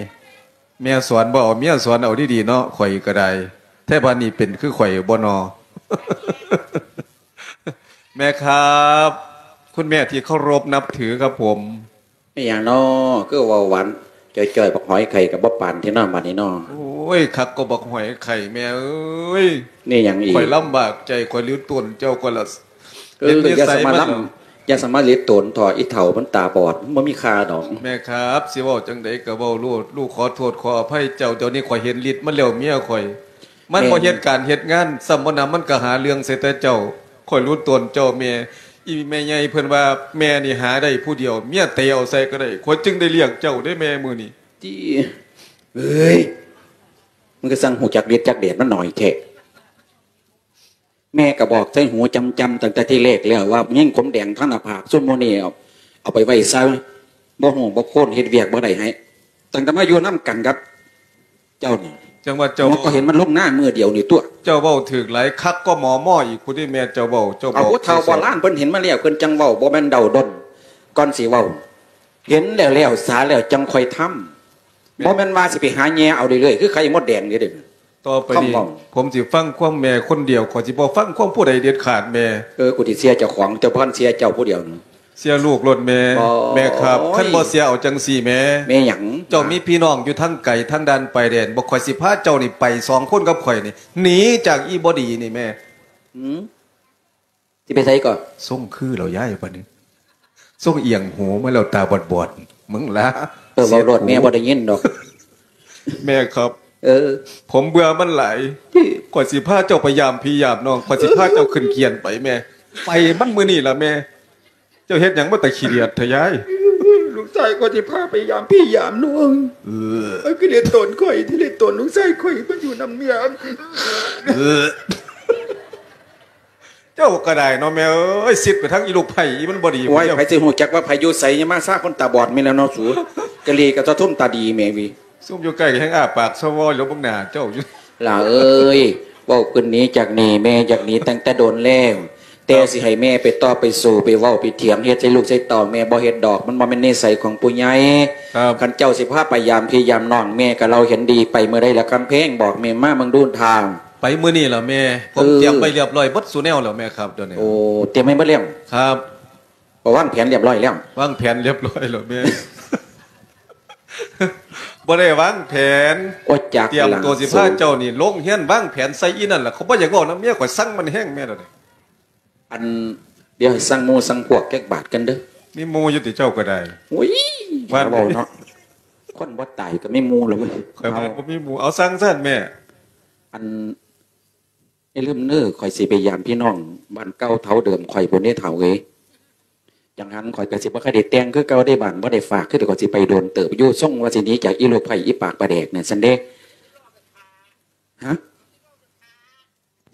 แม่สอนบ่เอา เมียสอนเอาดีๆ เนาะ ข้อยก็ได้ แท้บาดนี้เป็นคือข้อยบ่นอ แม่ครับ คุณแม่ที่เคารพนับถือครับผม แม่นหยังน้อ คือเว้าหวานจ้อยๆ บักหอยไข่ก็บ่ปานแท้น้อ บาดนี้น้อ โอ้ย คักกว่าบักหอยไข่ แม่เอ้ย นี่หยังอีก ข้อยลำบากใจ ข้อยหลีตนเจ้า ข้อยละ เออ เห็นนิสัย อย่าสมาลำ มัน อย่าสมาหลีตนเถาะ อีเฒ่ามันตาบอด มันบ่มีค่าดอก แม่ครับ สิเว้าจั่งใดก็เว้าโลด ลูกขอโทษขออภัยเจ้า เดี๋ยวนี้ข้อยเห็นฤทธิ์มันแล้ว เมียข้อย มัน แม่น บ่เฮ็ดการเฮ็ดงาน ซ้ำบ่นำมันก็หาเรื่องใส่แต่เจ้า ข้อยหลีตนเจ้าแม่ อีแม่ใหญ่เพิ่นว่าแม่นี่หาได้ผู้เดียว เมียเตะเอาใส่ก็ได้ ข้อยจึงได้เลี้ยงเจ้าเด้แม่มื้อนี้ ติ เอ้ย มึงก็สั่งฮู้จักฤทธิ์จักเดชมันหน่อยแท้ แม่ก็บอกใส่หูจำๆ ตั้งแต่ทีแรกแล้วว่าแมงขมแดงทางหน้าผาก ซุมหมู่นี้เอา เอาไปไว้ซะ บ่ฮู้บ่โคน เฮ็ดเวียกบ่ได้ให้ ตั้งแต่มาอยู่นำกันกับเจ้านี่ จั่งว่าเจ้า หมอก็เห็นมันลงนามื้อเดียวนี่ตั๊ว เจ้าเว้าถืกหลาย คักก็หมอหม้ออีกพุ้นเด้แม่ เจ้าเว้า เจ้าบอก เอาผู้เฒ่าโบราณเพิ่นเห็นมาแล้ว เพิ่นจั่งเว้า บ่แม่นเดาดน ก่อนสิเว้า เห็นแล้วแล้วสาแล้วจั่งค่อยทำ แม่น บ่แม่นว่าสิไปหาแย่เอาเรื่อยๆ คือไข่มดแดงนี่เด้ ต่อไปนี้ คำเว้า ผมสิฟังความแม่คนเดียว ข้อยสิบ่ฟังความผู้ใดเด็ดขาดแม่ เออ กูสิเชื่อเจ้าของ เจ้าบ่ทันเชื่อเจ้าผู้เดียวนี่ เชื่อลูกโลดแม่ บ่ แม่ครับ โอ้ย คันบ่เชื่อเอาจั่งซี้แม่ แม่หยัง เจ้ามีพี่น้องอยู่ทางไกล ทางด่านปายแดน บ่ ข้อยสิพาเจ้านี่ไปสองคนกับข้อยนี่ หนีจากอีบ่ดีนี่แม่ หือ สิไปไสก่อ ทรงคือแล้วยายบัดนี้ ทรงเอียงหูมาแล้วตาบอดๆ มึงล่ะ เออ เว้าโลด แม่บ่ได้ยินดอก แม่ครับ เออ ผมเบื่อมันหลาย ข้อยสิพาเจ้าไปยามพี่ยามน้อง ข้อยสิพาเจ้าขึ้นเกียนไปแม่ ไปมันมื้อนี้ล่ะแม่ เจ้าเฮ็ดหยังมาตะขี้เดียดแท้ยาย ลูกชายข้อยสิพาไปยามพี่ยามน้อง เออ เอ้ย คือเลียตนข้อย ที่เลียตนลูกชายข้อยมาอยู่นำเมีย เออ เจ้าก็ได้เนาะแม่เอ้ย ซิดไปทางอีลูกไผอีมันบ่ดี โอ้ย ผู้เดียว ไผสิฮู้จักว่าไผอยู่ไส อย่ามาซ่าคนตาบอดแม่นแล้วเนาะสู กะลีกับเจ้าทุ่มตาดีแม่วิ ซุมอยู่ใกล้แฮงอ้าปากซะวอแล้วเบิ่งหน้าเจ้าอยู่ หล่าเอ้ย เว้าขึ้นหนีจากนี่ แม่จากนี่ตั้งแต่โดนแล้ว ແຕ່ຊິໃຫ້ແມ່ໄປຕໍ່ໄປສູ້ໄປເວົ້າໄປຖຽງເຮັດໃສ່ລູກໃສ່ເຕົ້າ ແມ່ບໍ່ເຮັດດອກ ມັນບໍ່ແມ່ນນິໄສຂອງຜູ້ໃຫຍ່. ຄັນເຈົ້າຊິພາໄປຢາມພີ່ຢາມນ້ອງ ແມ່ກໍເລົ່າເຫັນດີ ໄປມື້ໃດລະຄຳແພງ ບອກແມ່ມາເບິ່ງດູທ່າ. ໄປມື້ນີ້ລະແມ່ ເອີ ຜົມຕຽມໄວ້ລຽບລ້ອຍເບິດສູ່ແນວແລ້ວແມ່ຄັບ ດຽວນີ້. ໂອ້ ຕຽມໄວ້ເບິດແລ້ວ? ຄັບ ກໍວາງແຜນລຽບລ້ອຍແລ້ວ? ວາງແຜນລຽບລ້ອຍແລ້ວແມ່. ບໍ່ໄດ້ວາງແຜນ. ໂອ້ ຈັກ ຕຽມຕົວຊິພາເຈົ້ານີ້ລົງຮຽນ ວາງແຜນໃສ່ອີ່ນັ້ນລະ. ຂ້ອຍບໍ່ຢາກເວົ້ານຳເມຍ ຂ້ອຍຊັງມັນແຮງແມ່ດຽວນີ້. ອັນ ດຽວໃຫ້ສັ່ງໝູ່ສັ່ງພວກຈັກບາດກັນເດີ້. ມີໝູ່ຢູ່ຕິເຈົ້າກໍໄດ້? ໂອ້ຍ ວ່າເວົ້າເນາະ ຄົນບໍ່ຕາຍກໍມີໝູ່ແລ້ວເວີຍ. ຂ້ອຍວ່າບໍ່ມີໝູ່. ເອົາ ສັ່ງຊັ້ນແມ່. ອັນ ຢ່າລືມເນີ ຂ້ອຍຊິໄປຢາມພີ່ນ້ອງບ້ານເກົ່າເຖົ້າເດີມຂ້ອຍພຸ້ນເດ້ເຖົ້າເອີຍ. ຈັ່ງຫັ້ນຂ້ອຍກໍຊິບໍ່ຄ່ອຍໄດ້ແຕ່ງຄືເກົ່າເດ້ ບ້ານບໍ່ໄດ້ຝາກຄື ຂ້ອຍຊິໄປໂດນເຕີບຢູ່ ຊົງວ່າຊິໜີຈາກອີລູກໄຜ່ອີປາກປາແດກນັ້ນຊັ້ນເດ້. ຮະ?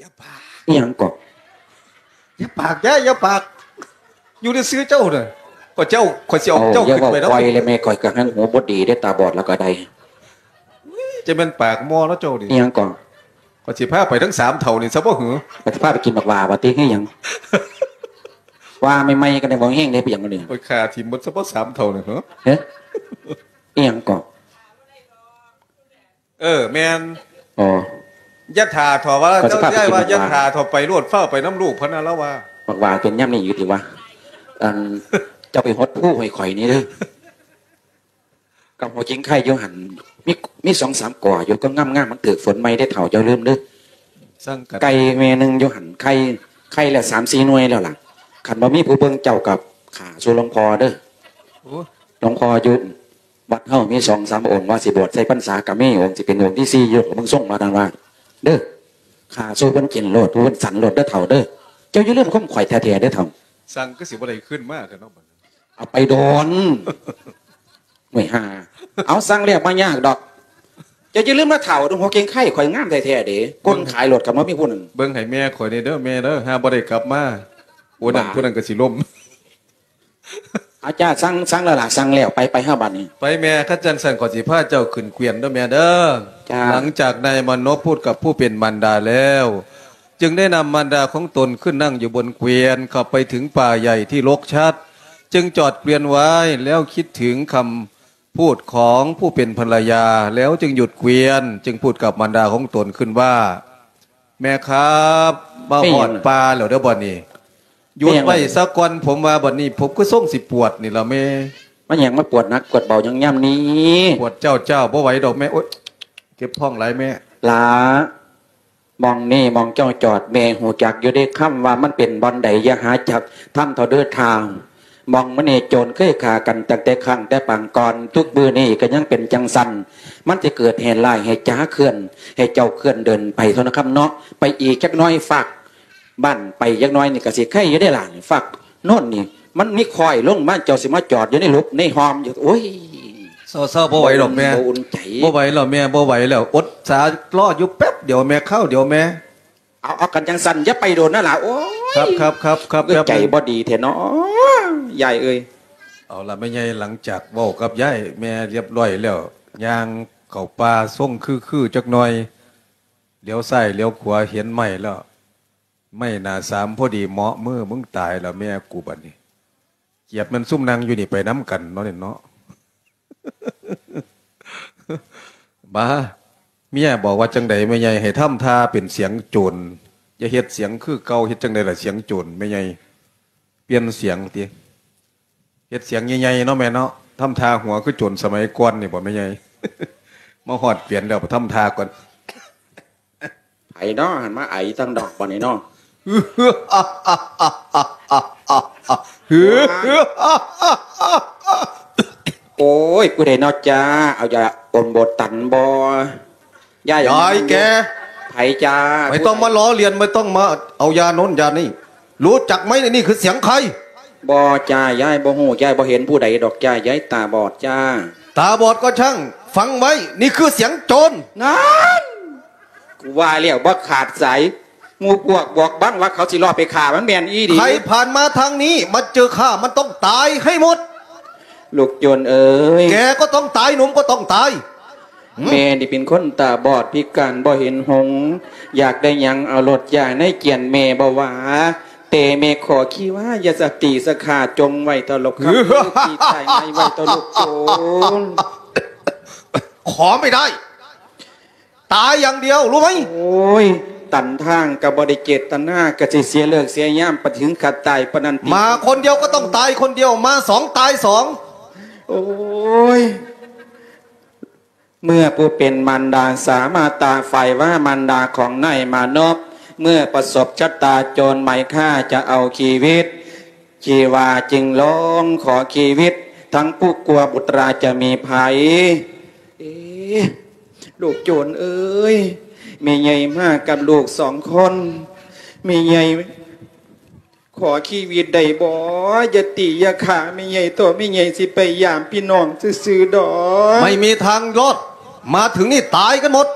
ຢ່າປາກ. ອີ່ຫຍັງເກາະ? ຢ່າປາກ ຢ່າ ຢ່າປາກ. ຢູ່ຊື່ໆເຈົ້ານະ. ຂ້ອຍເຈົ້າ ຂ້ອຍຊິເອົາເຈົ້າຂຶ້ນໄປນຳ. ເວົ້າຄ່ອຍແລ້ວແມ່ ຂ້ອຍກໍຫາງຫູບໍ່ດີເດ້ ຕາບອດແລ້ວກໍໄດ້. ຈະແມ່ນປາກມໍເນາະເຈົ້ານີ້. ອີ່ຫຍັງເກາະ? ຂ້ອຍຊິພາໄປທັງສາມເຖົ້ານີ້ຊະບໍ່ຫື? ຂ້ອຍຊິພາໄປກິນບັກຫວ້າວ່າຕິ ຄືຫຍັງ? ຫວ້າໃໝ່ໆ ກໍໄດ້ບໍ່ແຮງເດ້ ເປັນຫຍັງນີ້? ຂ້ອຍຂ້າຖິ້ມໝົດຊະບໍ່ສາມເຖົ້ານີ້ຫື? ເອີ ອີ່ຫຍັງເກາະ? ເອີ ແມ່ນ. ອໍ ຢ່າຖ້າເຖາະວ່າ ຂ້ອຍຊິພາໄປກິນບັກຫວ້າ. ເຈົ້າຍ້າຍວ່າຢ່າຖ້າເຖາະ ໄປໂລດ ຟ້າວໄປນຳລູກ ພະນະ ລາວວ່າ. ບັກຫວ້າເປັນຍາມນີ້ຢູ່ຕິວະ? ອັນ ເຈົ້າໄປຫົດພູໃຫ້ຂ້ອຍແດ່ເດີ້. ກັບຫົວກິ່ງໄຂ່ຢູ່ຫັ້ນ ມີ ມີສອງສາມກໍຢູ່ ກໍງາມໆ ມັນຖືກຝົນໃໝ່ເດ້ເຖົ້າ ຢ່າລືມເດີ້. ໄກ່ແມ່ໜຶ່ງຢູ່ຫັ້ນ ໄຂ່ ໄຂ່ລະສາມສີ່ໜ່ວຍແລ້ວລະ. ຄັນບໍ່ມີຜູ້ເບິ່ງເຈົ້າກໍຂ້າສູ່ຫຼວງພໍ່ເດີ້. ໂອ້ ຫຼວງພໍ່ຢູ່ ວັດເຮົາມີສອງສາມອົງ ວ່າຊິບວດໃສ່ພັນສາກໍມີ ອົງຊິເປັນອົງທີສີ່ຢູ່ ເບິ່ງຊົງວ່ານັ້ນວ່າເດີ້. ຂ້າສູ່ເພິ່ນກິນໂລດ ຜູ້ເພິ່ນສັນໂລດເດີ້ເຖົ້າເດີ້. ເຈົ້າຢ່າລືມຄວາມຂ້ອຍແທ້ໆເດີ້ເຖົ້າ. ສັ່ງຄືຊິບໍ່ໄດ້ຄືນມາແທ້ເນາະ ເອົາໄປໂດນ. ໂອ້ຍຫ່າ ເອົາ ສັ່ງແລ້ວບໍ່ຍາກດອກ. ເຈົ້າຢ່າລືມນະເຖົ້າ ຫົວເກັ່ງໄຂ່ຂ້ອຍງາມແທ້ໆເດ້. ຄົນຂາຍໂລດກໍບໍ່ມີຜູ້ນັ້ນ. ເບິ່ງໃຫ້ແມ່ຂ້ອຍແດ່ເດີ້ແມ່ເດີ້ ຫາບໍ່ໄດ້ກັບມາ. ໂອ້ ນັ້ນ ຜູ້ນັ້ນກໍຊິລົ້ມ. ອາຈານ ສັ່ງ ສັ່ງແລ້ວລະ ສັ່ງແລ້ວ ໄປ ໄປເຮົາບັດນີ້. ໄປແມ່ ຄັນຈັ່ງຊັ້ນ ຂ້ອຍຊິພາເຈົ້າຂຶ້ນເກວຽນເດີ້ແມ່ເດີ້. ຫຼັງຈາກນາຍມານົບພູດກັບຜູ້ເປັນມານດາແລ້ວ ຈຶ່ງໄດ້ນຳມານດາຂອງຕົນຂຶ້ນນັ່ງຢູ່ບົນເກວຽນ ເຂົ້າໄປເຖິງປ່າໃຫຍ່ທີ່ລົກຊັດ ຈຶ່ງຈອດເກວຽນໄວ້ ແລ້ວຄິດເຖິງຄຳ ພູດຂອງຜູ້ເປັນພັນລະຍາ ແລ້ວຈຶ່ງຢຸດເກວຽນ ຈຶ່ງພູດກັບມານດາຂອງຕົນຂຶ້ນວ່າ ແມ່ຄັບ ມາຮອດປ່າແລ້ວເດີ້ບັດນີ້. ຢຸດໄວ້ຊະກ່ອນ ຜົມວ່າບັດນີ້ ຜົມຄືຊົງຊິປວດນີ້ລະແມ່. ມັນຫຍັງມາປວດໜັກປວດເບົາຫຍັງຍາມນີ້? ປວດຈ້າວໆ ບໍ່ໄຫວດອກແມ່. ໂອ້ຍ ເຈັບທ້ອງຫຼາຍແມ່. ຫຼ້າ ໝ່ອງນີ້ໝ່ອງເຈົ້າຈອດ ແມ່ຮູ້ຈັກຢູ່ເດ້ ຄຳວ່າມັນເປັນບ່ອນໃດ ຢ່າຫາຈັກທຳເຖົ້າເດີ້ທ່ານ. ໝ່ອງມື້ນີ້ໂຈນເຄີຍຂ້າກັນຕັ້ງແຕ່ຄັ້ງແຕ່ປາງກ່ອນ ທຸກມື້ນີ້ກໍຍັງເປັນຈັ່ງຊັ້ນ. ມັນຊິເກີດເຫດຮ້າຍໃຫ້ຈາເຄື່ອນ ໃຫ້ເຈົ້າເຄື່ອນເດີນໄປເທົ່ານັ້ນຄຳເນາະ. ໄປອີກຈັກໜ້ອຍ ຟາກບ້ານໄປຈັກໜ້ອຍນີ້ກໍຊິໄຄຢູ່ເດ້ຫຼ້າ. ຟາກໂນ້ນນີ້ ມັນມີຄ້ອຍລົງມາ ເຈົ້າຊິມາຈອດຢູ່ໃນຫຼຸບໃນຮ່ອມຢູ່. ໂອ້ຍ ເຊົາໆ ບໍ່ໄຫວດອກແມ່ ບໍ່ອຸ່ນໃຈ. ບໍ່ໄຫວແລ້ວແມ່ ບໍ່ໄຫວແລ້ວ. ອົດສາລໍຢູ່ແປັບດຽວແມ່ ຄາວດຽວແມ່. ເອົາ ເອົາກັນຈັ່ງຊັ້ນ ຢ່າໄປໂດນນະຫຼ້າ. ໂອ້ຍ ຄັບໆໆໆ ເອີຍ ແປັບໜຶ່ງ ໃຈບໍ່ດີແທ້ເນາະ ຍາຍເອີຍ. ເອົາລະແມ່ໃຫຍ່ ຫຼັງຈາກເວົ້າກັບຍາຍແມ່ລຽບລ້ອຍແລ້ວ ຍ່າງເຂົ້າປ່າຊົງຄືໆຈັກໜ້ອຍ ຫຼຽວຊ້າຍຫຼຽວຂວາເຫັນໄມ້ແລ້ວ ໄມ້ໜ້າສາມພໍດີເໝາະມື ມຶງຕາຍລະແມ່ກູບັດນີ້. ກຽດແມ່ນຊຸມນັ່ງຢູ່ນີ້ໄປນຳກັນເນາະນີ້ເນາະ. ບາ ເມຍບອກວ່າຈັ່ງໃດແມ່ໃຫຍ່? ໃຫ້ທຳທ່າເປັນສຽງໂຈນ ຢ່າເຮັດສຽງຄືເກົ່າ. ເຮັດຈັ່ງໃດລະສຽງໂຈນແມ່ໃຫຍ່? ປ່ຽນສຽງຕິ ເຮັດສຽງໃຫຍ່ໆເນາະແມ່ເນາະ. ທຳທ່າຫົວຄືໂຈນສະໄໝກ່ອນນີ້ບໍ່ແມ່ໃຫຍ່? ມາຮອດເປັນແລ້ວ ທຳທ່າກ່ອນ. ໃຜເນາະຫັ້ນມາໄອທາງນອກບັດນີ້ເນາະ? ໂອ້ຍ ຜູ້ໃດເນາະຈ້າ? ເອົາຢາອົມໂບຕັນບໍ່? ຍາຍ ຍາຍແກ ໃຜຈ້າ? ບໍ່ຕ້ອງມາລໍ້ລຽນ ບໍ່ຕ້ອງມາເອົາຢາໂນ້ນຢານີ້. ຮູ້ຈັກໄໝ? ນີ້ຄືສຽງໃຄ? ບໍ່ຈ້າ ຍາຍບໍ່ຮູ້ ຍາຍບໍ່ເຫັນຜູ້ໃດດອກຈ້າ ຍາຍຕາບອດຈ້າ. ຕາບອດກໍຊ່າງ ຟັງໄວ້ ນີ້ຄືສຽງໂຈນ. ນັ້ນ ກູວ່າແລ້ວບໍ່ຂາດສາຍ ໝູ່ພວກບວກບັງວ່າເຂົາຊິລອບໄປຂ້າ ມັນແມ່ນອີ່ຫຼີ. ໃຄຜ່ານມາທາງນີ້ ມາເຈີຂ້າ ມັນຕ້ອງຕາຍໃຫ້ໝົດ. ລູກໂຈນເອີຍ ແກກໍຕ້ອງຕາຍ ໜຸ່ມກໍຕ້ອງຕາຍ. ແມ່ນີ້ເປັນຄົນຕາບອດພິການບໍ່ເຫັນຫົງ ຢາກໄດ້ຫຍັງເອົາໂລດ ຢ່າໃນກຽນແມ່ບໍ່ວ່າ. ແຕ່ແມ່ຂໍຄີວ່າ ຢ່າສະຕິສະຂາ ຈົ່ງໄວ້ເຖົ້າລູກຄຳ ເອີ ທີ່ຕາຍງ່າຍໄວ້ເຖົ້າລູກໂຈນ. ຂໍໄມ່ໄດ້ ຕາຍຢ່າງດຽວ ຮູ້ໄໝ? ໂອ້ຍ ຕັນທາງກໍບໍ່ໄດ້ເຈດຕະນາ ກໍຊິເສຍເລີກເສຍຍາມ ປະເຖິງຂະຕາຍປານນັ້ນຕິ? ມາຄົນດຽວກໍຕ້ອງຕາຍຄົນດຽວ ມາສອງຕາຍສອງ. ໂອ້ຍ ເມື່ອຜູ້ເປັນມານດາສາມາດຕາຝ້າຍວ່າມານດາຂອງນາຍມານົບ ເມື່ອປະສົບຊະຕາໂຈນໄໝຂ້າຈະເອົາຊີວິດ ຊີວາຈຶ່ງຮ້ອງຂໍຊີວິດ ທັງຜູ້ກົວບຸດຕາຈະມີໄພ. ເອ ລູກໂຈນເອີຍ ແມ່ໃຫຍ່ມາກັບລູກສອງຄົນ ແມ່ໃຫຍ່ ຂໍຊີວິດໄດ້ບໍ່? ຢ່າຕີຢ່າຂ້າແມ່ໃຫຍ່ເຖາະ ແມ່ໃຫຍ່ຊິໄປຢາມພີ່ນ້ອງຊື່ໆດອກ. ไม่มีทางรอด มาถึงนี่ตายกันหมด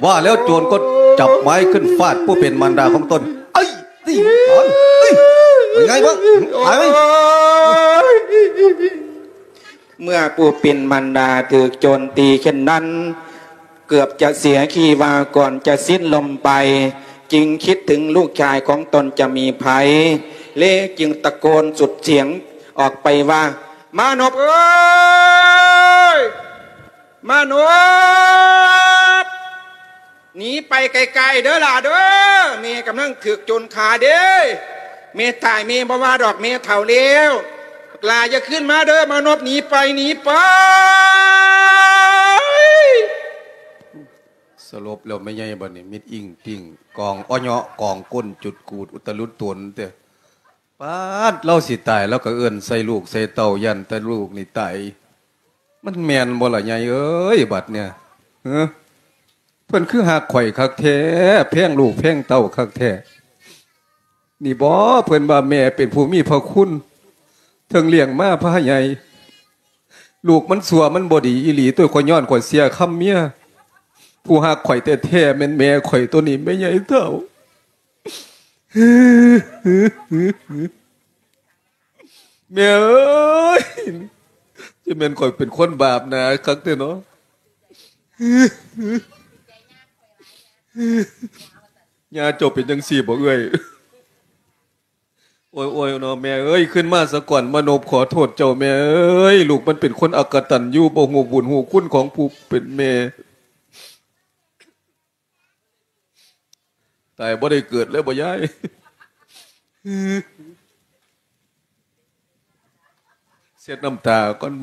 ว่าแล้วโจรก็จับไม้ขึ้นฟาดผู้เป็นมารดาของตน ไอ้นี่มันเอ้ย เป็นไงบ้าง ตายไหม? ໂອ້ຍ ເມື່ອຜູ້ເປັນມານດາຖືກໂຈນຕີເຊັ່ນນັ້ນ ເກືອບຈະເສຍຊີວາກ່ອນຈະສິ້ນລົມໄປ ຈຶ່ງຄິດເຖິງລູກຊາຍຂອງຕົນຈະມີໄພ ເລຈຶ່ງຕະໂກນສຸດສຽງອອກໄປວ່າ ມານົບເອີຍ! ມານົບ! ໜີໄປໄກໆເດີຫຼ້າເດີ ແມ່ກຳລັງຖືກໂຈນຂ້າເດ້. ແມ່ຕາຍແມ່ບໍ່ວ່າດອກ ແມ່ເຖົ້າແລ້ວ. ບັກຫຼ້າຢ່າຄືນມາເດີ ມານົບ ໜີໄປ ໜີໄປ. ສະຫຼົບແລ້ວແມ່ໃຫຍ່ບັດນີ້ ມິດອິ້ງຕິ້ງ ກອງອໍເຍາະ ກອງກົ້ນ ຈຸດກູດ ອຸດຕະລຸດຕົນເຕີ. ປາດ ລາວຊິຕາຍ ລາວກໍເອີ້ນໃສ່ລູກໃສ່ເຕົ້າ ຢ້ານແຕ່ລູກນີ້ຕາຍ. ມັນແມ່ນບໍ່ລະໃຫຍ່ເອີຍ ບັດເນີ້ຍ? ເອີ ເພິ່ນຄືຮັກຂ້ອຍຄັກແທ້ ແພງລູກແພງເຕົ້າຄັກແທ້. ນີ້ບໍ ເພິ່ນວ່າແມ່ເປັນຜູ້ມີພະຄຸນ ເຖິງລ້ຽງມາພາໃຫຍ່. ລູກມັນຊົ່ວ ມັນບໍ່ດີອີ່ຫຼີ ໂຕຂ້ອຍຍ້ອນຂ້ອຍເສຍຄຳເມຍ. ຜູ້ຮັກຂ້ອຍແທ້ໆ ແມ່ນແມ່ຂ້ອຍໂຕນີ້ ແມ່ໃຫຍ່ເຖົ້າ. ແມ່ເອີຍ ຈະແມ່ນຂ້ອຍເປັນຄົນບາບໜາຄັກແທ້ເນາະ. ຍ່າເຈົ້າເປັນຈັ່ງຊີ້ບໍເອື້ອຍ? ໂອ້ຍໆເນາະ ແມ່ເອີຍ ຄືນມາສາກ່ອນ ມານົບຂໍໂທດເຈົ້າແມ່ເອີຍ. ລູກມັນເປັນຄົນອະກະຕັນຍູ ບໍ່ຮູ້ບຸນຮູ້ຄຸນຂອງຜູ້ເປັນແມ່. ຕາຍບໍ່ໄດ້ເກີດເລີຍບໍ່ຍາຍ? ເຊັດນ້ຳຕາກ່ອນ.